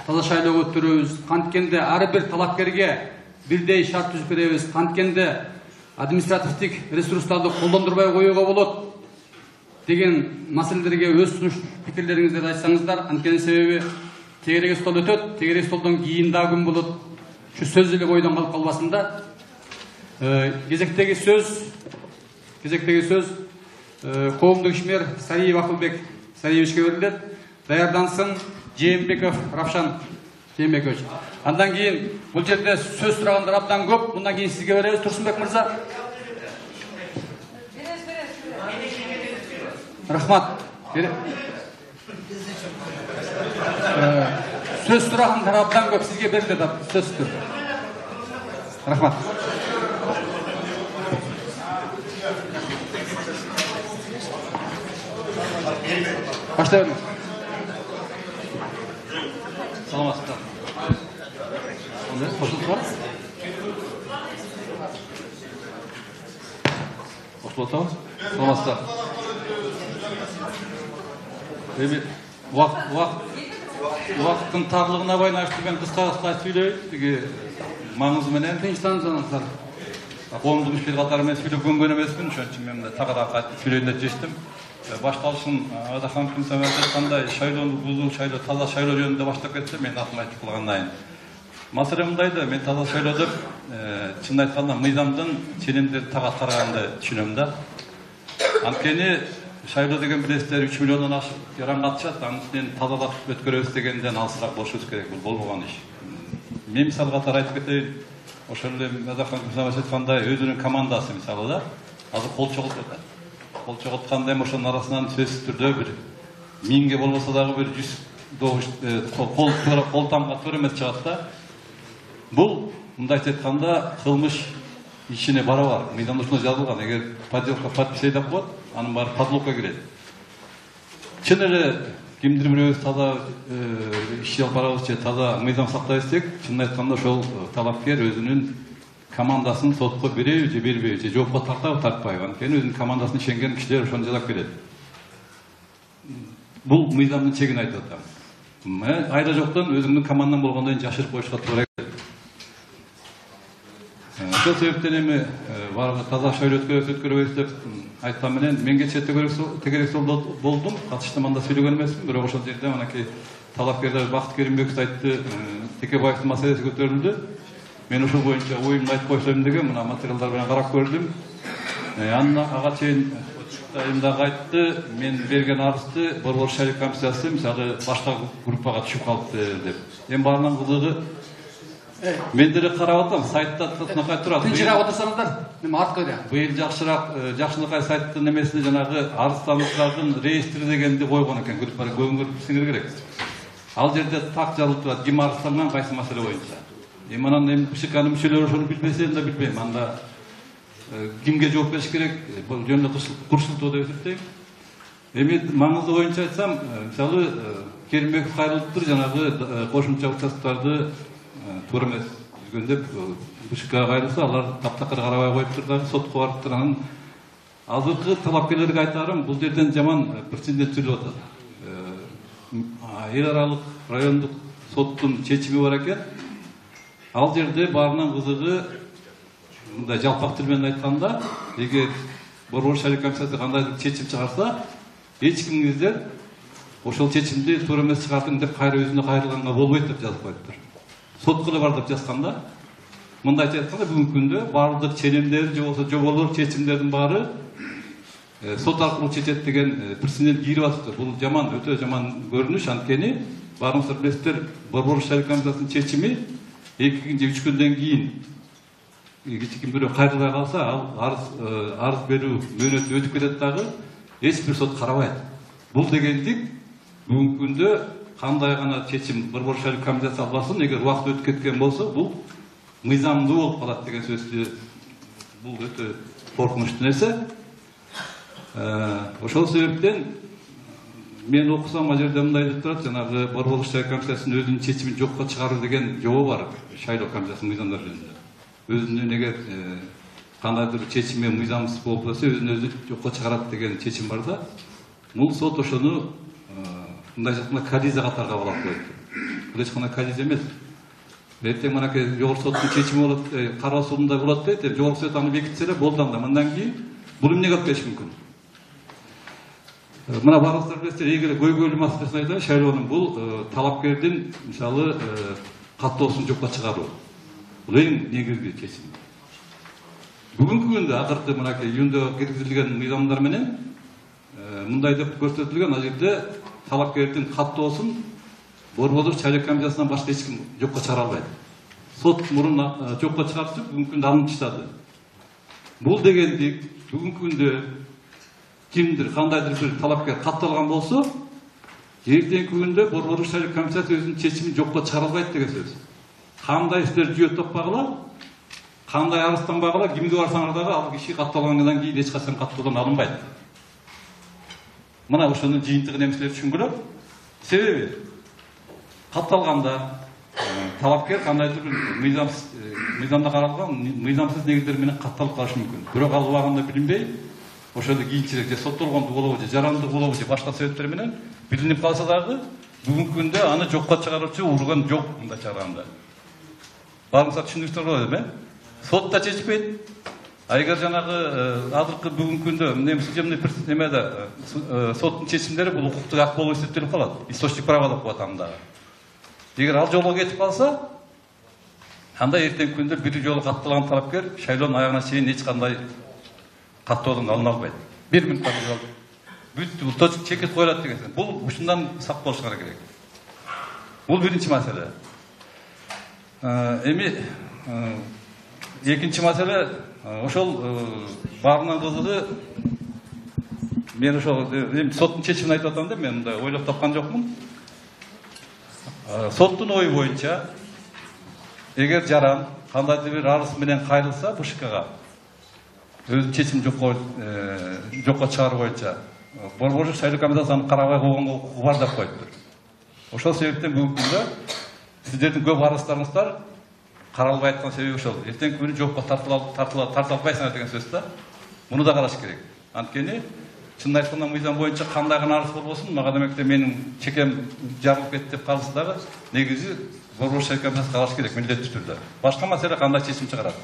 таза шайлоо өткөрөбүз, канткенде ар бир талапкерге бирдей шарт түзүп беребиз, канткенде административдик ресурстарды колдондурбай коюуга болот деген маселелерге өз сунуш пикирлериңизди айтсаңыздар. Анткени себеби тегерек стол өтөт, тегерек столдон кийин дагы күн болот. Şu söz эле бойдон калып калбасын да. Кезектеги сөз коомдук ишмер Сариев Акылбек Сариевичке берилет. Даярдансын Жээнбеков Равшан Жээнбекович. Андан кийин бул жерде сөз сурагандар абдан көп. Мындан кийин сизге беребиз, Турсунбек мырза. Рахмат. Söz сурагандар абдан көп, сизге берилет сөз. Рахмат. Баштайбыз. Саламатсыздар. Кошулуп бар? Кошулуп атабыз? Саламатсыздар. Убакыттын тарлыгына байланыштуу мен кыска сүйлөйм. Тиги маңызы менен тынчтансаңыздар. Коомдук ишмер катары менен сүйлөгөнгөн эмесмин, ошон үчүн мен тагыраак кайтып сүйлөйүн деп чечтим. Башталышын Адахан Күнсөмөт айткандай, шайлоону бузуу, таза шайлоо жөнүндө баштап кетсе, мен атым айтып калгандайын. Маселе мындай да, мен таза шайлоо деп чын айтканда мыйзамдын ченемдерди тага караганды түшүнөм да. Анткени шайлоо деген билесиздер 3 миллиондон ашык жаран катышат, анын үстүнөн тазалап өткөрөбүз дегенден алысыраак болушубуз керек. Бул болбогон иш. Мен мисал катары айтып кетейин. Ошол эле Адахан Күнсөмөт айткандай өзүнүн командасы мисалы да, азыр кол чогултуп атат. Кол чогултканда эми ошонун арасынан сөзсүз түрдө бир 1000ге болбосо дагы бир 100 добуш кол тамга туура эмес чыгат да. Бул мындайча айтканда кылмыш ишине барабар. Мыйзамда ушуну жазылган. Эгер подделка подпись деп коет, анын баары подлогко кирет. Чын эле кимдир бирөөбүз таза иш алып барабыз же таза мыйзам сактайбыз десек, чын айтканда ошол талапкер өзүнүн командасын сотко береби же бербейби же жоопко тартабы тартпайбы. Анткени өзүнүн командасына ишенген кишилер ошону жазап берет. Бул мыйзамдын чегин айтып атам. Айра жоктон өзүңдүн командаң болгондон кийин жашырып коюшка туура келет. Ошол себептен эми баарга таза шайлоо өткөрөбүз деп айткан менен мен кечээ тегерек столдо болдум, катыштым, анда сүйлөгөн эмесмин, бирок ошол жерде манакей талапкерлер Бакыт Керимбеков айтты, Текебаевдин маселеси көтөрүлдү. Мен ошол боюнча оюмду айтып койсом деген мына материалдар менен карап көрдүм. Ага чейин дагы айтты, мен берген арызды Борбор шайлоо комиссиясы мисалы башка группага түшүп калыпты деп. Эми баарынын кызыгы мен деле карап атам, сайтта тынакай турат. Тынчыраак отурсаңыздар, эми артка да. Быйыл жакшынакай сайттын эмесине жанагы арыздануучулардын реестри дегенди койгон экен, группага көңүл керек. Ал жерде так жазылып турат, ким арызданган, кайсы маселе боюнча. Эми анан эми ШКнын мүчөлөрү ошону билбесе да билбейм. Анда кимге жооп бериш керек, бул жөнүндө курсултуу деп эсептейм. Эми маңызы боюнча айтсам, мисалы Керимбеков Кайрылыптыр жанагы кошумча участоктарды туура эмес жүргөн деп БШКга кайрылса, алар таптакыр карабай коюптур дагы сотко барыптыр. Анан азыркы талапкерлерге айтарым, бул жерден жаман прецедент түзүлүп атат. Эл аралык райондук соттун чечими бар экен. Ал жерде баарынан кызыгы мындай жалпак тил менен айтканда, эгер Борбор шайлоо комиссиясы кандайдыр чечим чыгарса, эч кимиңиздер ошол чечимди туура эмес чыгардым деп кайра өзүнө кайрылганга болбойт деп жазып коюптур. Сотко эле бар деп жазганда, мындайча айтканда бүгүнкү күндө баардык ченемдер же болбосо жоболор, чечимдердин баары сот аркылуу чечет деген прецедент кирип атыптыр. Бул жаман, өтө жаман көрүнүш. Анткени баарыңыздар билесиздер, Борбор шайлоо комиссиясынын чечими 2 же 3 күндөн кийин ким бирөө кайрылбай калса, ал арыз берүү мөөнөтү өтүп кетет дагы, эч бир сот карабайт. Бул дегендик бүгүнкү күндө кандай гана чечим Борбор шайлоо комиссиясы албасын, эгер убакыт өтүп кеткен болсо, бул мыйзамдуу болуп калат деген сөздү, бул өтө коркунучтуу нерсе. Ошол себептен мен окусам ал жерде мындай деп турат, жанагы Борбор шайлоо комиссиясынын өзүнүн чечимин жокко чыгаруу деген жобо бар шайлоо комиссиясынын мыйзамдар жөнүндө. Өзүнүн эгер кандайдыр чечими мыйзамсыз болуп калса, өзүн өзү жокко чыгарат деген чечим бар да. Бул сот ошону мындайча айтканда коллизия катары кабыл алып коет. Бул эч кандай коллизия эмес. Эртең манакей жогорку соттун чечими болот, кароо судунда болот дейт, жогорку сот аны бекитсе эле болду анда. Мындан кийин бул эмнеге алып келиши мүмкүн? Мына баарыңыздар билесиздер, эгер көйгөйлүү маселесин айтайын, шайлоонун бул талапкердин мисалы каттоосун жокко чыгаруу. Бул эң негизги чечим. Бүгүнкү күндө акыркы мынакей июндө киргизилген мыйзамдар менен мындай деп көрсөтүлгөн, ал жерде талапкердин каттоосун Борбор шайлоо комиссиясынан башка эч ким жокко чыгара албайт. Сот мурун жокко чыгарчу, бүгүнкү күндө алынып таштады. Бул дегендик бүгүнкү күндө кимдир кандайдыр бир талапкер катталган болсо, эртеңки күндө Борбор шайлоо комиссиясы өзүнүн чечимин жокко чыгара албайт деген сөз. Кандай иштер жүйө таппагыла, кандай арызданбагыла, кимге барсаңар дагы ал киши катталгандан кийин эч качан каттоодон алынбайт. Мына ошонун жыйынтыгын эмселер түшүнгүлө. Себеби катталганда талапкер кандайдыр бир мыйзамда каралган мыйзамсыз негиздер менен катталып калышы мүмкүн. Бирок ал убагында билинбей, ошондо кийинчерээк же соттолгондук болобу же жарандык болобу же башка себептер менен билинип калса дагы, бүгүнкү күндө аны жокко чыгаруучу урган жок, мындайча айтканда. Баарыңыздар түшүндүңүздөр болот эми? Сот да чечпейт. Эгер жанагы азыркы бүгүнкү күндө судебный немеде соттун чечимдери бул укуктук ак болуп эсептелип калат. Источник права деп коет аны дагы. Эгер ал жолго кетип калса, анда эртеңки күндө бир жолу катталган талапкер шайлоонун аягына чейин эч кандай каттоодон алына албайт. 1 минутта бүттү, бул точка чекет коюлат деген. Бул ушундан сак болушуңар керек. Бул биринчи маселе. Эми экинчи маселе, ошол баарынан кызыгы, мен ошол соттун чечимин айтып атам да, мен мындай ойлоп тапкан жокмун. Соттун ою боюнча, эгер жаран кандайдыр бир арыз менен кайрылса БШКга, өзүнүн чечимин жокко чыгаруу боюнча, Борбор шайлоо комиссиясы аны карабай койгонго укугу бар деп коюптур. Ошол себептен бүгүнкү күндө сиздердин көп арыздарыңыздар каралбай аткан себеби ошол. Эртеңки күнү жокко тарта албайсыңар деген сөз да. Муну да караш керек. Анткени чынын айтканда мыйзам боюнча кандай гана арыз болбосун, мага демекте менин чекем жарылып кетти деп калса дагы, негизи Борбор шайлоо комиссиясы караш керек милдеттүү түрдө. Башка маселе кандай чечим чыгарат.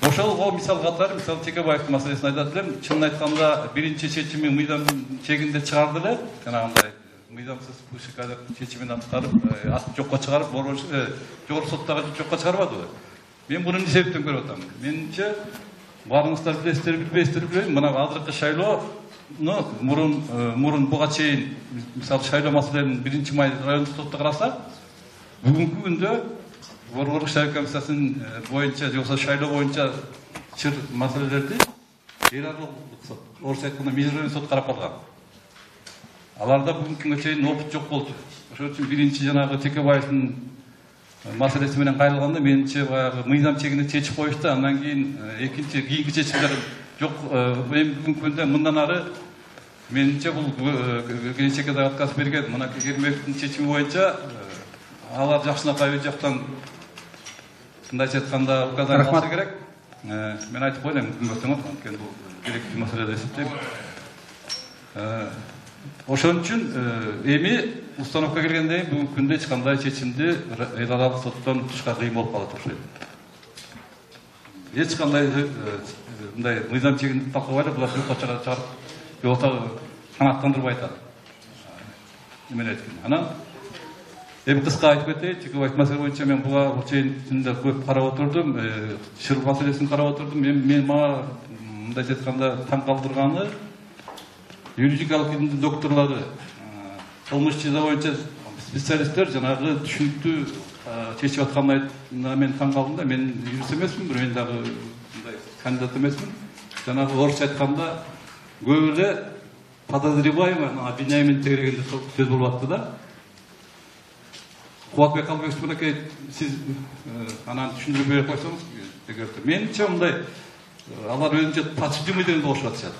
Ошолго мисал катары, мисалы Текебаевдин маселесин айтат элем. Чынын айтканда биринчи чечими мыйзамдын чегинде чыгарды эле, жанагындай мыйзамсыз БШК чечимин аткарып, жокко чыгарып, жогорку соттогу жокко чыгарбадыбы? Мен буну эмне себептен көрүп атам? Менимче, баарыңыздар билесиздер, билбейсиздер билбейм, мына азыркы шайлоону мурун буга чейин, мисалы шайлоо маселелерин 1-май райондук сотто караса, бүгүнкү күндө Борбор шайлоо комиссиясынын боюнча, же болбосо шайлоо боюнча чыр маселелерди эл аралык сот, орусча айтканда межрайондук сот карап алган. Аларда бүгүнкү күнгө чейин опыт жок болчу. Ошон үчүн биринчи жанагы Текебаевдин маселеси менен кайрылганда менимче баягы мыйзам чегинде чечип коюшту, андан кийин кийинки чечимдер жок. Бүгүнкү күндө мындан ары менимче бул келечекке да отказ берген мына Керимбековдун чечими боюнча алар жакшынакай жактан мындайча айтканда указание алса керек. Мен айтып коеюн, мүмкүн анткени бул керектүү маселе деп эсептейм. Ошон үчүн эми установка келгенден кийин бүгүнкү күндө эч кандай чечимди эл аралык соттон утушка кыйын болуп калат окшойт. Эч кандай мындай мыйзам чегиндип талкабай эле булар жокко чыгарып жолто канааттандырбай атат. Эмен айткан. Анан эми кыска айтып кетейин, чекебаев маселе боюнча мен буга чейин түндө көп карап отурдум, шыр маселесин карап отурдум. Мен мага мындайча айтканда таң калтырганы юридикалык илимдин докторлору, кылмыш жаза боюнча специалисттер жанагы түшүнүктүү чечип атканына мен таң калдым да. Мен юрист эмесмин, мен дагы мындай кандидат эмесмин. Жанагы орусча айтканда көп эле подозреваемый, обвиняемый тегерегенде сөз болуп атты да. Кубатбек Калбекович мынакей сиз анан түшүндүрүп берип койсоңуз дегенде. Менимче мындай алар өзүнчө подсудимый дегенди кошуп атышат.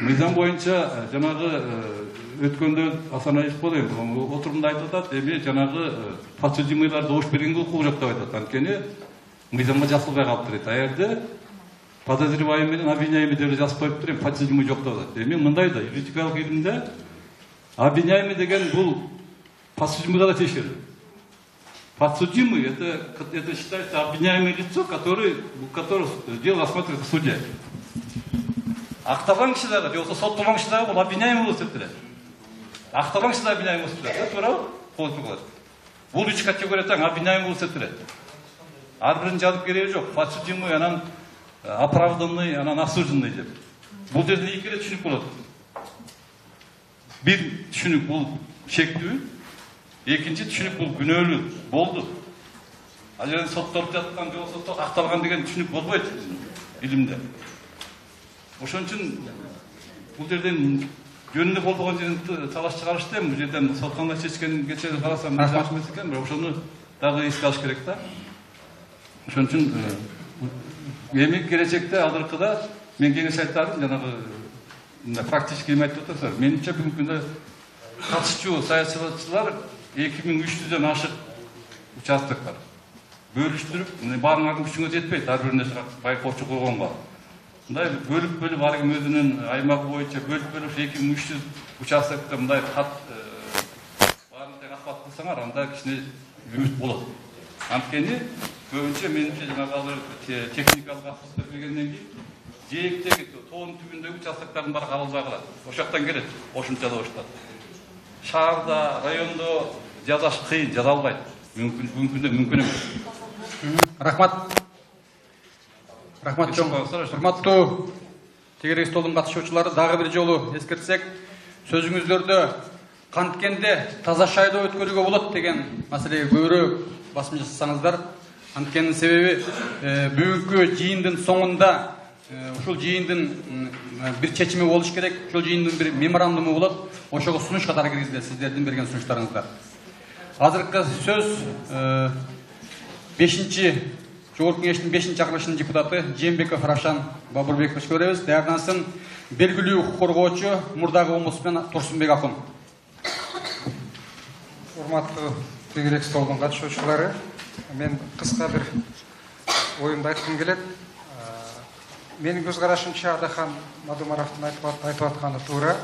Мыйзам боюнча жанагы өткөндө Асанаев болду, отурумда айтып атат, эми жанагы подсудимыйлар добуш бергенге укугу жок деп айтат. Анткени мыйзамга жазылбай калыптыр дейт. Аерде подозреваемый менен обвиняемый деп жазып коюптур, эми подсудимый жок деп атат. Эми мындай да, юридикалык илимде обвиняемый деген бул подсудимыйга да тиешелүү. Подсудимый это считается обвиняемое лицо, которое дело рассматривает в суде. Акталган киши дагы, жоксо соттолгон киши дагы бул обвиняемый болуп эсептелет. Акталган киши дагы обвиняемый болуп эсептелет. Туурабы? Бул 3 категория тең обвиняемый болуп эсептелет. Ар бирин жазып кереги жок. Подсудимый, анан оправданный, анан осужденный деп. Бул жерде 2 эле түшүнүк болот. Бир түшүнүк бул шектүү, экинчи түшүнүк бул күнөөлүү болду. Ал жерде соттолуп жаткан жоксо акталган деген түшүнүк болбойт илимде. Ошон үчүн бул жерден жөнүндө болбогон жерин талаш чыгарышты, бул жерден сотканда чечкенге чейин карасам жакшы эмес экен, бирок ошону дагы эске алыш керек да. Ошон үчүн эми келечекте азыркыда мен кеңеш айтарым, жанагы практически эме айтып атасыздар. Менимче бүгүнкү күндө катышчу саясатчылар 2300дөн ашык участок бар. Бөлүштүрүп, баарыңардын күчүңө жетпейт, ар бирине байкоочу койгонго. Мындай бөлүп ар ким өзүнүн аймагы боюнча бөлүп 2300 участокто мындай кат баарын тең акбат кылсаңар, анда кичине үмүт болот. Анткени көбүнчө менимче жанагы техникалык аксыздык бергенден кийин жээктеги тоонун түбүндөгү участоктордун баары кабылбай калат. Ошол жактан келет, кошумча да баштап. Шаарда, райондо жазаш кыйын, жаза албайт. Бүгүнкү күндө мүмкүн эмес. Рахмат. Рахмат чоң. Урматтуу тегерек столдун катышуучулары, дагы бир жолу эскертсек, сөзүңүздөрдө канткенде таза шайлоо өткөрүүгө болот деген маселеге көбүрөөк басым жасасаңыздар. Анткенин себеби бүгүнкү жыйындын соңунда ушул жыйындын бир чечими болуш керек, ушул жыйындын бир меморандуму болот. Ошого сунуш катары киргизилет сиздердин берген сунуштарыңыздар. Азыркы сөз 5-чи Жогорку кеңештин 5-чакырылышынын депутаты Жээнбеков Равшан Бабурбекович көрөбүз. Даярдансын белгилүү укук коргоочу мурдагы омбудсмен Турсунбек акын. Урматтуу тегерек столдун катышуучулары, мен кыска бир оюмду айткым келет. Менин көз карашымча Адахан Мадумаровдун айтып атканы туура.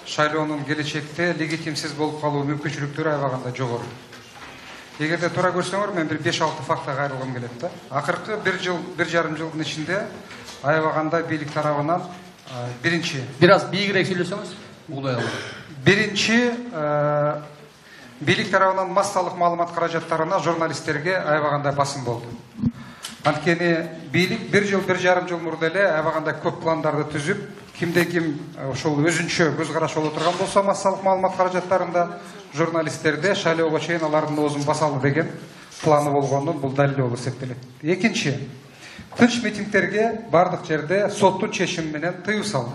Шайлоонун келечекте легитимсиз болуп калуу мүмкүнчүлүктөрү аябаганда жогору. Эгерде туура көрсөңөр, мен бир 5-6 фактка кайрылгым келет да. Акыркы 1 жарым жылдын ичинде аябаганда бийлик тарабынан биринчи бир аз бийигирээк сүйлөсөңүз угулай алам. Биринчи бийлик тарабынан массалык маалымат каражаттарына журналисттерге аябаганда басым болду. Анткени бийлик 1 жыл 1 жарым жыл мурда эле аябаганда көп пландарды түзүп, кимде ким ошол өзүнчө көз караш боло турган болсо массалык маалымат каражаттарында журналисттерде шайлоого чейин алардын оозун басалы деген планы болгонун бул далил болуп эсептелет. Экинчи, тынч митингтерге бардык жерде соттун чечими менен тыюу салды.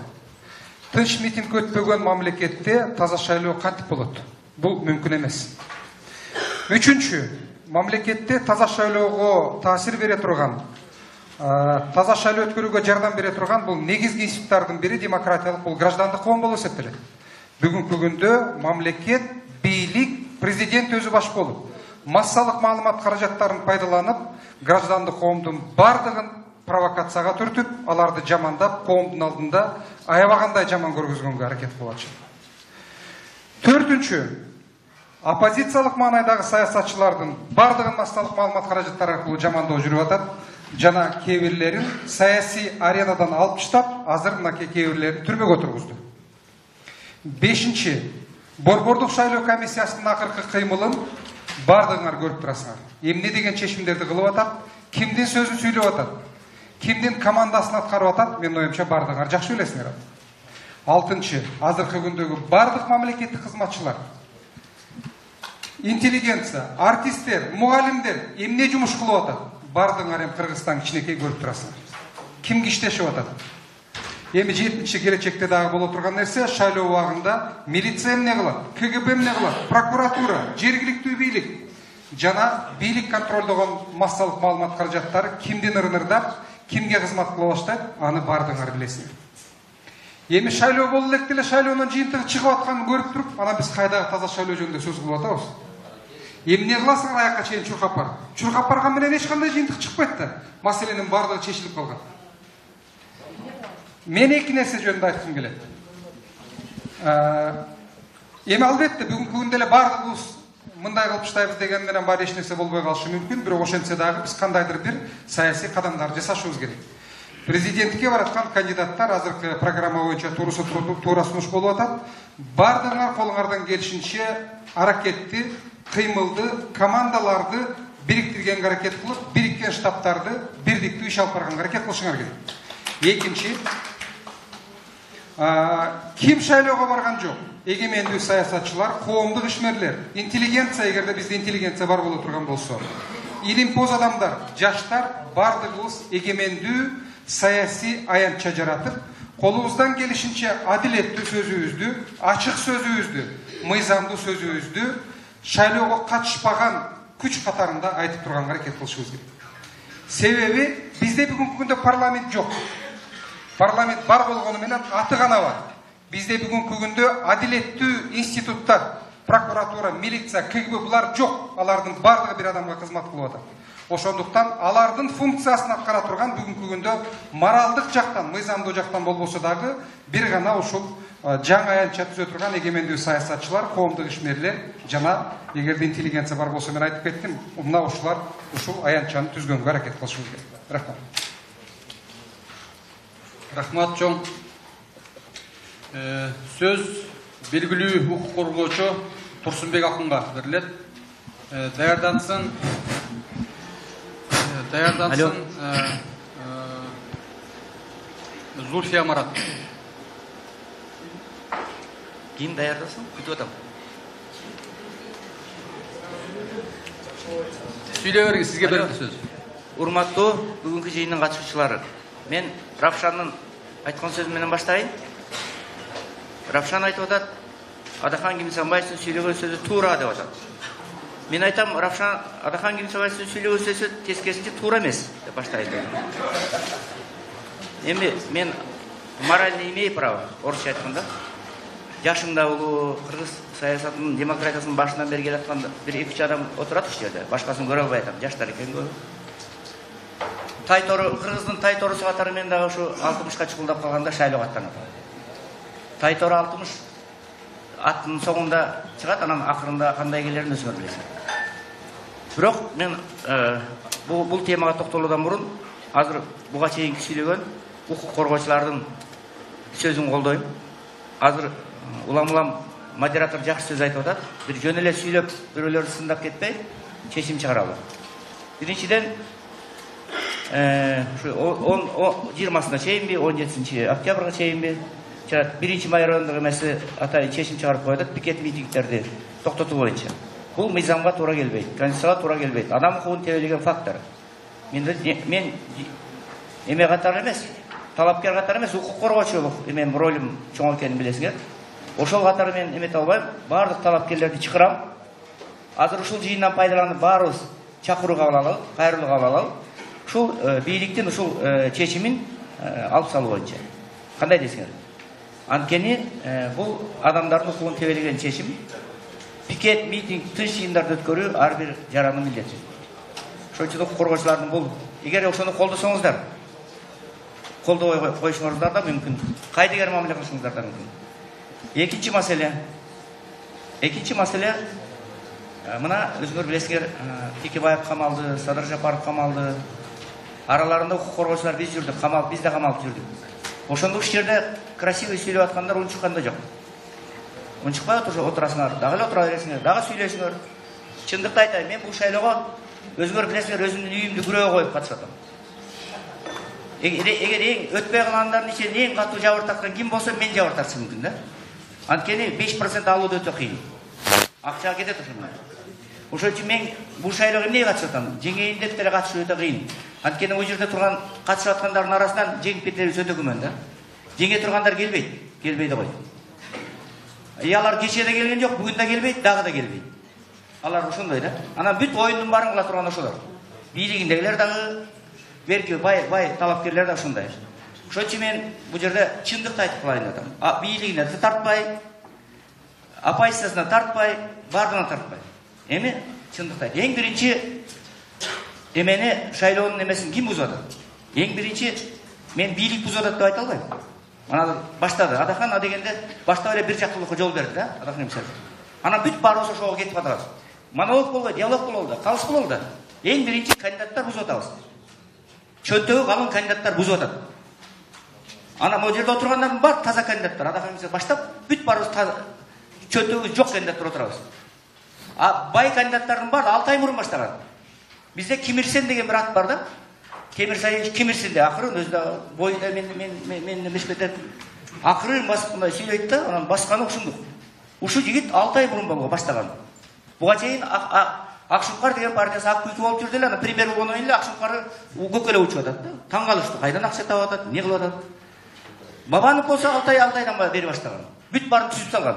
Тынч митинг өтпөгөн мамлекетте таза шайлоо кантип болот? Бул мүмкүн эмес. Үчүнчү, мамлекетте таза шайлоого таасир бере турган таза шайлоо өткөрүүгө жардам бере турган бул негизги институттардын бири демократиялык бул граждандык коом болуп эсептелет. Бүгүнкү күндө мамлекет, бийлик, президент өзү баш болуп, массалык маалымат каражаттарын пайдаланып, граждандык коомдун бардыгын провокацияга түртүп, аларды жамандап, коомдун алдында аябагандай жаман көргөзгөнгө аракет кылып атышат. Төртүнчү, оппозициялык маанайдагы саясатчылардын бардыгын массалык маалымат каражаттары аркылуу жамандоо жүрүп атат. Жана кээ бирлерин саясий аренадан алып таштап, азыр мынакей кээ бирлерин түрмөгө тургузду. Бешинчи, борбордук шайлоо комиссиясынын акыркы кыймылын бардыгыңар көрүп турасыңар. Эмне деген чечимдерди кылып атат, кимдин сөзүн сүйлөп атат, кимдин командасын аткарып атат, менин оюмча бардыгыңар жакшы билесиңер. Алтынчы, азыркы күндөгү бардык мамлекеттик кызматчылар, интеллигенция, артисттер, мугалимдер эмне жумуш кылып атат? Бардыгыңар эми Кыргызстан кичинекей көрүп турасыңар. Кимге иштешип атат? Эми 7-чи келечекте дагы боло турган нерсе, шайлоо убагында милиция эмне кылат, КГБ эмне кылат, прокуратура, жергиликтүү бийлик жана бийлик контролдогон массалык маалымат каражаттары кимдин ырынырдап, кимге кызмат кыла баштайт, аны бардыгыңар билесиңер. Эми шайлоо боло элек деле шайлоонун жыйынтыгы чыгып атканын көрүп туруп, анан биз кайдагы таза шайлоо жөнүндө сөз кылып атабыз. Эмне кыласыңар аякка чейин чуркап бар. Чуркап барган менен эч кандай жыйынтык чыкпайт да. Маселенин бардыгы чечилип калган. Мен эки нерсе жөнүндө айткым келет. Эми албетте бүгүнкү күндө эле бардыгыбыз мындай кылып таштайбыз деген менен баары эч нерсе болбой калышы мүмкүн, бирок ошентсе дагы биз кандайдыр бир саясий кадамдар жасашыбыз керек. Президентке бараткан кандидаттар азыркы программа боюнча туура сунуш болуп атат. Бардыгыңар колуңардан келишинче аракетти, кыймылды, командаларды бириктиргенге аракет кылып, бириккен штабтарды бирдиктүү иш алып барганга аракет кылышыңар керек. Экинчи, ким шайлоого барган жок? Эгемендүү саясатчылар, коомдук ишмерлер, интеллигенция, эгерде бизде интеллигенция бар боло турган болсо, илимпоз адамдар, жаштар бардыгыбыз эгемендүү саясий аянтча жаратып, колубуздан келишинче адилеттүү сөзүбүздү, ачык сөзүбүздү, мыйзамдуу сөзүбүздү шайлоого катышпаган күч катарында айтып турганга аракет кылышыбыз керек. Себеби бизде бүгүнкү күндө парламент жок. Парламент бар болгону менен аты гана бар. Бизде бүгүнкү күндө адилеттүү институттар, прокуратура, милиция, КГБ булар жок. Алардын бардыгы бир адамга кызмат кылып атат. Ошондуктан алардын функциясын аткара турган бүгүнкү күндө моралдык жактан, мыйзамдуу жактан болбосо дагы бир гана ушул жаңы аянтча түзө турган эгемендүү саясатчылар, коомдук ишмерлер жана эгерде интеллигенция бар болсо мен айтып кеттим, мына ушулар ушул аянтчаны түзгөнгө аракет кылышыбыз керек. Рахмат. Рахмат чоң. Сөз белгилүү укук коргоочу Турсунбек акынга берилет. Даярдансын Зульфия Марат. Ким даярдасын? Күтүп атам. Сүйлөй бериңиз, сизге берилди сөз. Урматтуу бүгүнкү жыйындын катышуучулары. Мен Равшандын айткан сөзү менен баштайын. Равшан айтып атат, Адахан Кимсанбаевдин сүйлөгөн сөзү туура деп атат. Мен айтам, Равшан Адахан Кимсанбаевдин сүйлөгөн сөзү тескерисинче туура эмес деп баштайын. Эми мен морально имею право, орусча айтканда. Жашым да улуу, кыргыз саясатынын, демократиясынын башынан бери келаткан бир 2-3 адам отурат ушул жерде. Башкасын көрө албай атам, жаштар экен көп. Тайтору, кыргыздын тайторусу катары мен дагы ушу 60ка чукулдап калганда шайлоого аттанат. Тайтору 60 аттын соңунда чыгат, анан акырында кандай келерин өзүңөр билесиңер. Бирок мен бул темага токтолуудан мурун азыр буга чейинки сүйлөгөн укук коргоочулардын сөзүн колдойм. Азыр улам модератор жакшы сөз айтып атат. Бир жөн эле сүйлөп, бирөөлөрдү сындап кетпей, чечим чыгаралы. Биринчиден, ушу 20-сына чейинби, 17-октябрга чейинби, 1-май райондук эмеси атайын чечим чыгарып коюп, пикет митингдерди токтотуу боюнча. Бул мыйзамга туура келбейт, конституцияга туура келбейт. Адам укугун тебелеген фактор. Мен эме катары эмес, талапкер катары эмес, укук коргоочулук эмен ролум чоң экенин билесиңер. Ошол катары мен эмете албайм, баардык талапкерлерди чакырам. Азыр ушул жыйындан пайдаланып баарыбыз чакыруу кабыл алалы, кайрылуу кабыл алалы. ушул бийликтин ушул чечимин алып салуу боюнча кандай дейсиңер? Анткени бул адамдардын укугун тебелеген чечим. Пикет, митинг, тынч жыйындарды өткөрүү ар бир жарандын милдети. Ошон үчүн укук коргоочулардын бул эгер ошону колдосоңуздар, колдобой коюшуңуздар да мүмкүн. Кайдыгер мамиле кылышыңыздар да мүмкүн. Экинчи маселе мына өзүңөр билесиңер, Текебаев камалды, Садыр Жапаров камалды. Араларында укук коргоочулар биз жүрдүк, биз да камалып жүрдүк. Ошондук жерде красивый сүйлөп аткандар унчуккан да жок. Унчукпай отурасыңар, дагы эле отура бересиңер, дагы сүйлөшүңөр. Чындыкты айтайын, мен бул шайлоого өзүңөр билесиңер, өзүмдүн үйүмдү күрөөгө коюп катышып атам. Эгер эң өтпөй калгандардын ичинен эң катуу жабыр тарткан ким болсо, мен жабыр тартышым мүмкүн да. Анткени 5% алуу өтө кыйын. Акча кетет ошондон. Ошон үчүн мен бул шайлоого эмнеге катышып атам? Жеңейин деп деле катышуу өтө кыйын. Анткени бул жерде турган катышып аткандардын арасынан жеңип кетерибиз өтө күмөн да. Жеңе тургандар келбейт да койт. Алар кечээ да келген жок, бүгүн да келбейт, дагы да келбейт. Алар ошондой да. Анан бүт оюндун баарын кыла турган ошолор. Бийлигиндегилер дагы, берки бай талапкерлер да ошондой. Ошон үчүн мен бул жерде чындыкты айтып калайын деп атам. Бийлигине тартпай, оппозициясына тартпай, бардыгына тартпай. Эми чындыкты айт. Эң биринчи эмени шайлоонун эмесин ким бузуп атат? Эң биринчи мен бийлик бузуп атат деп айта албайм. Анан баштады. Адахан дегенде баштап эле бир жактуулукка жол берди да, Адахан эмес. Анан бүт баарыбыз ошого кетип атабыз. Монолог болбой, диалог бололду, калыс бололду. Эң биринчи кандидаттар бузуп атабыз. Чөнтөгү калың кандидаттар бузуп атат. Анан могу жерде отургандардын баары таза кандидаттар. Адахан эмес баштап бүт баарыбыз чөнтөгү жок кандидаттар отурабыз. Бай кандидаттардын баары 6 ай мурун баштаган. Бизде Кимирсен деген бир ат бар да. Кимирсен де акырын өзү да бойда мен эмеспетет. Акырын басып мындай сүйлөйт да, анан басканы ушундук. Ушу жигит 6 ай мурун баштаган. Буга чейин Акшукар деген партиясы ак күлкү болуп жүрдү эле, анан премьер болгондон кийин эле Акшукары көкөлө учуп атат да. Таң калышты. Кайдан акча таап атат, эмне кылып атат? Бабанов болсо 6 айдан бери баштаган. Бүт баарын түзүп салган.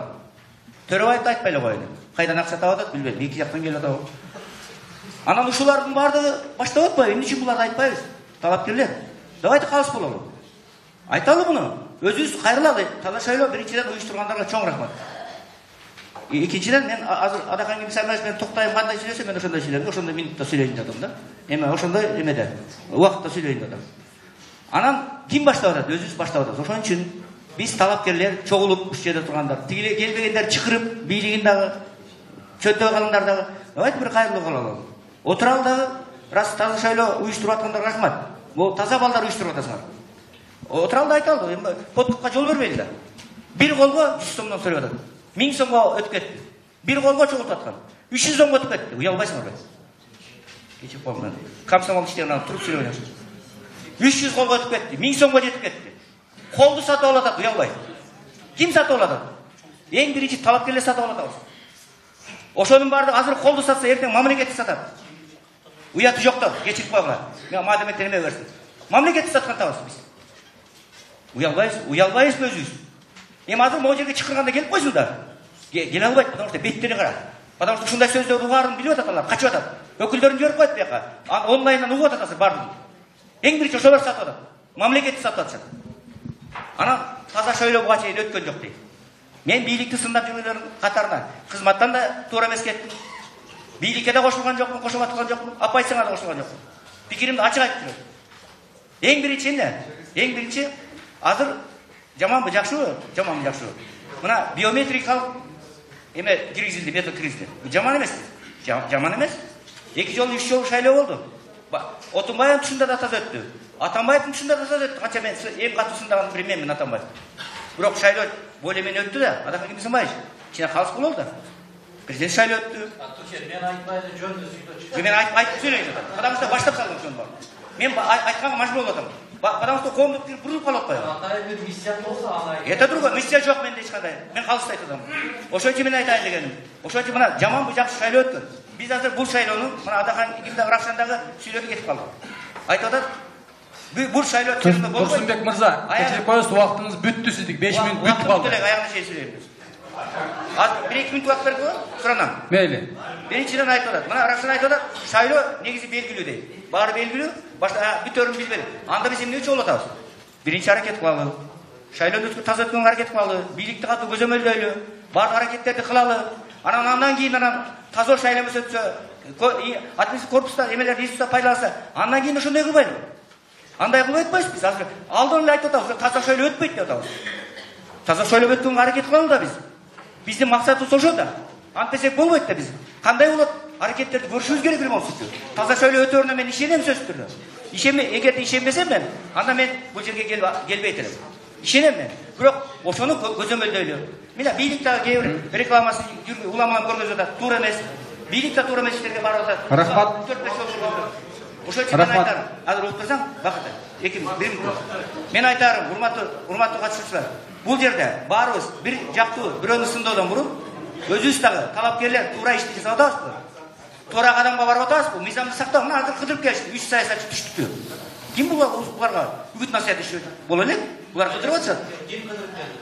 Төрөбаевди айтпай эле коелу. Кайдан акча таап атат билбейм, эки жактан келип атабы. Анан ушулардын баардыгы баштап атпайбы? Эмне үчүн буларды айтпайбыз? Талапкерлер. Давайте калыс бололу. Айталы муну. Өзүбүз кайрылалы. Таза шайлоо биринчиден уюштургандарга чоң рахмат. Экинчиден мен азыр Адахан Кимсамаев мен токтойм кандай сүйлөсөм, мен ошондой сүйлөйм, ошондой минутта сүйлөйүн деп атам да. Эми ошондой эмеде убакытта сүйлөйүн деп атам. Анан ким баштап атат? Өзүбүз баштап атабыз. Ошон үчүн биз талапкерлер чогулуп ушул жерде тургандар, тигиле келбегендер чакырып, бийлигин дагы, чөнтөгү калыңдар дагы, давайте бир кайрылуу кылалы. Отуралы дагы, раз таза шайлоо уюштуруп аткандарга рахмат. Бул таза балдар уюштуруп атасыңар. Отуралы да айталы, эми подкупка жол бербейли да. Бир колго 100 сомдон төлөп атат. 1000 сомго өтүп кетти. Бир колго чогултуп аткан. 300 сомго өтүп кетти. Уялбайсыңарбы? Кечип калган. Комсомол иштеген туруп сүйлөйм. 300 колго өтүп кетти. 1000 сомго жетип кетти. Колду сатып алып атат, уялбай. Ким сатып алып атат? Эң биринчи талапкерлер сатып алып атабыз. Ошонун баардыгы азыр колду сатса, эртең мамлекетти сатат. Уяты жок да, кечирип койгула. Мен мадеметтен эме берсин. Мамлекетти саткан табыз биз. Уялбайбыз өзүбүз. Эми азыр могу жерге чакырганда келип койсун да. Келе албайт, потому что беттери кара. Потому что ушундай сөздөрдү угаарын билип атат алар, качып атат. Өкүлдөрүн жиберип коет бияка. Онлайндан угуп атат азыр баардыгын. Эң биринчи ошолор сатып атат. Мамлекетти сатып атышат. Анан таза шайлоо буга чейин өткөн жок дейт. Мен бийликти сындап жүргөндөрдүн катарына кызматтан да туура эмес кеттим. Бийликке да кошулган жокмун, кошуп аткан жокмун, оппозицияга да кошулган жокмун. Пикиримди ачык айтып жүрөм. Эң биринчи эмне? Эң биринчи азыр жаманбы, жакшыбы? Жаманбы, жакшыбы? Мына биометрикалык эме киргизилди, метод киргизилди. Жаман эмес. Жаман эмес. 2 жолу, 3 жолу шайлоо болду. Отунбаевдин тушунда да таза өттү. Атамбаевдин тушунда да таза өттү. Канча мен эң катуу сындаган менмин Атамбаев. Бирок шайлоо болемен өттү да, Адахан Кимсамаев. Кичине калыс бололду да. Президент шайлоо өттү. Мен айтпайды, жөндө сүйлөчү. Мен айтып сүйлөйүн атам. Потому что баштап салдым ошону бар. Мен айтканга мажбур болуп атам. Потому что коомдук бурулуп калып атпайбы? Андай бир миссия болсо аны. Это другое, миссия жок менде эч кандай. Мен калыс айтам. Ошон үчүн мен айтайын дегеним. Ошон үчүн мына жаманбы, жакшы шайлоо өткөн. Биз азыр бул шайлоону мына Адахан Кимдагы Рахшандагы сүйлөдү кетип калдык. Айтып атат. Бул шайлоо өткөндө болбойт. Турсунбек мырза, кечирип коесуз, убактыңыз бүттү сиздик. 5 мүнөт бүттү калды. Аягына чейин сүйлөйм. Азыр 1-2 мүнөт убакыт берип коет, суранам. Мейли. Биринчиден айтып атат. Мына Рашид айтып атат, шайлоо негизи белгилүү дейт. Баары белгилүү, башка бүтөрүн билбедик. Анда биз эмне үчүн атабыз? Биринчи аракет кылалы. Шайлоону таза өткөнгө аракет кылалы, бийликти катуу көзөмөлдөйлү, баардык аракеттерди кылалы. Андан кийин таза шайлоо өтсө, административдик корпуста эмелер ресурстар пайдаланса, андан кийин ошондой кылбайлы. Андай кылып атпайбыз биз. Азыр алдын эле айтып атабыз, таза шайлоо өтпөйт деп атабыз. Таза шайлоо өткөнгө аракет кылалы да биз. Биздин максатыбыз ошо да. Антпесек болбойт да биз. Кандай болот? Аракеттерди көрүшүбүз керек эле болсучу. Таза шайлоо өтөрүнө мен ишенем сөзсүз түрдө. Эгерде ишенбесем мен, анда мен бул жерге келбейт элем. Ишенем мен. Бирок ошону көзөмөлдөйлү. Мына бийлик дагы кээ бир рекламасын уламалап көргөзүп атат. Туура эмес. Бийлик да туура эмес иштерге барып атат. Рахмат. Ошол үчүн мен айтарым. Азыр угуп турсаң, бакыт. Мен айтарым, урматтуу катышуучулар. Бул жерде баарыбыз бир жактуу бирөөнү сындоодон мурун өзүбүз дагы талапкерлер туура ишти жасап атабызбы? Туура кадамга барып атабызбы? Мыйзамды сактап, мына азыр кыдырып келишти, 3 саясатчы түштүктү. Ким буларга үгүт насаат иши боло элек? Булар кыдырып атышат.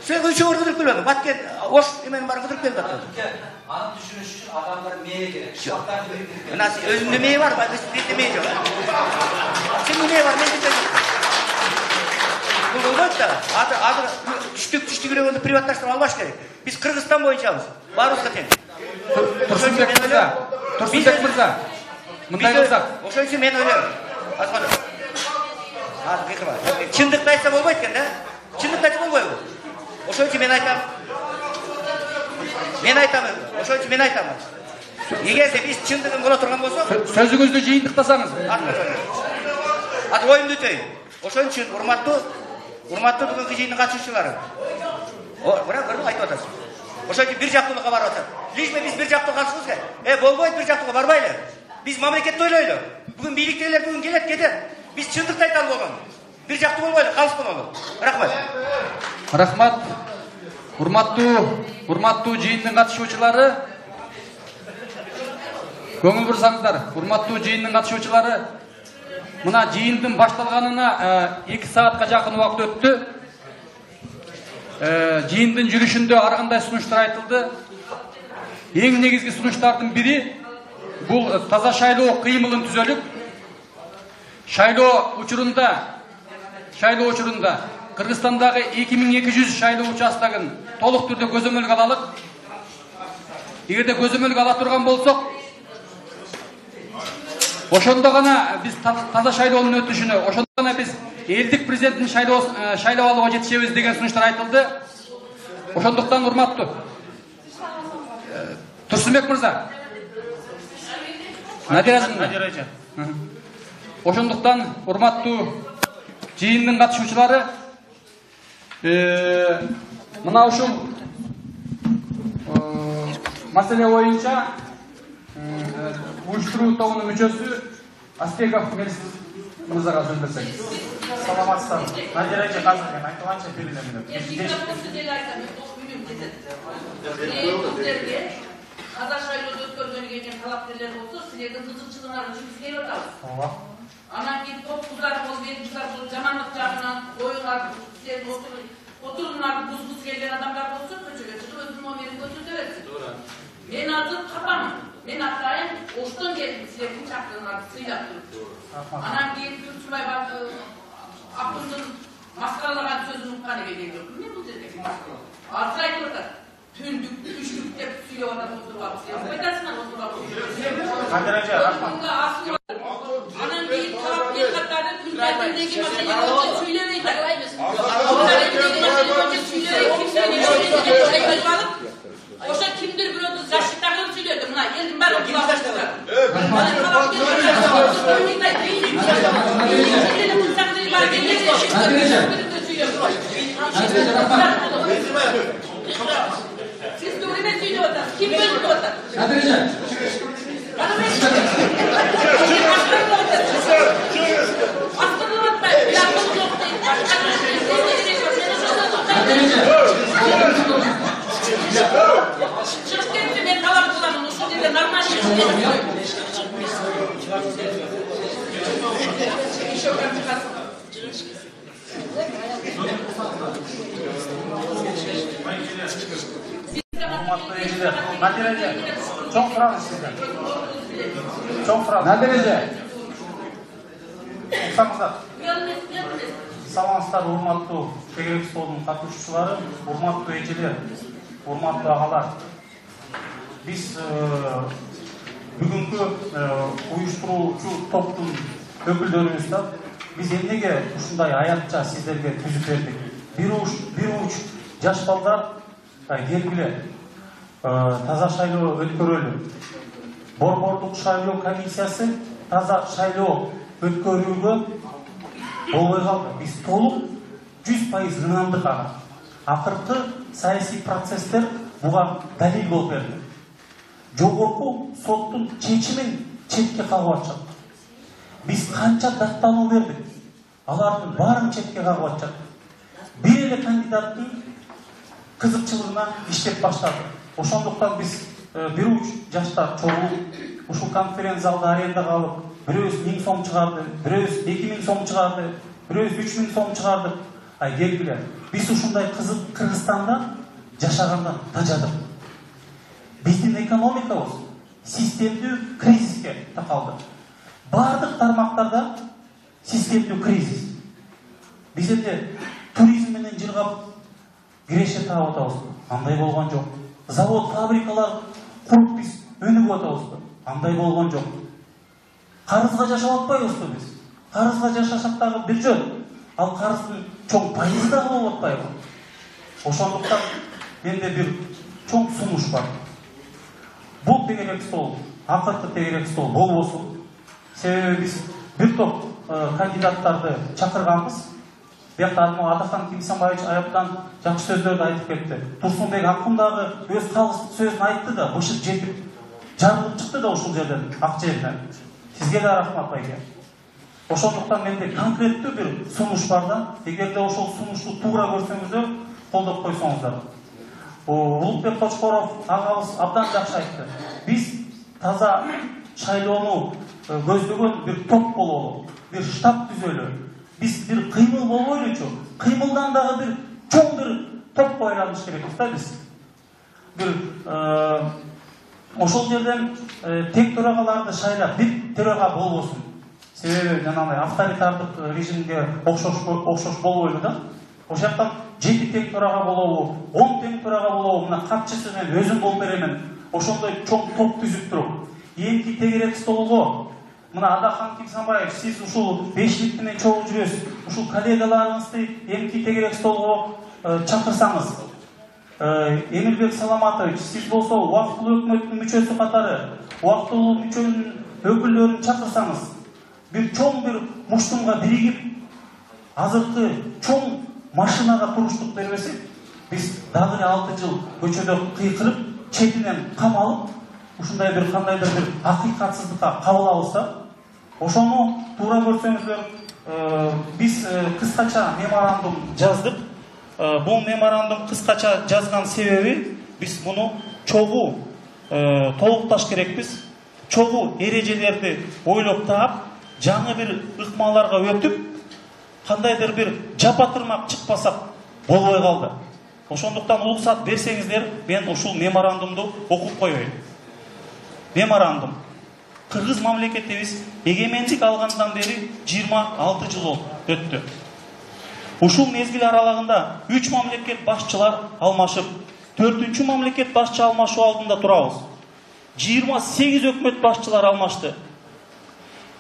Сен үчөө кыдырып келбеди. Баткен ош эменин баары кыдырып келип атат. Аны түшүнүш үчүн адамдар мээ керек. Мына өзүндө мээ бар, бизде мээ жок. Сенде мээ бар, менде жок. Бул болбойт да. Азыр түштүк эле приватташтырып албаш керек. Биз Кыргызстан боюнчабыз. Баарыбызга тең. Турсунбек мырза. Мындай кылсак. Ошон үчүн мен ойлойм. Чындыкты айтса болбойт экен да. Чындыкты айтса болбойбу? Ошон үчүн мен айтам. Ошон үчүн мен айтам. Эгерде биз чындыгын боло турган болсок, сөзүңүздү жыйынтыктасаңыз. Азыр оюмду өтөйүн. Ошон үчүн урматтуу бүгүнкү жыйындын катышуучулары. Бирок айтып атасыз. Ошон үчүн бир жактуулукка барып атат. Лишме биз бир жактуу калышыбыз керек. Болбойт, бир жактууга барбайлы. Биз мамлекетти ойлойлу. Бүгүн бийликтегилер бүгүн келет, кетет. Биз чындыкты айталы болгон. Бир жактуу болбойлу, калышкан бололу. Рахмат. Рахмат. Урматтуу жыйындын катышуучулары. Көңүл бурсаңыздар. Урматтуу жыйындын катышуучулары. Мына жыйындын башталганына 2 саатка жакын убакыт өттү. Жыйындын жүрүшүндө ар кандай сунуштар айтылды. Эң негизги сунуштардын бири бул таза шайлоо кыймылын түзөлүп, шайлоо учурунда Кыргызстандагы 2200 шайлоо участогун толук түрдө көзөмөлгө алалык. Эгерде көзөмөлгө ала турган болсок, ошондо гана биз таза шайлоонун өтүшүнө, ошондо гана биз элдик президенттин шайлоп алууга жетишебиз деген сунуштар айтылды. Ошондуктан урматтуу Турсунбек мырза. Надира. Ошондуктан урматтуу жыйындын катышуучулары, мына ушул маселе боюнча уюштуруу тобунун мүчөсү Аспеков мырзага сөз берсеңиз. Саламатсыздар. Надира эже азыр мен айтылганча берилем. Таза шайлоодо өткөргөнгө келген талапкерлер болсо, силердин кызыкчылыгыңар үчүн биз келип атабыз. Анан кийин топкуздар болуп, элдикдар болуп, жамандык жагынан оюңар, силердин отурумдарды бузгусу келген адамдар болсо, көчөгө чыгып өзүнүн номерин көрсөтө берсин. Мен азыр капамын. Мен атайын оштон келдим силердин чакыргыңарды сыйлап туруп. Анан кийин Турсунбай акындын маскаралаган сөзүн уккан экен. Эмне бул жерде маскаралоо? Азыр айтып атат. Түндүк, түштүк деп сүйлөп атат отурбап. Сен кайтасыңар отурбап. Анан кийин талапкер катары күндөгү маселени сүйлөбөйт. Ошо кимдир бирөөдү защитаган сүйлөдү. Мына элдин баары кулакташты. Siz doğru ne söylüyorsunuz? Kim bölümde orada? Nadire. урматтуу эжелер. Надир эже, чоң сураңыз сизден. Чоң сураңыз. Надир эже. Уксаңыздар. Саламатсыздар, урматтуу тегерек столдун катышуучулары, урматтуу эжелер, урматтуу агалар. Биз бүгүнкү уюштуруучу топтун өкүлдөрүбүз да биз эмнеге ушундай аятча сиздерге түзүп бердик? Бир уч жаш балдар келгиле, таза шайлоо өткөрөлү. Борбордук шайлоо комиссиясы таза шайлоо өткөрүүгө болбой калды. Биз толук 100% ынандык ага. Акыркы саясий процесстер буга далил болуп берди. Жогорку соттун чечимин четке кагып атышат. Биз канча даттануу бердик, алардын баарын четке кагып атышат. Бир эле кандидаттын кызыкчылыгына иштеп баштады. Ошондуктан биз бир уч жаштар чогулуп ушул конференц залда арендага алып, бирөөбүз 1000 сом чыгарды, бирөөбүз 2000 сом чыгарды, бирөөбүз 3000 сом чыгардык. Келгиле, биз ушундай кызык Кыргызстанда жашагандан тажадык. Биздин экономикабыз системдүү кризиске такалды. Бардык тармактарда системдүү кризис. Биз эмне туризм менен жыргап киреше таап атабыз? Андай болгон жок. Завод, фабрикалар куруп биз өнүгүп атабыз? Андай болгон жок. Карызга жашап атпайбызбы биз? Карызга жашасак дагы бир жөн. Ал карыздын чоң пайызы дагы болуп атпайбы? Ошондуктан менде бир чоң сунуш бар. Бул тегерек стол, акыркы тегерек стол болбосун. Себеби биз бир топ кандидаттарды чакырганбыз. Биякта Адахан Кимсанбаевич аяктан жакшы сөздөрдү айтып кетти. Турсунбек Акын дагы өз калыстык сөзүн айтты да, бышык жетип жарылып чыкты да ушул жерден, ак жерден. Сизге да рахмат байке. Ошондуктан менде конкреттүү бир сунуш бар да, эгерде ошол сунушту туура көрсөңүздөр, колдоп койсоңуздар. Улукбек Кочкоров агабыз абдан жакшы айтты. Биз таза шайлоону көздөгөн бир топ бололу, бир штаб түзөлү. Биз бир кыймыл болбойлучу, кыймылдан дагы бир чоң бир топ байланыш керекпиз да биз. Бир ошол жерден тең төрагаларды шайлап, бир төрага болбосун. Себеби жанагындай авторитардык режимге окшош болбойлу да. Ошол жактан 7 тең төрага болобу, 10 тең төрага болобу, мына катчысы мен өзүм болуп беремен. Ошондой чоң топ түзүп туруп, эмки тегерек столго мына Адахан Кимсанбаев, сиз ушул бешлик менен чогуу жүрөсүз. Ушул коллегаларыңызды эмки тегерек столго чакырсаңыз, Эмилбек Саламатович, сиз болсо убактылуу өкмөттүн мүчөсү катары, убактылуу мүчөнүн өкүлдөрүн чакырсаңыз, бир чоң бир муштумга биригип, азыркы чоң машинага туруштук бербесек, биз дагы 6 жыл көчөдө кыйкырып, четинен камалып, ушундай бир кандайдыр бир акыйкатсыздыкка кабылабыз да. Ошону туура көрсөңүздөр, биз кыскача меморандум жаздык. Бул меморандум кыскача жазган себеби, биз муну чогуу толукташ керекпиз. Чогуу эрежелерди ойлоп таап, жаңы бир ыкмаларга өтүп, кандайдыр бир жапатырмак чыкпасак болбой калды. Ошондуктан уруксат берсеңиздер, мен ушул меморандумду окуп коеюн. Меморандум. Кыргыз мамлекетибиз эгемендик алгандан бери 26 жыл өттү. Ушул мезгил аралыгында 3 мамлекет башчылар алмашып, 4-чү мамлекет башчы алмашуу алдында турабыз. 28 өкмөт башчылар алмашты.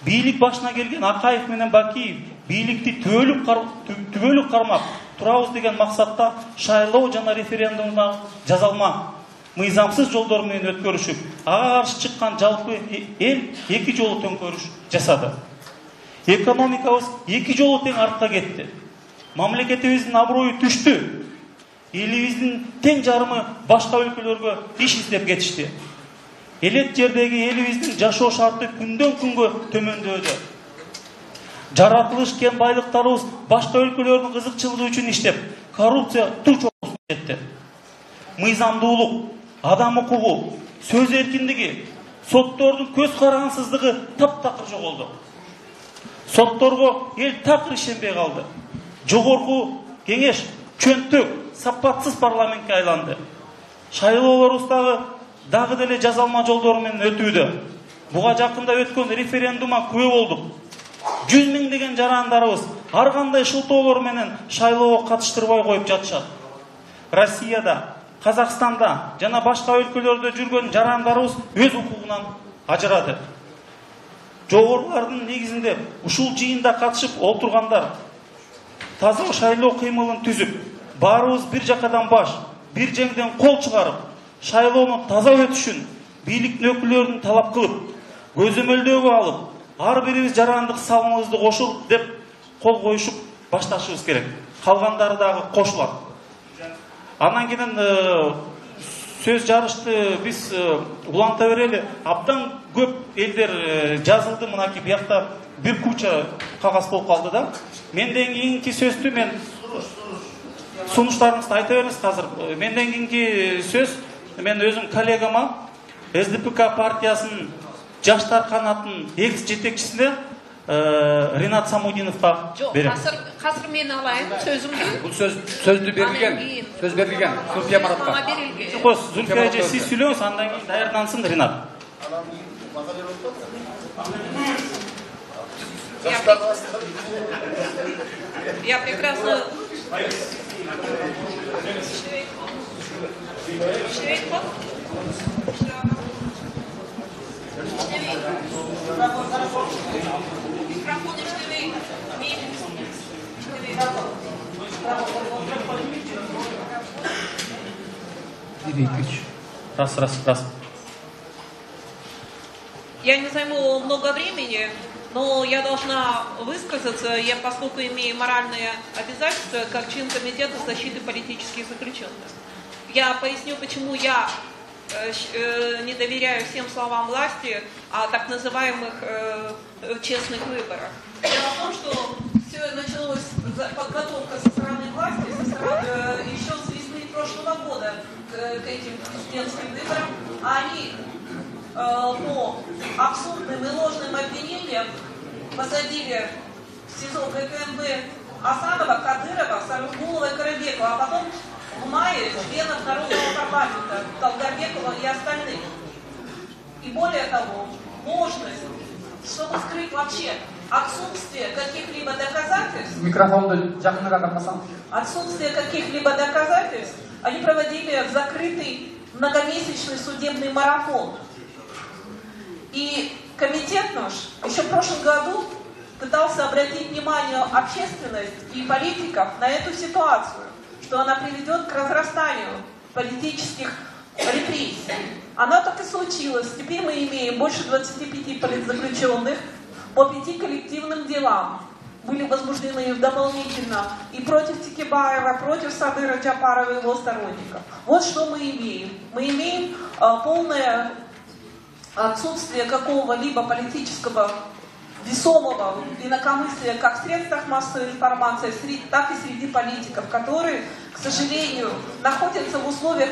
Бийлик башына келген Акаев менен Бакиев бийликти түбөлүк кармап турабыз деген максатта шайлоо жана референдумда жазалма мыйзамсыз жолдор менен өткөрүшүп, ага каршы чыккан жалпы эл 2 жолу төңкөрүш жасады. Экономикабыз 2 жолу тең артка кетти. Мамлекетибиздин аброю түштү. Элибиздин тең жарымы башка өлкөлөргө иш издеп кетишти. Элет жердеги элибиздин жашоо шарты күндөн күнгө төмөндөдү. Жаратылыш кен байлыктарыбыз башка өлкөлөрдүн кызыкчылыгы үчүн иштеп, коррупция туу чокусуна жетти. Мыйзамдуулук, адам укугу, сөз эркиндиги, соттордун көз карансыздыгы таптакыр жоголду. Сотторго эл такыр ишенбей калды. Жогорку кеңеш чөнтөк, сапатсыз парламентке айланды. Шайлоолорубуздагы дагы деле жазалма жолдор менен өтүүдө. Буга жакында өткөн референдумга күбө болдук. 100 миңдеген жарандарыбыз ар кандай шылтоолор менен шайлоого катыштырбай коюп жатышат. Россияда, Казакстанда жана башка өлкөлөрдө жүргөн жарандарыбыз өз укугунан ажырады. Жогорулардын негизинде ушул жыйында катышып олтургандар таза шайлоо кыймылын түзүп, баарыбыз бир жакадан баш, бир жеңден кол чыгарып, шайлоону таза өтүшүн бийликтин өкүлдөрүн талап кылып, көзөмөлдөөгө алып, ар бирибиз жарандык салымыбызды кошуп деп кол коюшуп башташыбыз керек. Калгандары дагы кошулат. Анан кийин сөз жарышты биз уланта берели. Абдан көп элдер жазылды, мынакей биякта бир куча кагаз болуп калды да. Менден кийинки сөздү мен сунуштарыңызды айта бериңиз азыр. Менден кийинки сөз мен өзүм коллегама СДПК партиясынын жаштар канатынын экс жетекчисине Ринат Самудиновго берем. Азыр мен алайын сөзүмдү. Бул сөздү берилген. Сөз берилген. Зульфия Маратка. Жок, Зульфия эже сиз сүйлөңүз, андан кийин даярдансын Ринат. Я прекрасно... Раз. Я не займу много времени, но я должна высказаться, поскольку имею моральные обязательства как член Комитета защиты политических заключенных. Я поясню, почему я не доверяю всем словам власти о так называемых честных выборах. Дело в том, что все началось, подготовка со стороны власти, еще с весны прошлого года к этим президентским выборам. Они по абсурдным и ложным обвинениям посадили в СИЗО ГКНБ Асанова, Кадырова, Сарыгулова и Карабекова, а потом в мае членов Народного парламента Долгорбекова и остальных. И более того, ложность, чтобы скрыть вообще отсутствие каких-либо доказательств. Отсутствие каких-либо доказательств они проводили закрытый многомесячный судебный марафон. И комитет наш еще в прошлом году пытался обратить внимание общественности и политиков на эту ситуацию, что она приведет к разрастанию политических репрессий. Оно так и случилось. Теперь мы имеем больше 25 политзаключенных по 5 коллективным делам. Были возбуждены дополнительно и против Текебаева, против Садыра Джапарова и его сторонников. Вот что мы имеем. Мы имеем полное отсутствие какого-либо политического весомого инакомыслия как в средствах массовой информации, так и среди политиков, которые, к сожалению, находятся в условиях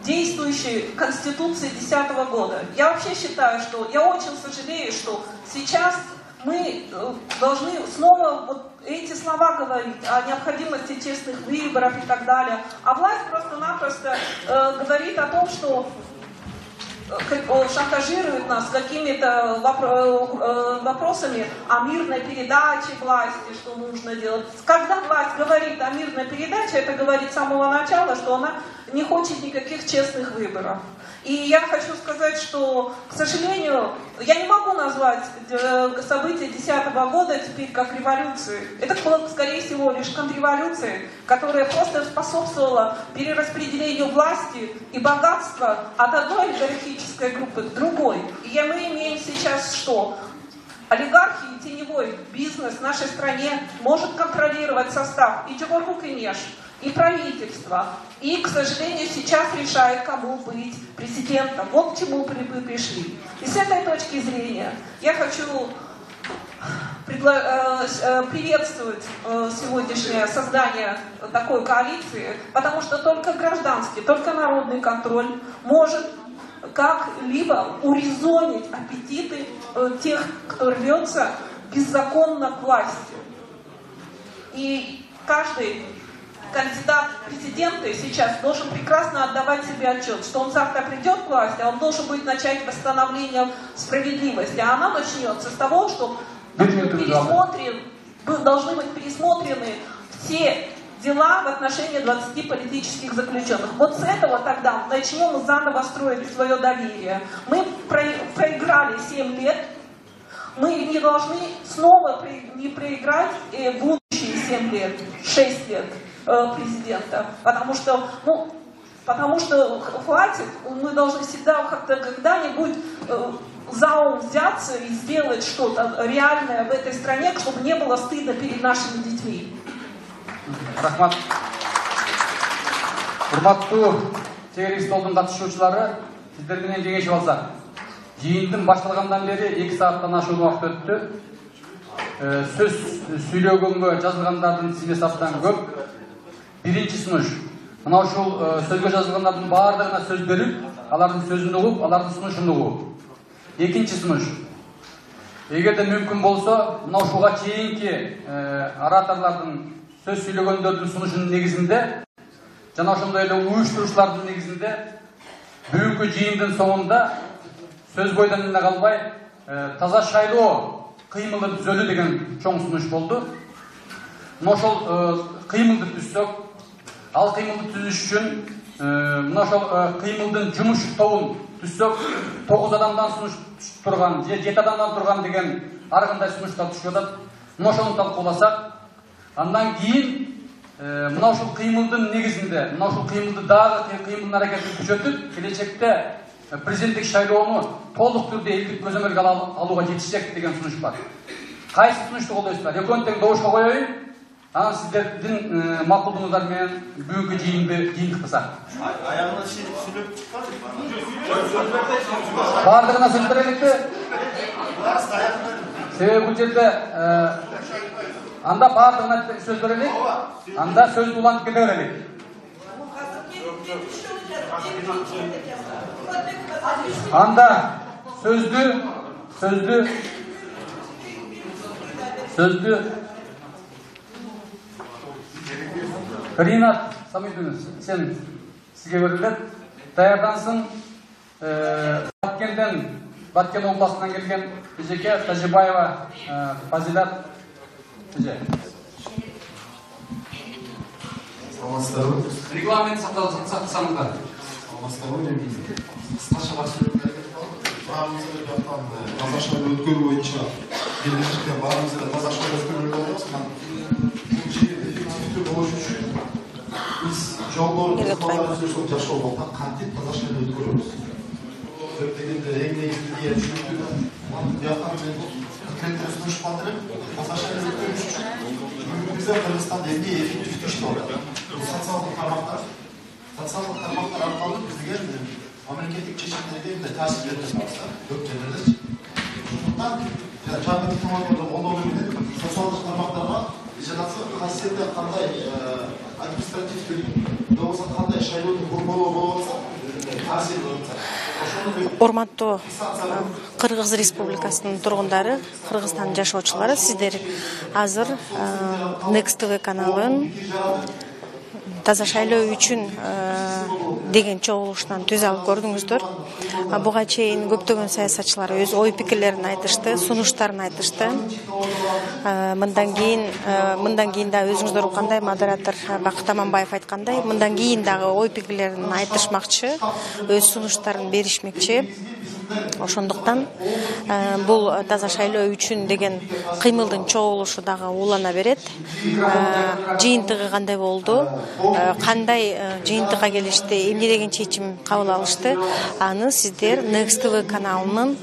действующей Конституции 2010 года. Я вообще считаю, что я очень сожалею, что сейчас мы должны снова вот эти слова говорить о необходимости честных выборов и так далее. А власть просто-напросто говорит о том, что шантажирует нас какими-то вопросами о мирной передаче власти, что нужно делать. Когда власть говорит о мирной передаче, это говорит с самого начала, что она не хочет никаких честных выборов. И я хочу сказать, что, к сожалению, я не могу назвать события 2010 года теперь как революцией. Это было, скорее всего, лишь контрреволюция, которая просто способствовала перераспределению власти и богатства от одной олигархической группы к другой. И мы имеем сейчас что? Олигархи и теневой бизнес в нашей стране может контролировать состав и Джогорку Кенеш, и правительство. И, к сожалению, сейчас решает, кому быть президентом. Вот к чему мы пришли. И с этой точки зрения я хочу приветствовать сегодняшнее создание такой коалиции, потому что только гражданский, только народный контроль может как-либо урезонить аппетиты тех, кто рвется беззаконно к власти. И каждый кандидат в президенты сейчас должен прекрасно отдавать себе отчет, что он завтра придет к власти, а он должен будет начать восстановление справедливости. А она начнется с того, что должны быть пересмотрены все дела в отношении 20 политических заключенных. Вот с этого тогда начнем заново строить свое доверие. Мы проиграли 7 лет, мы не должны снова не проиграть будущие 7 лет, 6 лет президента. Потому что хватит, мы должны всегда как-то когда-нибудь за ум взяться и сделать что-то реальное в этой стране, чтобы не было стыдно перед нашими детьми. Рахмат. Урматтуу чегири столдун катышуучулары, сиздер менен кеңешип алсак. Жыйындын башталгандан бери 2 сааттан ашуун убакыт өттү. Сөз сүйлөгөнгө жазылгандардын тизмеси абдан көп. Биринчи сунуш. Мына ушул сөзгө жазылгандардын баардыгына сөз берип, алардын сөзүн угуп, алардын сунушун угуп. Экинчи сунуш. Эгерде мүмкүн болсо, мына ушуга чейинки ораторлордун сөз сүйлөгөндөрдүн сунушунун негизинде жана ошондой эле уюштуруучулардын негизинде бүгүнкү жыйындын соңунда сөз бойдон эле калбай таза шайлоо кыймылы түзөлүү деген чоң сунуш болду. Мына ошол кыймылды түзсөк, ал кыймылды түзүш үчүн мына ошол кыймылдын жумуш тобун түзсөк, 9 адамдан сунуш турган же 7 адамдан турган деген ар кандай сунуштар түшүп атат. Мына ошону талкууласак, андан кийин мына ушул кыймылдын негизинде, мына ушул кыймылды дагы кыймылдын аракетин күчөтүп, келечекте президенттик шайлоону толук түрдө элдик көзөмөлгө алууга жетишecek деген сунуш бар. Кайсы сунушту колдойсуздар? Экөөнү тең добушка коеюн. Анан сиздердин макулдугуңуздар менен бүгүнкү жыйынды жыйынтыкпасак. Аягына сүйлөп чыкпадык. Бардыгына сөз береликпи? Себеби бул жерде анда бардыгына сөз берелик, анда сөздү улантып кете берелик. Анда сөздү Ринат Самидович, сен сизге берилет. Даярдансын. Баткен областынан келген Эжеке Тажибаева Фазилат Эже. Саламатсыздарбы? Регламент сактасаңыздар. Саламатсыздарбы? Кыскача баарыбызга жактан таза шайлоо өткөрүү боюнча келишиште баарыбызга таза шайлоо өткөрүүгө болобуз. Бул жер эффективдүү болуш үчүн биз жолдорду жашоого кантип таза шайлоо өткөрөбүз. Дегенде эң негизги идея түшүнүктүү. Бияктан мен конкреттүү сунуш калтырып, таза шайлоо өткөрүш үчүн бизде Кыргызстанда эмне эффективдүү иштеп атат. Социалдык тармактар аркылуу бизге мамлекеттик чечимдерге таасир берип атабыз, көп жерлерде. Ошондуктан жаңы технологияларды колдонуу менен социалдык тармактарга жанагы касиетте кандай административдик болбосо кандай шайлоонун борбору болуп атса, таасир болуп атат. Урматтуу Кыргыз Республикасынын тургундары, Кыргызстандын жашоочулары, сиздер азыр Next TV каналын таза шайлоо үчүн деген чогулушунан түз алып көрдүңүздөр. Буга чейин көптөгөн саясатчылар өз ой пикирлерин айтышты, сунуштарын айтышты. Мындан кийин да өзүңүздөр уккандай модератор Бакыт Аманбаев айткандай, мындан кийин дагы ой пикирлерин айтышмакчы, өз сунуштарын беришмекчи. Ошондуктан бул таза шайлоо үчүн деген кыймылдын чогулушу дагы улана берет. Жыйынтыгы кандай болду? Кандай жыйынтыкка келишти? Эмне деген чечим кабыл алышты? Аны сиздер Next TV каналынын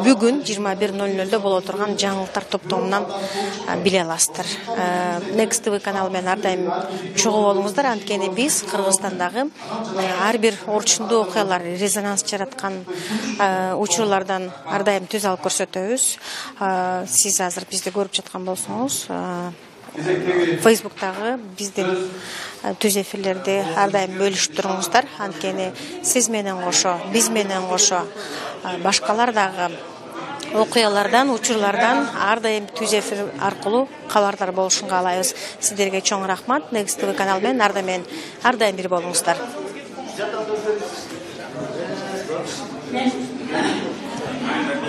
бүгүн 21:00 боло турган жаңылыктар топтомунан биле аласыздар. Next TV каналы менен ар дайым чогуу болуңуздар. Анткени биз Кыргызстандагы ар бир орчундуу окуялар резонанс жараткан учурлардан ар дайым түз алып көрсөтөбүз. Сиз азыр бизди көрүп жаткан болсоңуз, Facebook'тагы биздин түз эфирлерди ар дайым бөлүшүп туруңуздар. Анткени сиз менен кошо, биз менен кошо башкалар дагы окуялардан, учурлардан ар дайым түз эфир аркылуу кабардар болушун каалайбыз. Сиздерге чоң рахмат. Негиз ТВ канал менен ар дайым бир болуңуздар.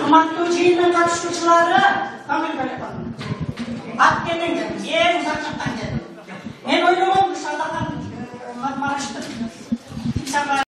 Урматтуу жыйындын катышуучулары, ат менен эң узак жактан келдим. Мен ойлогом Шалдахан Марашты